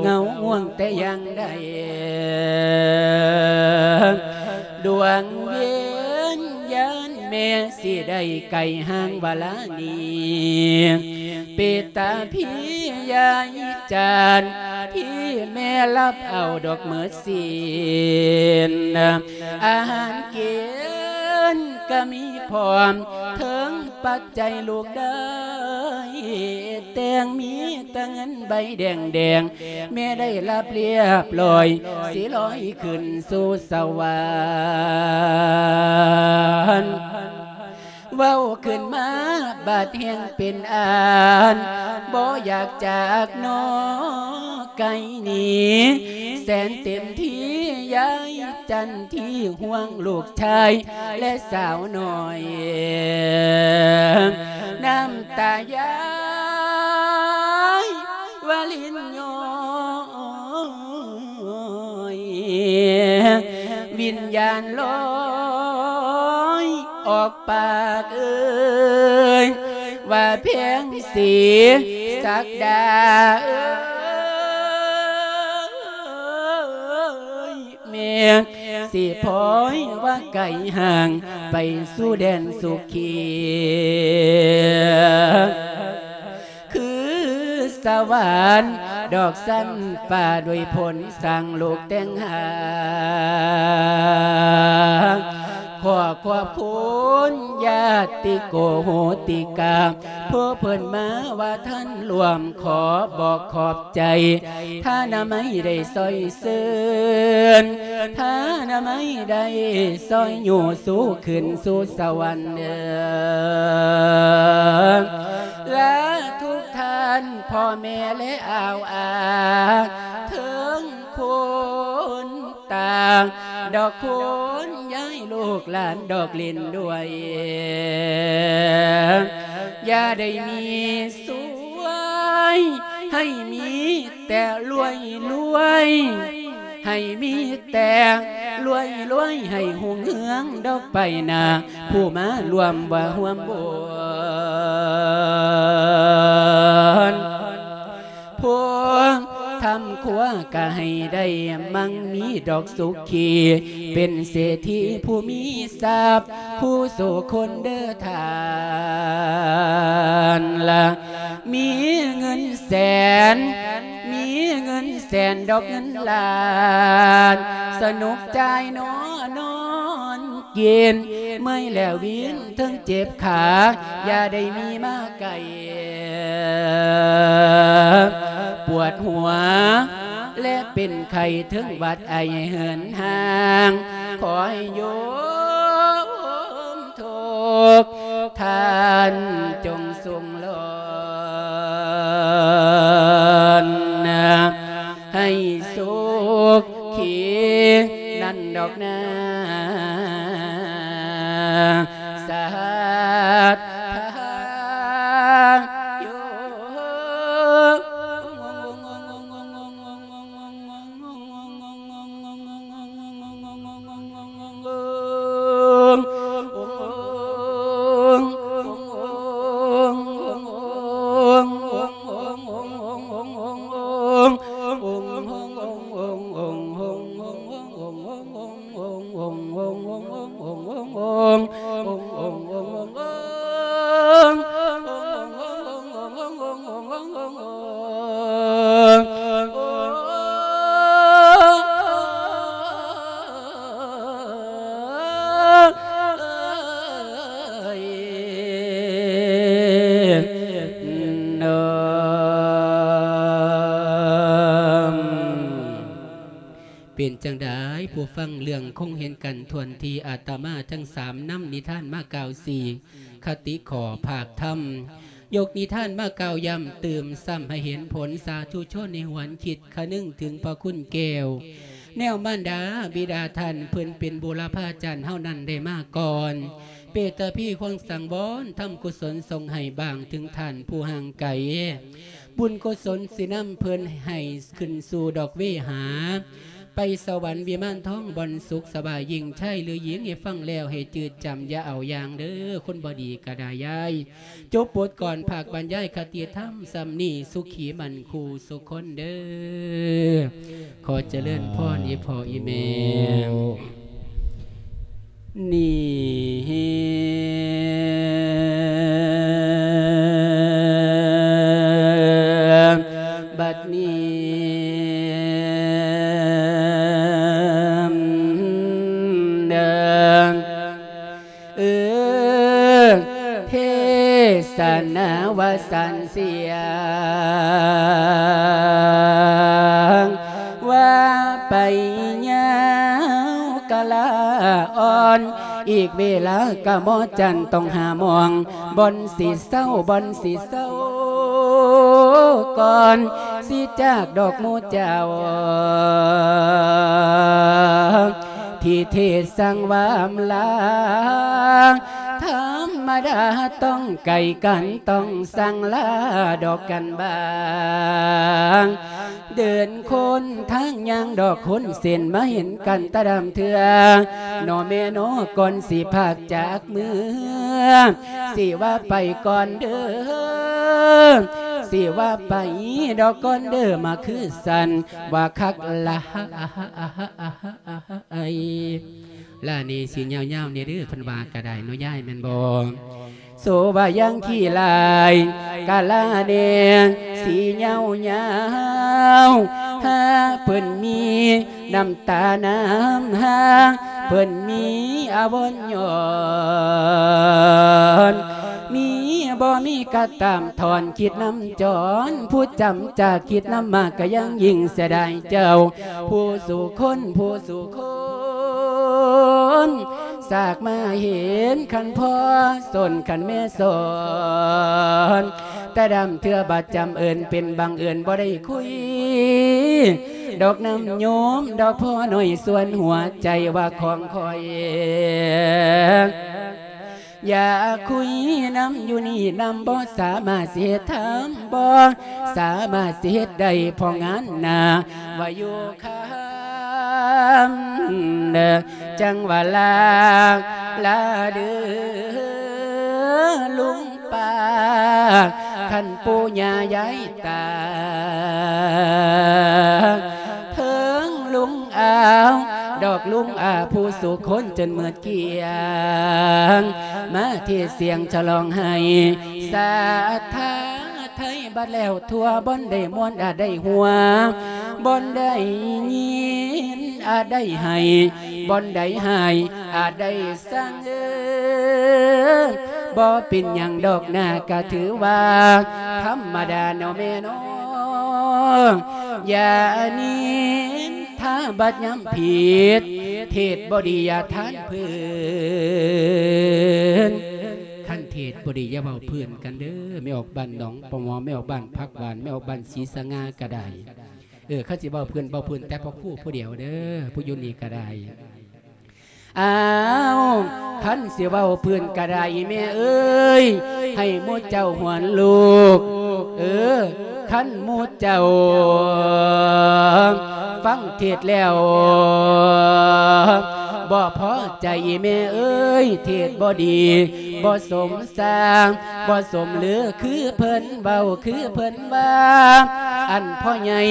ເຫງົາງ່ວງແຕ່ຢ່າງໃດ ດວງວິນຍານ ແມ່ຊິໄດ້ໄກຫ່າງວາລານີ້ ເປດຕາພີຍາຍຈັນ ທີ່ແມ່ລັບເອົາດອກເໝິດສິນ ອາຫານກິນກະມີພ້ອມ ເຖິງປັດໄຈລູກໄດ້ແຕ່ງ ມີແຕ່ເງິນໃບແດງໆ ແມ່ໄດ້ຮັບລຽບລ້ອຍ ຊິລອຍຂຶ້ນສູ່ສະຫວັນ. ເວົ້າຂຶ້ນມາບາດແຮງເປັນອັນ ບໍ່ຢາກຈາກໜໍໄກໜີ ແສນເຕັມທີ່ຍາຍຈັນ ທີ່ຫ່ວງລູກຊາຍ ແລະສາວນ້ອຍ ນ້ຳຕາຍາຍວາລິນຍ້ອຍ ວິນຍານລອຍອອກປາກເອີຍ ວ່າແພງສີສັກດາເອີຍ ແມ່ຊິພອຍວ່າໄກຫ່າງ ໄປສູ່ແດນສຸຂີ ຄືສະຫວັນດອກຊັ້ນຟ້າ ດ້ວຍຜົນສ້າງລູກແຕ່ງຫາ ຂໍຂອບຄຸນຍາດຕິໂກໂຫຕິກາ ຜູ້ເພິ່ນມາວ່າທ່ານລວມ ຂໍບອກຂອບໃຈ ທ່ານນະໄມໄດ້ຊ່ອຍເຊີນ ທ່ານນະໄມໄດ້ຊ່ອຍຍູ້ສູ່ຂຶ້ນສູ່ສະຫວັນເດີ ລາທຸກທ່ານ ພໍ່ແມ່ ແລະອາວອາ ເຖິງຄົນຕາ ດອກຄຸນຍາຍລູກຫຼານດອກຫຼິ້ນດ້ວຍ ຢ່າໄດ້ມີສວຍ ໃຫ້ມີແຕ່ລວຍລວຍ ໃຫ້ມີແຕ່ລວຍລວຍ ໃຫ້ຮຸ່ງເຮືອງດອກໄປໜ້າ ຜູ້ມາຮ່ວມວ່າຮ່ວມບຸນ ພວກທຳຄົວກະໃຫ້ໄດ້ມັ່ງມີດອກສຸຂີ ເປັນເສດຖີຜູ້ມີຊັບ ຄູ່ສູ່ຄົນເດີທ່ານລະ ມີເງິນແສນ ມີເງິນແສນດອກເງິນລ້ານ ສະໜຸກຈ່າຍນອນ ນອນກິນ ເມື່ອຍແລ້ວວິນເທິງເຈັບຂາ ຢ່າໄດ້ມີມາໄກ ປວດຫົວ ແລະເປັນໄຂ້ເທິງຫວັດໄອເຫີນຮ່າງ ຂໍໃຫ້ໂຍມທຸກທ່ານຈົ່ງສຸງຫຼອນ ໃຫ້ສຸຂີນັ້ນດອກນາ ສາທຸ. ເປັນຈັ່ງໃດຜູ້ຟັງ ເລື່ອງຄົງເຫັນກັນຖ້ວນທີ່ ອາດຕະມາທັງສາມນຳນິທານມາກ່າວຊີ້ ຄະຕິຂໍ້ພາກທຳ ຍົກນິທານມາກ່າວຢ້ຳຕື່ມຊ້ຳໃຫ້ເຫັນຜົນ ສາທຸຊົນໃຫ້ຫວນຄິດຄະນຶງເຖິງພະຄຸນແກ້ວ ແນວມານດາບິດາທ່ານເພິ່ນເປັນບູລະພາຈານເຮົານັ້ນໄດ້ມາກ່ອນ ເປດຕະພີຄວາງສັງວອນ ທຳກຸສົນສົ່ງໃຫ້ບາງເຖິງທ່ານຜູ້ຫ່າງໄກ ບຸນກຸສົນຊິນຳເພິ່ນໃຫ້ຂຶ້ນສູ່ດອກເວຫາ ໄປສະຫວັນວິມານທອງ ບ່ອນສຸກສະບາຍ ຍິ່ງຊາຍຫຼືຍິງ ໃຫ້ຟັງແລ້ວໃຫ້ຈື່ຈຳ ຢ່າເອົາຢ່າງເດີ ຄົນບໍ່ດີກະດາຍາຍ. ຈົບບົດກອນພາກບັນຍາຍຄະຕິທຳສ່ຳນີ້ ສຸຂີໝັ້ນຄູ່ສຸຄົນເດີ. ຂໍຈະເລີນພອນອີ່ພໍ່ອີ່ແມ່. ນີ້ ບັດນີ້ເດີ ເອີ ເທສະນາວ່າສັນສຽງ ວ່າໄປຍາວກະລາອ່ອນ ອີກເວລາກະໝໍຈັນຕ້ອງຫາໝ່ອງ ບ່ອນຊິເຊົາ ບ່ອນຊິເຊົາກ່ອນ ຊິຈາກດອກໝູ່ເຈົ້າ ທີ່ເທດສັ່ງວ່າອຳລາ ທຳມະດາຕ້ອງໄກກັນ ຕ້ອງສັ່ງລາດອກກັນບາງ ເດີນຄົນທາງຍ່າງດອກຄົນເສັ້ນ ມາເຫັນກັນຕາດຳເທື່ອ ໜໍ່ແມ່ເນາະ ກ່ອນຊິພາກຈາກເມືອ ຊິວ່າໄປກ່ອນເດີ ຊິວ່າໄປດອກກ່ອນເດີ ມາຄືສັນວ່າຄັກລະ ລານີ້ຊິຍາວໆແດ່ເດີ ເພິ່ນວ່າກະໄດ້ເນາະຍາຍ ແມ່ນບໍ່? ໂສວ່າຢ່າງຂີ້ລາຍ ກະລາແດ່ຊິຍາວໆ ຫາເພິ່ນມີນ້ຳຕານ້ຳຫາ ເພິ່ນມີອາວົນຍ້ອນ ມີບໍ່ມີກະຕາມ ຖອນຄິດນຳຈອນ ຜູ້ຈຳຈາກຄິດນຳມາ ກະຍັງຍິ່ງເສຍດາຍເຈົ້າ ຜູ້ສູ່ຄົນ ຜູ້ສູ່ຄົນ ສາກມາເຫັນຄັນພໍ່ ສົນຄັນແມ່ສອນ ແຕ່ດຳເທື່ອບາດຈຳເອີ້ນ ເປັນບັງເອີນບໍ່ໄດ້ຄຸຍ ດອກນຳໂຍມ ດອກພໍ່ນ້ອຍ ສ່ວນຫົວໃຈວ່າຂອງຂ້ອຍ ຢາກຄຸຍນຳຢູ່ນີ້ນຳ ບໍ່ສາມາດຊິເຮັດທຳ ບໍ່ສາມາດຊິເຮັດໄດ້ ເພາະງານໜ້າວ່າຢູ່ຄຳ ເດີ ຈັ່ງວ່າລາ ລາເດີລຸງປ້າ ຄັນປູ່ຍ່າຍາຍຕາ ເຖິງລຸງອາວ ດອກລຸງອາຜູ້ສູ່ຄົນຈົນໝົດກ້ຽງ ມາເທດສຽງສະຫຼອງໃຫ້ສາທາໄທ ບັດແລ້ວທົ່ວ ບ່ອນໃດມ່ວນອາດໄດ້ຫົວ ບ່ອນໃດຍິນອາດໄດ້ໄຫ້ ບ່ອນໃດຮ້າຍອາດໄດ້ສັງເອີ ບໍ່ເປັນຫຍັງດອກນາ ກະຖືວ່າທຳມະດາເນາະແມ່ເນາະ ຢ່ານິນທາບາດຍຳຜິດ ເທດບໍ່ດີຢ່າທານເພິ່ນ ຄັນເທດບໍ່ດີຢ່າເວົ້າເພິ່ນກັນເດີ ແມ່ອອກບ້ານໜອງປະໝໍ ແມ່ອອກບ້ານຜັກຫວານ ແມ່ອອກບ້ານສີສະຫງ່າກະໄດ້ ເອີ ຄັນຊິເວົ້າເພິ່ນ ເວົ້າເພິ່ນແຕ່ພະຄູຜູ້ດຽວເດີ ຜູ້ຢູ່ນີ້ກະໄດ້ ອ້າວ ຄັນຊິເວົ້າເພິ່ນກະໄດ້ ແມ່ເອີຍ ໃຫ້ໝູ່ເຈົ້າຫວນລູກ ເອີ ຄັນໝູ່ເຈົ້າຟັງເທດແລ້ວ ບໍ່ພໍໃຈ ແມ່ເອີຍ ເທດບໍ່ດີ ບໍ່ສົມ ສ້າງບໍ່ສົມລື ຄືເພິ່ນເວົ້າ ຄືເພິ່ນວ່າ ອັນພໍ່ໃຫຍ່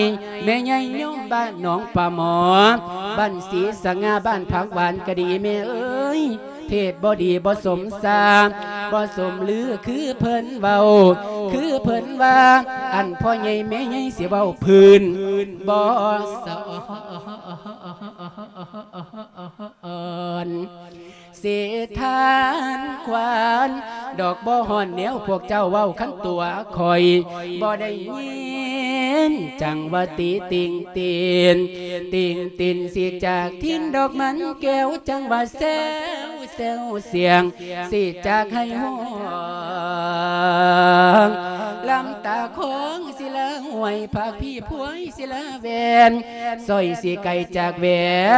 ແມ່ໃຫຍ່ໂຍມບ້ານໜອງປາໝໍ ບ້ານສີສະຫງ່າ ບ້ານຜັກຫວານກະດີ ແມ່ເອີຍ ເທດບໍ່ດີບໍ່ສົມສ້າງບໍ່ສົມລື ຄືເພິ່ນເວົ້າ ຄືເພິ່ນວ່າ ອັນພໍ່ໃຫຍ່ແມ່ໃຫຍ່ຊິເວົ້າພື້ນບໍ່ສະອອນ ເສດຖານຂວັນດອກບໍ່ຮ້ອນແນວພວກເຈົ້າເວົ້າ ຄັນຕົວຂ້ອຍບໍ່ໄດ້ຍິນ ຈັ່ງວ່າຕິຕິງຕິນ ຕິງຕິນຊິຈາກຖິ່ນດອກມັນແກ້ວ ຈັ່ງວ່າແຊວແຊວສຽງ ຊິຈາກໄຫ້ຮ້ອງ ລຳຕາຂອງ ສີລາຫ້ວຍ ພາກພີພວຍ ສີລາແວ່ນ ສ້ອຍຊິໄກຈາກແຫວ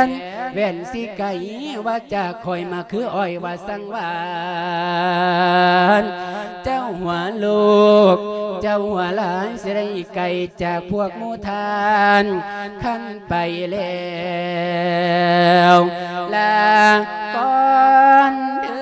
ນ ແຫວນຊິໄກວ່າຈາກຂ້ອຍ ມາຄືອ້ອຍວ່າສັງຫວານ ເຈົ້າຫົວລູກ ເຈົ້າຫົວຫຼານ ຊິໄດ້ໄກຈາກພວກໝູ່ທ່ານ ຄັນໄປແລ້ວ ລາກ່ອນເດີ.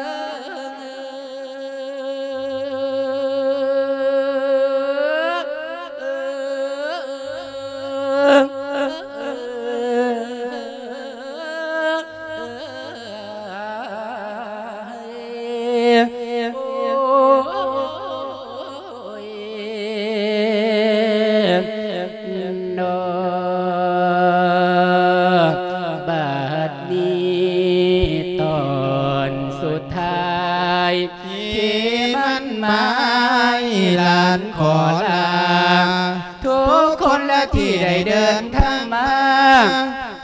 ມາຍຫຼານຂໍລາ ທຸກຄົນລະທີ່ໄດ້ເດີນທາງມາ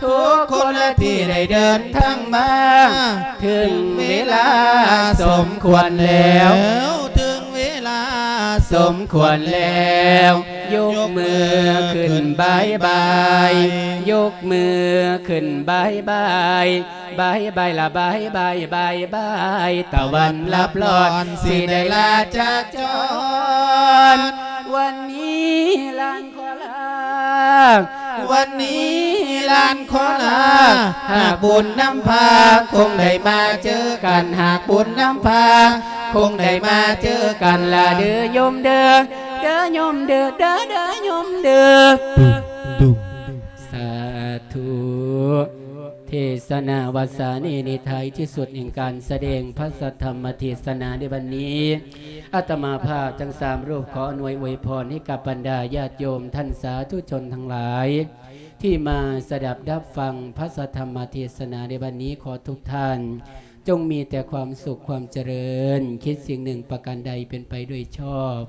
ທຸກຄົນລະທີ່ໄດ້ເດີນທາງມາ ເຖິງເວລາສົມຄວນແລ້ວ ເຖິງເວລາສົມຄວນແລ້ວ ຍົກມືຂຶ້ນບາຍບາຍ ຍົກມືຂຶ້ນບາຍບາຍ ບາຍບາຍລະບາຍບາຍ ບາຍບາຍ ຕາວັນລັບລອນ ຊິໄດ້ລາຈາກຈອນ ວັນນີ້ຫຼານຂໍລາ ວັນນີ້ຫຼານຂໍລາ ຫາກບຸນນຳພາ ຄົງໄດ້ມາເຈີກັນ ຫາກບຸນນຳພາ ຄົງໄດ້ມາເຈີກັນລະເດີໂຍມເດີ ເດີໂຍມເດີ ເດີ ເດີໂຍມເດີ ສາທຸ ເທສະນາວາສານີ້ ໃນທ້າຍທີ່ສຸດແຫ່ງການສະແດງພະສັດທຳມະເທສະນາໃນວັນນີ້ ອາດຕະມາພາບທັງສາມຮູບ ຂໍອຳນວຍອວຍພອນໃຫ້ກັບບັນດາຍາດໂຍມທ່ານສາທຸຊົນທັງຫຼາຍ ທີ່ມາສະດັບຮັບຟັງພະສັດທຳມະເທສະນາໃນວັນນີ້ ຂໍທຸກທ່ານ ຈົ່ງມີແຕ່ຄວາມສຸກຄວາມຈະເລີນ ຄິດສິ່ງໜຶ່ງປະການໃດເປັນໄປດ້ວຍຊອບ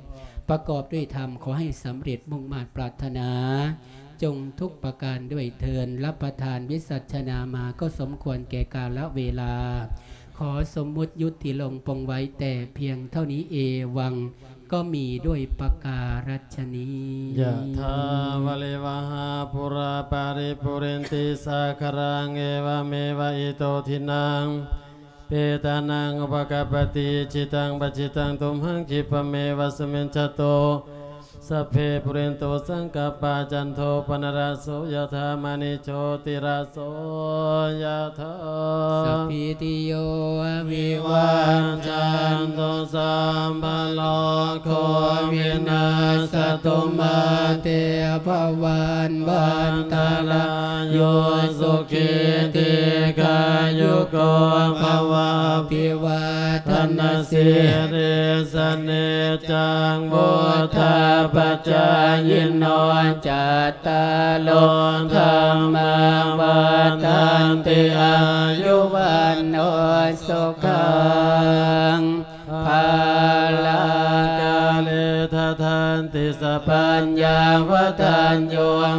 ປະກອບດ້ວຍທຳ ຂໍໃຫ້ສຳເລັດມຸ່ງມາດປາດຖະໜາ ຈົ່ງທຸກປະການດ້ວຍເທີນ ຮັບປະທານວິສັດຊະນາມາ ກໍສົມຄວນແກ່ກາລະເວລາ ຂໍສົມມຸດຢຸດຕິລົງປົງໄວ້ແຕ່ພຽງເທົ່ານີ້ ເອວັງ ກໍມີດ້ວຍປະກາລັດຊະນີ ຍະຖາວາລິວະຫາປູຣາປາລິປູເຣນຕິສາຄະລັງ ເອວະເມວະອິໂຕທິນນັງ ເປຕານັງ ອຸປະກັບປະຕິ ອິດຖິຕັງ ປັດຖິຕັງ ຕຸມຫັງ ຂິບປະເມວະ ສະມິດຖະໂຕ ສັບເພ ປູເຣນຕຸ ສັງກັບປາ ຈັນໂທ ປະນະລະໂສ ຍະຖາ ມະນີ ໂຊຕິລະໂສ ຍະຖາ ສະພີຕິໂຍ ວິວັດຈັນຕຸ ສັບພະໂລໂຄ ວິນັດສະຕຸ ມາເຕພະວັດວັນຕະລາໂຍ ສຸຂີ ດີຄາຍຸໂກ ພະວະ ອະພິວາທະນະສີລິສະ ນິດຈັງ ວຸດທາປະຈາຍິໂນ ຈັດຕາໂລ ທຳມາ ວັດທັນຕິ ອາຍຸ ວັນໂນ ສຸຂັງ ພະລັງ ກາເລ ທັດທັນຕິ ສະປັນຍາ ວັດທັນໂຍ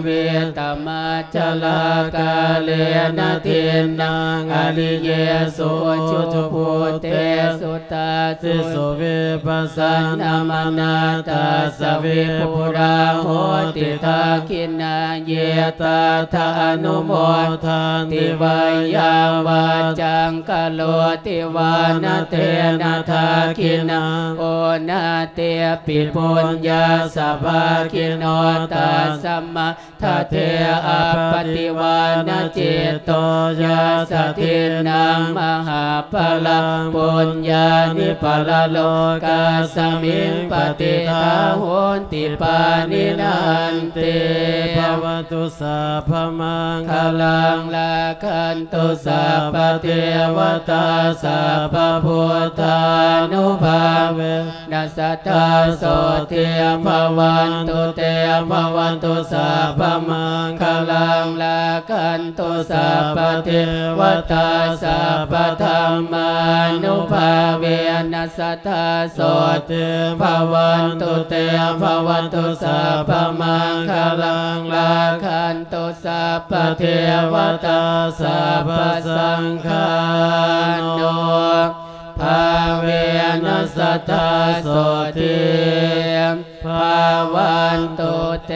ວິຕະມະ ຈະລາ ກາເລນະ ທິນນັງ ອະລິເຍສຸ ອຸຈຸພູເຕສຸ ຕາສິ ສຸວິປັດສະນາມະນາ ຕັດສະ ວິປຸລາ ໂຫຕິ ທັກຂິນາເຍ ຕັດຖະ ອະນຸໂມທັນຕິ ວາຍາມະ ຈັງ ກະໂຣຕິ ວານະເຕນະ ທັກຂິນາ ໂອນະເຕປິ ປຸນຍາສະ ພາກິໂນ ຕັດສະມາ ທະເທ ອະປະຕິວານະ ຈິດໂຕ ຍາສະ ທິນນັງ ມະຫາພະລັງ ປຸນຍານິ ປະລະໂລກັດສະມິງ ປະຕິດຖາ ໂຫນຕິ ປານິນະ ອັນຕິ ພະວັນຕຸ ສັບພະມັງຄະລັງ ລັກຂັນຕຸ ສັບພະເທວະຕາ ສັບພະພຸດທານຸພາເວ ນະ ສະທາ ໂສຕິ ພະວັນຕຸ ເຕ ພະວັນຕຸ ສັບພະມັງຄະລັງ ລັກຂັນຕຸ ສັບພະເທວະຕາ ສັບພະທຳມານຸພາເວນະ ສະທາ ໂສຕິ ພະວັນຕຸ ເຕ ພະວັນຕຸ ສັບພະມັງຄະລັງ ລັກຂັນຕຸ ສັບພະເທວະຕາ ສັບພະສັງຄານຸພາເວນະ ສະທາ ໂສຕິ ພະວັນຕຸ ເຕ